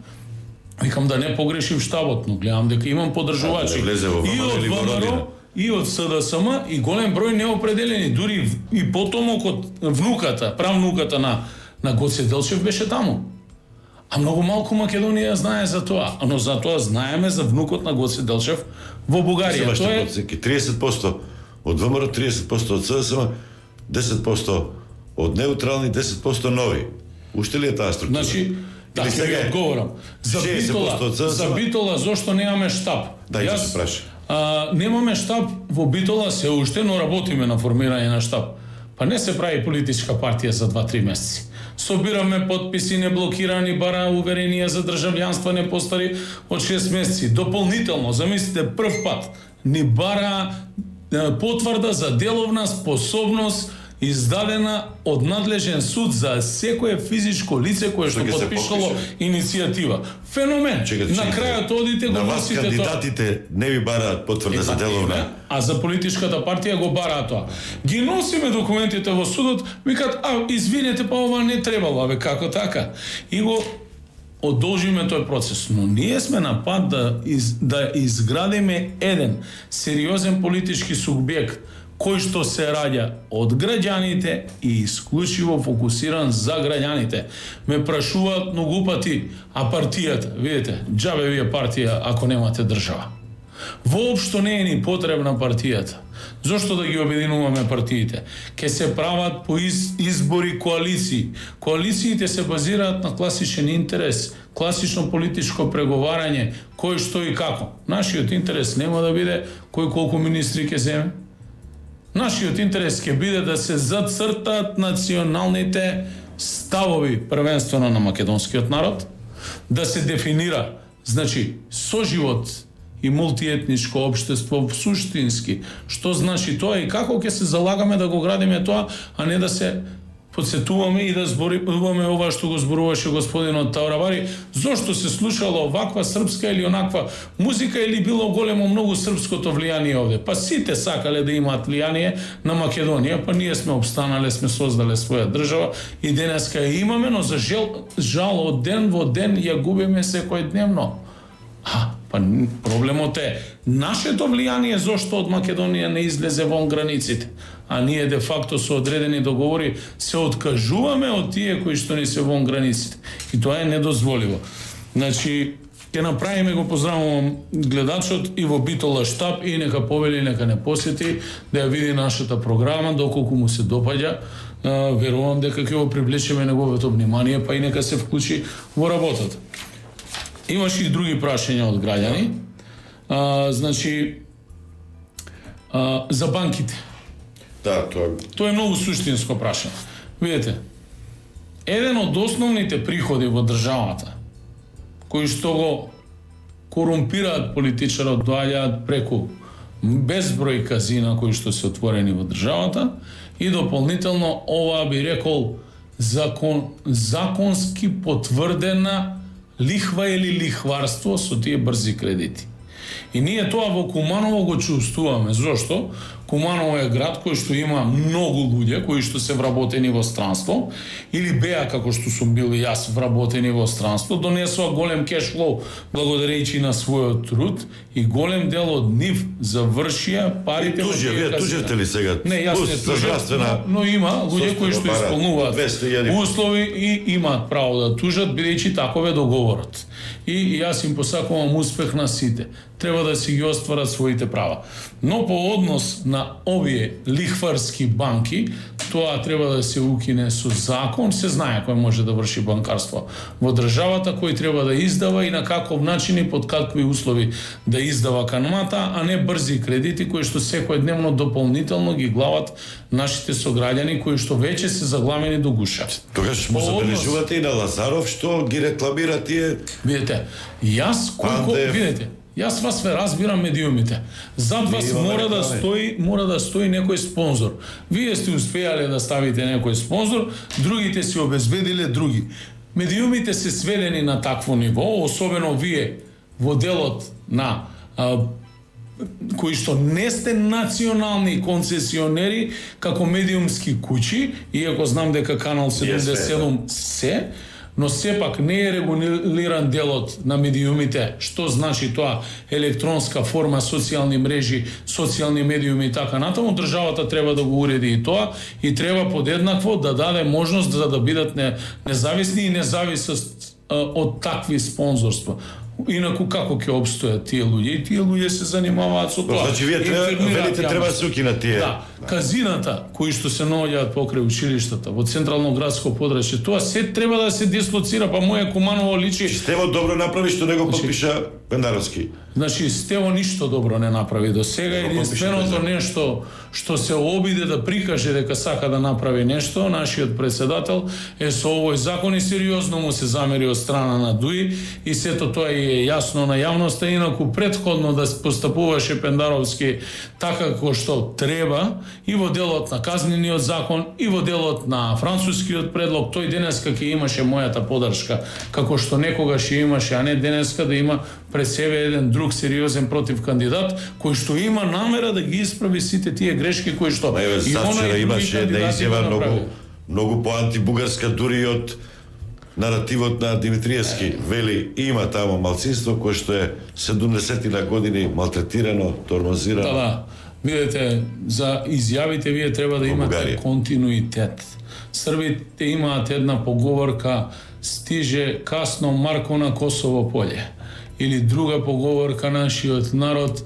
Викам да не погрешив штабот, но гледам дека имам поддржувачи и од ВМРО, и од СДСМ, и голем број неопределени, дури и потомокот, внуката, правнуката на Гоце Делчев беше таму. А многу малку Македонија знае за тоа, но за тоа знаеме за внукот на Гоце Делчев во Бугарија. Тоа е 30% од ВМРО, 30% од СДСМ, 10% од неутрални, 10% нови. Уште ли е таа структура? Значи, да, сега одговорам. За Битола зошто немаме штаб? Да, јас се праша. Немаме штаб во Битола се уште, но работиме на формирање на штаб. Па не се прави политичка партија за 2-3 месеци. Собираме потписи, не блокирани, бара уверенија за државјанство не постари од 6 месеци. Дополнително, замислите, прв пат ни бара потврда за деловна способност издадена од надлежен суд за секое физичко лице кое што потпишало иницијатива. Феномен. На крајот одите го носите тоа. На вас кандидатите не ви бараат потврда за деловна. А за политичката партија го бараат тоа. Ги носиме документите во судот, викат, извинете, па ова не требало, како така? И го одолжиме тој процес, но ние сме на пат да изградиме еден сериозен политички субјект кој што се раѓа од граѓаните и исклучиво фокусиран за граѓаните. Ме прашуваат многу пати, а партијата, видите, џабе ви е партија ако немате држава. Воопшто не е ни потребна партијата. Зошто да ги обединуваме партиите? Ке се прават по избори коалиции. Коалициите се базираат на класичен интерес, класично политичко преговарање, кој што и како. Нашиот интерес нема да биде кој колку министри ќе земе. Нашиот интерес ќе биде да се зацртаат националните ставови првенствено на македонскиот народ, да се дефинира, значи, соживот и мултиетничко општество суштински, што значи тоа и како ќе се залагаме да го градиме тоа, а не да се подсетуваме и да зборуваме ова што го зборуваше господинот Тавравари, зошто се слушало оваква српска или онаква музика или било големо многу српското влијание овде. Па сите сакале да имаат влијание на Македонија, па ние сме обстанале, сме создале своја држава и денеска ја имаме, но за жал од ден во ден ја губиме секојдневно. Па проблемот е нашето влијание зошто од Македонија не излезе вон границите, а ние де факто со одредени договори се откажуваме од тие кои што не се вон границите. И тоа е недозволиво. Значи, ќе направиме, го поздравувам гледачот и во Битола штаб и нека повели, нека не посети, да ја види нашата програма, доколку му се допаѓа. Верувам дека ќе го привлечеме неговото внимание, па и нека се вклучи во работата. Имаше и други прашања од граѓани. Значи, за банките. Да, тоа е многу суштинско прашање. Видете, еден од основните приходи во државата, кои што го корумпираат политичарот, доаѓаат преку безброј казина кои што се отворени во државата и дополнително ова би рекол законски потврдена лихва или лихварство со тие брзи кредити. И ние тоа во Куманово го чувствуваме. Зошто? Куманово е град кој што има многу луѓе кои што се вработени во странство или беа како што сум бил и јас вработени во странство, донесува голем кешфлоу благодарејќи на својот труд и голем дел од нив завршија парите во вие тужите ли сега? Не, јас не тужам, но има луѓе кои што исполнуваат услови и имаат право да тужат бидејќи таков е договорот. И јас им посакувам успех на сите. Треба да си ги остварат своите права. Но по однос на овие лихварски банки, тоа треба да се укине со закон. Се знае кој може да врши банкарство во државата, кој треба да издава и на каков начин и под какви услови да издава канмата, а не брзи кредити кои што секојдневно дополнително ги глават нашите сограѓани кои што веќе се загламени до гуша. Тогаш му забележувате и на Лазаров што ги рекламира тие. Видете, видете, јас вас ве разбирам медиумите. Зад вас мора да стои некој спонзор. Вие сте успеале да ставите некој спонзор, другите си обезбедиле други. Медиумите се сведени на такво ниво, особено вие во делот на кои што не сте национални концесионери како медиумски куќи, иако знам дека Канал 77 се, но сепак не е регулиран делот на медиумите, што значи тоа електронска форма, социјални мрежи, социјални медиуми и така натаму. Државата треба да го уреди и тоа и треба подеднакво да даде можност да бидат независни и независност од такви спонзорства. Инаку како ќе обстојат тие луѓе? И тие луѓе се занимаваат со тоа. Значи вие треба да се укинат тие. Да, казината кои што се наоѓаат покрај училиштата во централно градско подрачје, тоа се треба да се дислоцира, па моје Куманово личи. Стево добро направи што не го подпиша Пендаровски. Значи Стево ништо добро не направи до сега, единственото нешто што се обиде да прикаже дека сака да направи нешто, нашиот председател е со овој закон и сериозно му се замери од страна на ДУИ и сето тоа е јасно на јавноста, инаку претходно да постапуваше Пендаровски така како што треба и во делот на казнениот закон и во делот на францускиот предлог, тој денеска ќе имаше мојата поддршка како што некогаш ја имаше, а не денеска да има пред себе еден друг сериозен против кандидат кој што има намера да ги исправи сите тие грешки кои што и она имаше една изјава многу поантибугарска дури од наративот на Димитриевски. Вели има тамо малцинство кое што е 70 години малтретирано, тормозирано. Да. Видете, за изјавите вие треба да имате континуитет. Србите имаат една поговорка: стиже касно Марко на Косово поле. Или друга поговорка: нашиот народ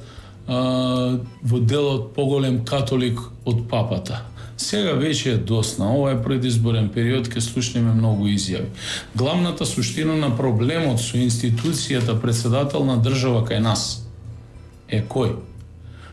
во делот поголем католик од папата. Сега веќе е досна. Ова е предизборен период, ке слушнеме многу изјави. Главната суштина на проблемот со институцијата председател на држава кај нас е кој?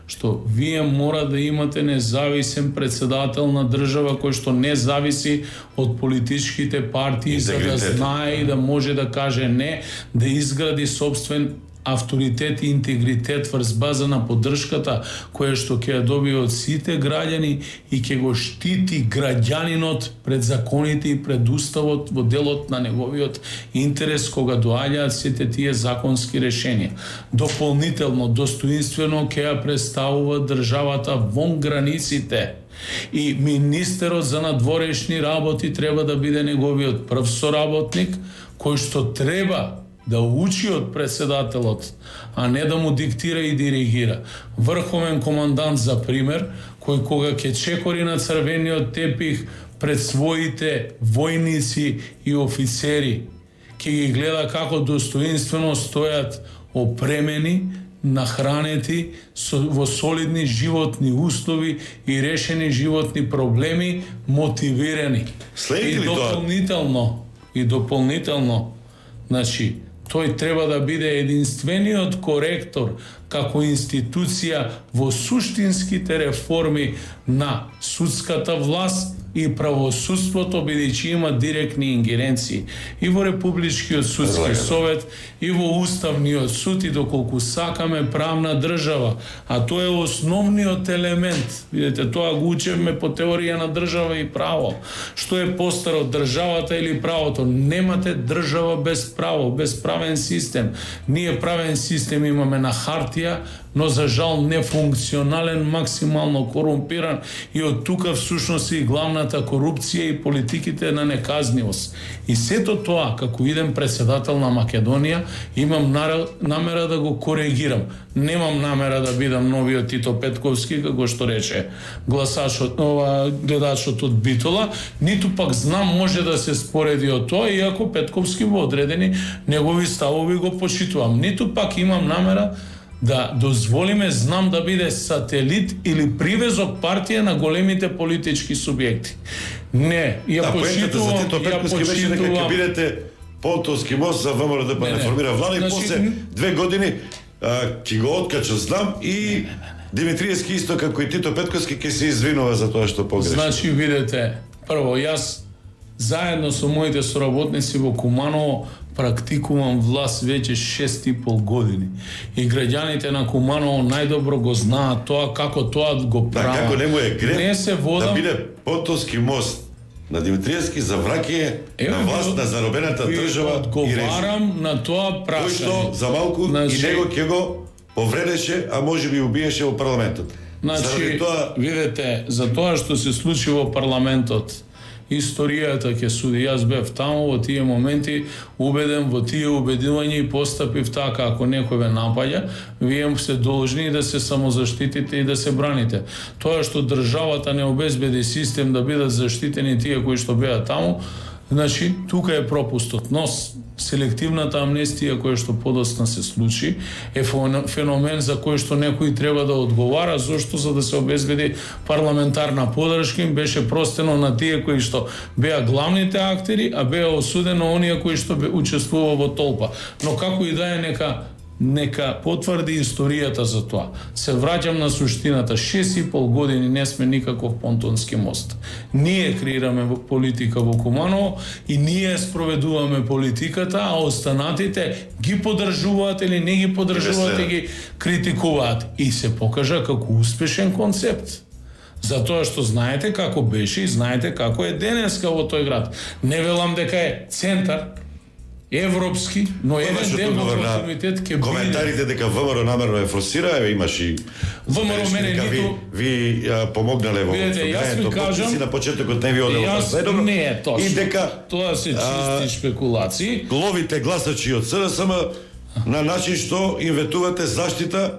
Што вие мора да имате независен председател на држава кој што не зависи од политичките партии, за да знае и да може да каже не, да изгради собствен авторитет и интегритет врз база на поддршката која што ќе ја добие од сите граѓани и ќе го штити граѓанинот пред законите и пред уставот во делот на неговиот интерес кога доаѓаат сите тие законски решенија. Дополнително, достоинствено ќе ја представува државата вон границите. И министерот за надворешни работи треба да биде неговиот прв соработник кој што треба да учи од председателот, а не да му диктира и диригира. Врховен командант, за пример, кој кога ќе чекори на црвениот тепих пред своите војници и офицери, ќе ги гледа како достоинствено стојат опремени, нахранети, во солидни животни услови и решени животни проблеми, мотивирани. И дополнително, значи, тој треба да биде единствениот коректор како институција во суштинските реформи на судската власт и правосудството, бидејќи има директни ингеренции и во Републичкиот судски совет и во Уставниот суд, и доколку сакаме правна држава, а тоа е основниот елемент. Видете, тоа го учевме по теорија на држава и право. Што е постаро, државата или правото? Немате држава без право, без правен систем. Ние правен систем имаме на хартија партија, но за жал нефункционален, максимално корумпиран и од тука всушност и главната корупција и политиките на неказнивост. И сето тоа, како идем председател на Македонија, имам намера да го коригирам. Немам намера да бидам новиот Тито Петковски, како што рече гледачот од Битола, ниту пак знам може да се спореди од тоа, иако Петковски во одредени негови ставови го почитувам. Ниту пак имам намера да дозволиме знам да биде сателит или привезок партија на големите политички субјекти. Не, ја почитувам, за Тито Петковски беше дека ќе бидете Понтовски мост за ВМРО да не формира влада и после 2 години ќе го откача знам и Димитриевски исто како и Тито Петковски ќе се извинува за тоа што погреши. Значи видете, прво јас заедно со моите соработници во Куманово практикувам власт веќе 6,5 години. И граѓаните на Куманово најдобро го знаат тоа, како тоа го прават. Како не му е грев не се водам... да биде Понтовски мост на Димитриевски за враќање на власт на заробената држава и режим. Одговарам на тоа прашање. Кој што за малку и него ќе го повредеше, а може би убиеше во парламентот. Значи, видете, за тоа што се случи во парламентот, историјата ќе суди. Јас бев таму во тие моменти, убеден во тие убедувања и постапив така, ако некој ве напаѓа, вие се должни да се самозаштитите и да се браните. Тоа што државата не обезбеди систем да бидат заштитени тие кои што беа таму, значи тука е пропустот. Но селективната амнестија која што подоцна се случи е феномен за кој што некој треба да одговара, зашто за да се обезбеди парламентарна подршка им беше простено на тие кои што беа главните актери, а беа осудено оние кои што учествува во толпа. Но како и да е, нека потврди историјата за тоа. Се враќам на суштината. 6,5 години не сме никаков понтонски мост. Ние креираме политика во Куманово и ние спроведуваме политиката, а останатите ги поддржуваат или не ги поддржуваат и ги критикуваат. И се покажа како успешен концепт. Затоа што знаете како беше и знаете како е денеска во тој град. Не велам дека е центар европски, но еден дел во континуитет ќе биде. Коментарите дека ВМРО намерно е форсира, имаш и ВМРО мене ниту ви помогнале во кажам на почетокот не ви одело следобро. Не е точно. И дека тоа се чисти спекулации. Ловите гласачи од СДСМ на начин што им ветувате заштита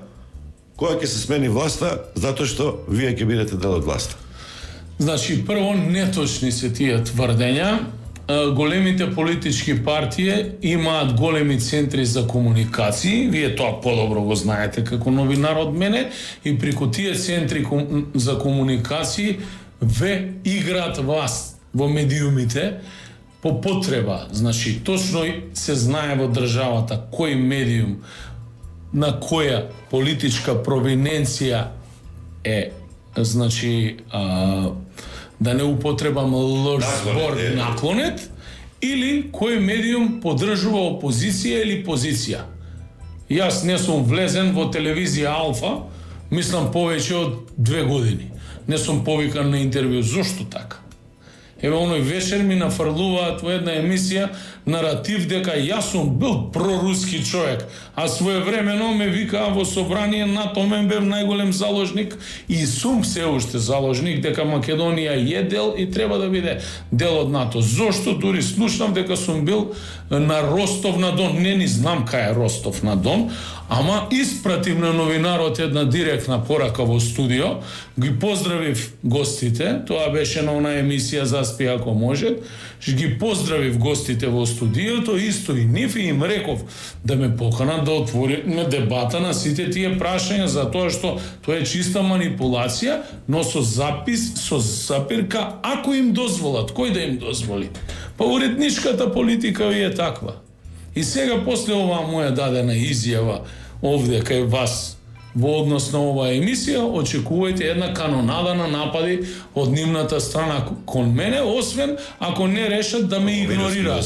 која ќе се смени власта, затоа што вие ќе бидете дел од власта. Значи, прво, неточни се тие тврдења. Големите политички партии имаат големи центри за комуникации, вие тоа подобро го знаете како новинар од мене, и преку тие центри за комуникации ве играат вас во медиумите по потреба. Значи, точно се знае во државата кој медиум на која политичка провиненција е, значи, да не употребам лош збор, наклонет, или кој медиум поддржува опозиција или позиција. Јас не сум влезен во телевизија Алфа, мислам повеќе од 2 години. Не сум повикан на интервју. Зошто така? Еве, оној вечер ми нафрлуваат во една емисија наратив дека јас сум бил проруски човек, а своевремено ме викаа во собрание НАТО, мен бев најголем заложник и сум се уште заложник дека Македонија е дел и треба да биде дел од НАТО. Зошто? Дури слушнав дека сум бил на Ростов на Дон. Не ни знам кај е Ростов на Дон, ама испратив на новинарот една директна порака во студио, ги поздравив гостите, тоа беше на она емисија Заспи ако може, ги поздравив гостите во студиото, исто и нив, и им реков да ме поканат да отвориме дебата на сите тие прашања, затоа што тоа е чиста манипулација, но со запис, со запирка, ако им дозволат, кој да им дозволи? Па уредничката политика ви е таква. И сега, после оваа моја дадена изјава овде кај вас во однос на оваа емисија, очекувајте една канонада на напади од нивната страна кон мене, освен ако не решат да ме игнорираат.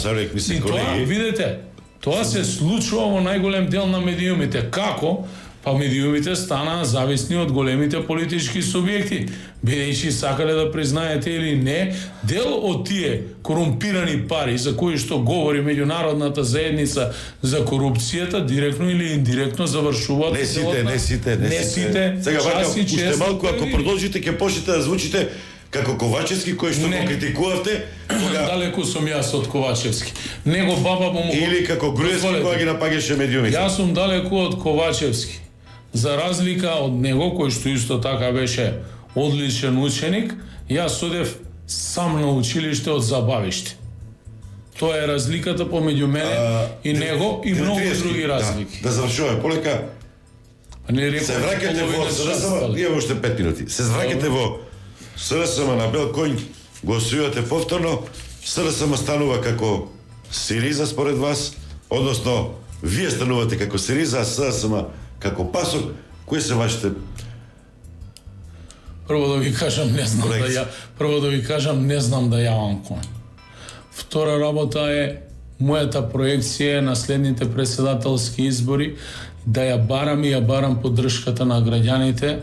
И тоа, видете, тоа се случува во најголем дел на медиумите. Како? Па медиумите станаа зависни од големите политички субјекти, бидејќи сакале да признаете или не, дел од тие корумпирани пари за кои што говори меѓународната заедница за корупцијата, директно или индиректно завршуваат. Не сите. Сега вака, уште малку, ако продолжите, ќе почнете да звучите како Ковачевски, кој што го критикувавте, кога... Далеку сум јас од Ковачевски. Него баба му... Или како Груевски, кога ги напагаше медиумите. Јас сум далеку од Ковачевски. За разлика од него, кој што исто така беше одличен ученик, јас одев сам на училиште од забавиште. Тоа е разликата помеѓу мене и него и многу други разлики. Да завршуваме полека. Се враќате во СРСМ, имаме уште 5 минути. Се враќате во СРСМ на бел конј, го освојувате повторно, СРСМ станува како Сириза според вас, односно вие станувате како Сириза, а СРСМ како пасок. Кои се вашите? Прво да ви кажам, не знам да јавам конј. Втора работа е мојата проекција на следните председателски избори, да ја барам поддршката на граѓаните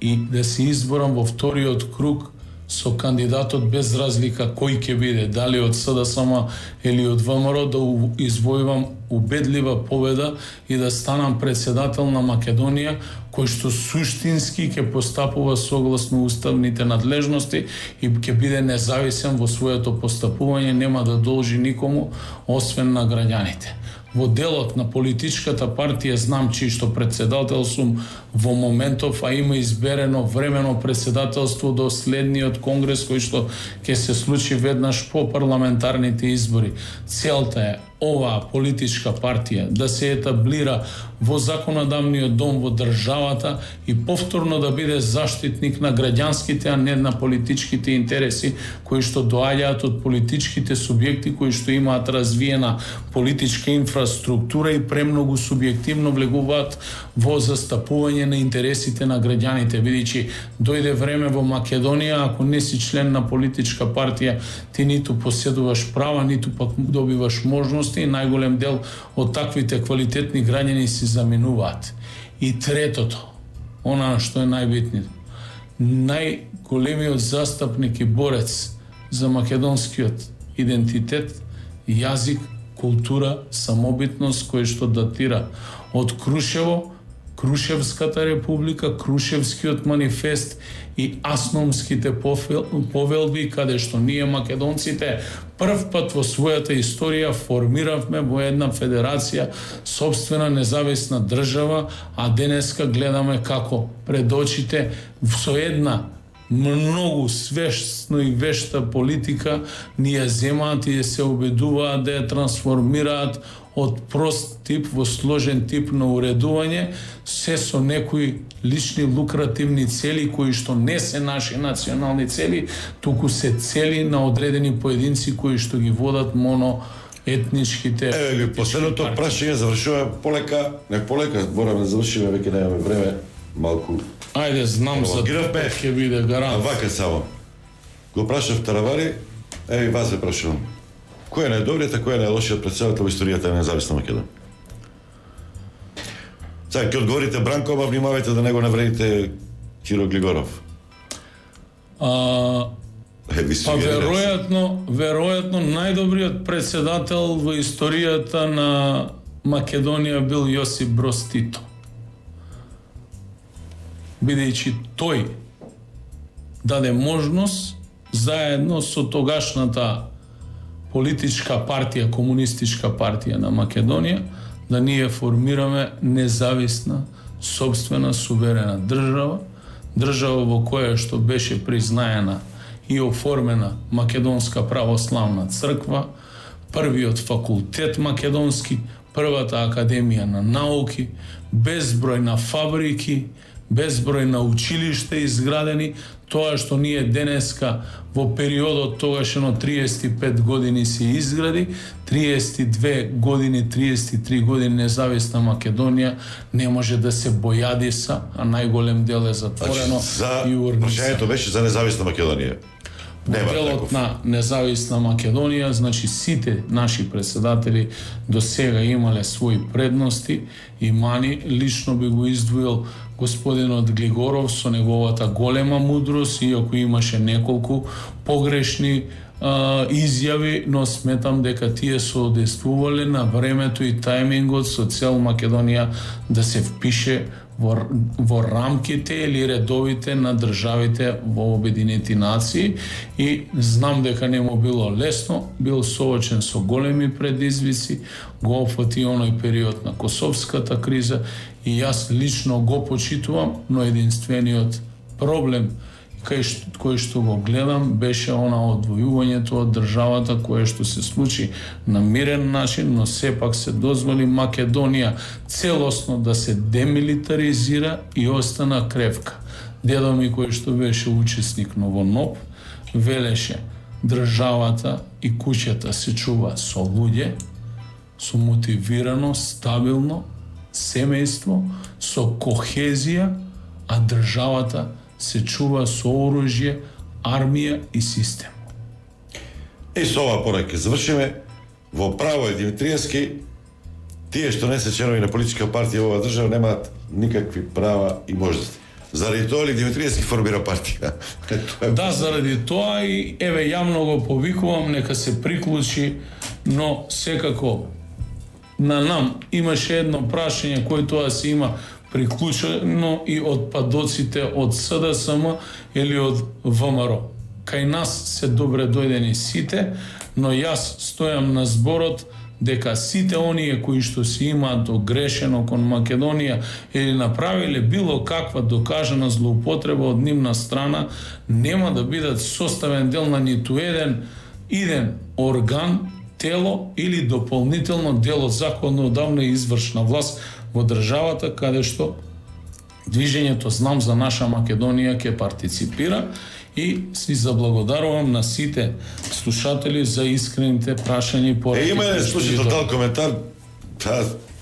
и да се изборам во вториот круг со кандидатот без разлика кој ќе биде, дали од СДСМ или од ВМРО, да извојувам убедлива победа и да станам председател на Македонија, кој што суштински ќе постапува согласно уставните надлежности и ќе биде независен во своето постапување, нема да должи никому освен на граѓаните. Во делот на политичката партија знам чии што председател сум во моментов, а има изберено времено председателство до следниот конгрес кој што ќе се случи веднаш по парламентарните избори. Целта е оваа политичка партија да се етаблира во законодавниот дом во државата и повторно да биде заштитник на граѓанските, а не на политичките интереси кои што доаѓаат од политичките субјекти кои што имаат развиена политичка инфраструктура и премногу субјективно влегуваат во застапување на интересите на граѓаните, бидејќи дојде време во Македонија, ако не си член на политичка партија, ти ниту поседуваш права, ниту пак добиваш можности и најголем дел од таквите квалитетни граѓани си заминуваат. И третото, она што е најбитното, најголемиот застапник и борец за македонскиот идентитет, јазик, култура, самобитност, кој што датира од Крушево, Крушевската република, Крушевскиот манифест и Асномските повелби, каде што ние македонците прв пат во својата историја формиравме во една федерација, собствена независна држава, а денеска гледаме како пред очите со една многу свесно и вешта политика ни ја земаат и се обидуваат да ја трансформираат од прост тип во сложен тип на уредување, се со некои лични лукративни цели кои што не се наши национални цели, туку се цели на одредени поединци кои што ги водат моноетничките. Последното прашање завршува полека, не полека, мораме да завршиме, веќе немаме време, малку. Ајде, знам за тоа ќе биде гарант. Вака само. Го прашав Таравари, и вас ве прашувам. Кој е најдобриот, а кој е најлошиот председател во историјата на независна Македонија? Сега, ќе одговорите Бранко, ама внимавајте да не го навредите Киро Глигоров. Веројатно најдобриот председател во историјата на Македонија бил Јосип Броз Тито. Бидејќи тој даде можност заедно со тогашната политичка партија, комунистичка партија на Македонија, да ние формираме независна, собствена, суверена држава, држава во која што беше признаена и оформена Македонска православна црква, првиот факултет македонски, првата академија на науки, безброј на фабрики, безброј на училишта изградени, тоа што ние денеска во периодот тогашно 35 години се изгради, 32 години, 33 години независна Македонија не може да се бојадиса, а најголем дел е затворено и урница. Прашањето беше за независна Македонија. моделот на независна Македонија, значи сите наши председатели до сега имале своји предности и мани. Лично би го издвоил господинот Глигоров со неговата голема мудрост, иако имаше неколку погрешни изјави, но сметам дека тие соодействувале на времето и тајмингот со цел Македонија да се впише во рамките или редовите на државите во Обединети нации, и знам дека не му било лесно, бил соочен со големи предизвици, го опфати оној период на Косовската криза и јас лично го почитувам, но единствениот проблем кој што го гледам беше она одвојувањето од државата, кое што се случи на мирен начин, но сепак се дозволи Македонија целосно да се демилитаризира и остана кревка. Дедо ми, кој што беше учесник во НОП, велеше државата и куќата се чува со луѓе, со мотивирано, стабилно семејство, со кохезија, а државата се чува со оружје, армија и систем. И со ова порака завршиме. Во право е Димитриевски, тие што не се членови на политичка партија во оваа држава немаат никакви права и можности. Заради тоа ли Димитриевски формира партија? Да, заради тоа и еве јавно го повикувам нека се приклучи, но секако на нам имаше едно прашање кој тоа се има приклучено и од падоците од СДСМ или од ВМРО. Кај нас се добре дојдени сите, но јас стојам на зборот дека сите оние кои што се имаат огрешено кон Македонија или направиле било каква докажана злоупотреба од нивна страна, нема да бидат составен дел на ниту еден орган, тело или дополнително дел од законодавна и извршна власт во државата, каде што движењето Знам за наша Македонија ќе партиципира, и си заблагодарувам на сите слушатели за искрените прашања и пораки. Има еден слушател дал коментар,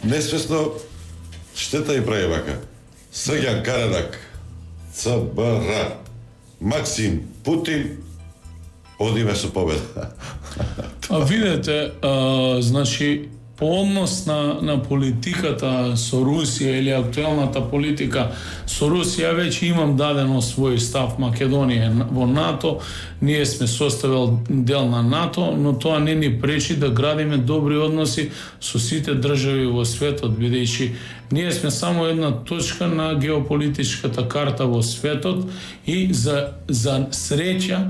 несвесно штета и прави вака. Срѓан Карадак, ЦБР, Максим Путин, одиме со победа. А видете, значи, по однос на политиката со Русија или актуелната политика со Русија, веќе имам дадено свој став. Македонија во НАТО, ние сме составил дел на НАТО, но тоа не ни пречи да градиме добри односи со сите држави во светот, бидејќи ние сме само една точка на геополитичката карта во светот и за среќа,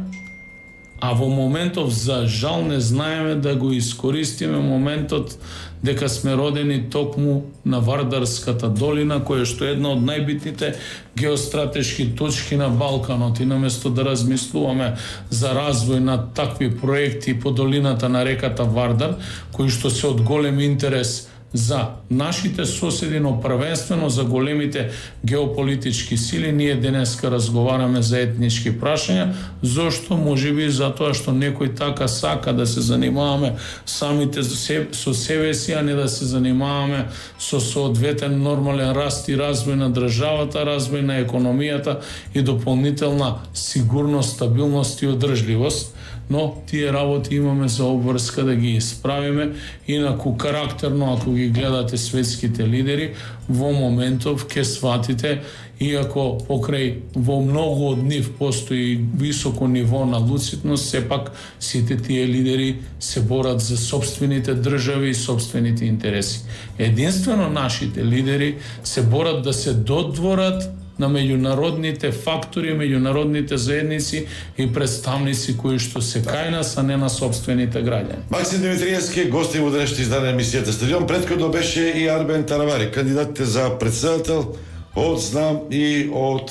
а во моментов за жал не знаеме да го искористиме моментот дека сме родени токму на Вардарската долина, која што е една од најбитните геостратешки точки на Балканот, и наместо да размислуваме за развој на такви проекти по долината на реката Вардар, кои што се од голем интерес за нашите соседи, но првенствено за големите геополитички сили, ние денеска разговараме за етнички прашања. Зошто? Можеби затоа што некој така сака да се занимаваме самите со себе си, а не да се занимаваме со соодветен нормален раст и развој на државата, развој на економијата и дополнителна сигурност, стабилност и одржливост. Но тие работи имаме за обврска да ги исправиме, инаку карактерно, ако ги гледате светските лидери, во моментов ќе сватите, иако покрај во многу од нив постои високо ниво на луцидност, сепак сите тие лидери се борат за собствените држави и собствените интереси. Единствено нашите лидери се борат да се додворат на меѓународните фактори, меѓународните заедници и представници кои што се кај нас, а не на собствените граѓани. Максим Димитриевски, гостин во денешното издание на емисијата Стадион. Претходно беше и Арбен Таравари, кандидатите за председател од Знам и од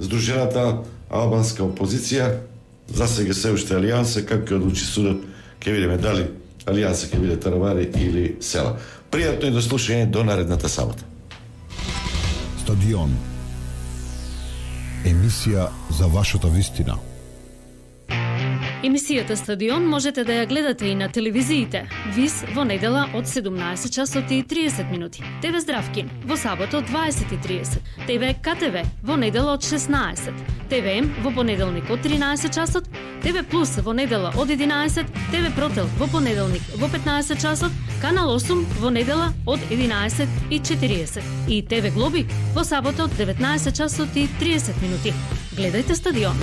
Сдружената албанска опозиција. За сега се уште Алијанса, како ќе одлучи судот, ќе видиме дали Алијанса ќе биде Таравари или Села. Пријатно и до слушање до наредната сабота. Стадион. Емисија за вашата вистина. Емисијата Стадион можете да ја гледате и на телевизиите. ВИС во недела од 17 часот и 30 минути. ТВ Здравкин во сабота од 20:30. ТВ КТВ во недела од 16. ТВМ во понеделник од 13 часот. ТВ Плюс во недела од 11. ТВ Протел во понеделник во 15 часот. Канал 8 во недела од 11:40. И ТВ Глобик во сабота од 19 часот и 30 минути. Гледајте Стадион.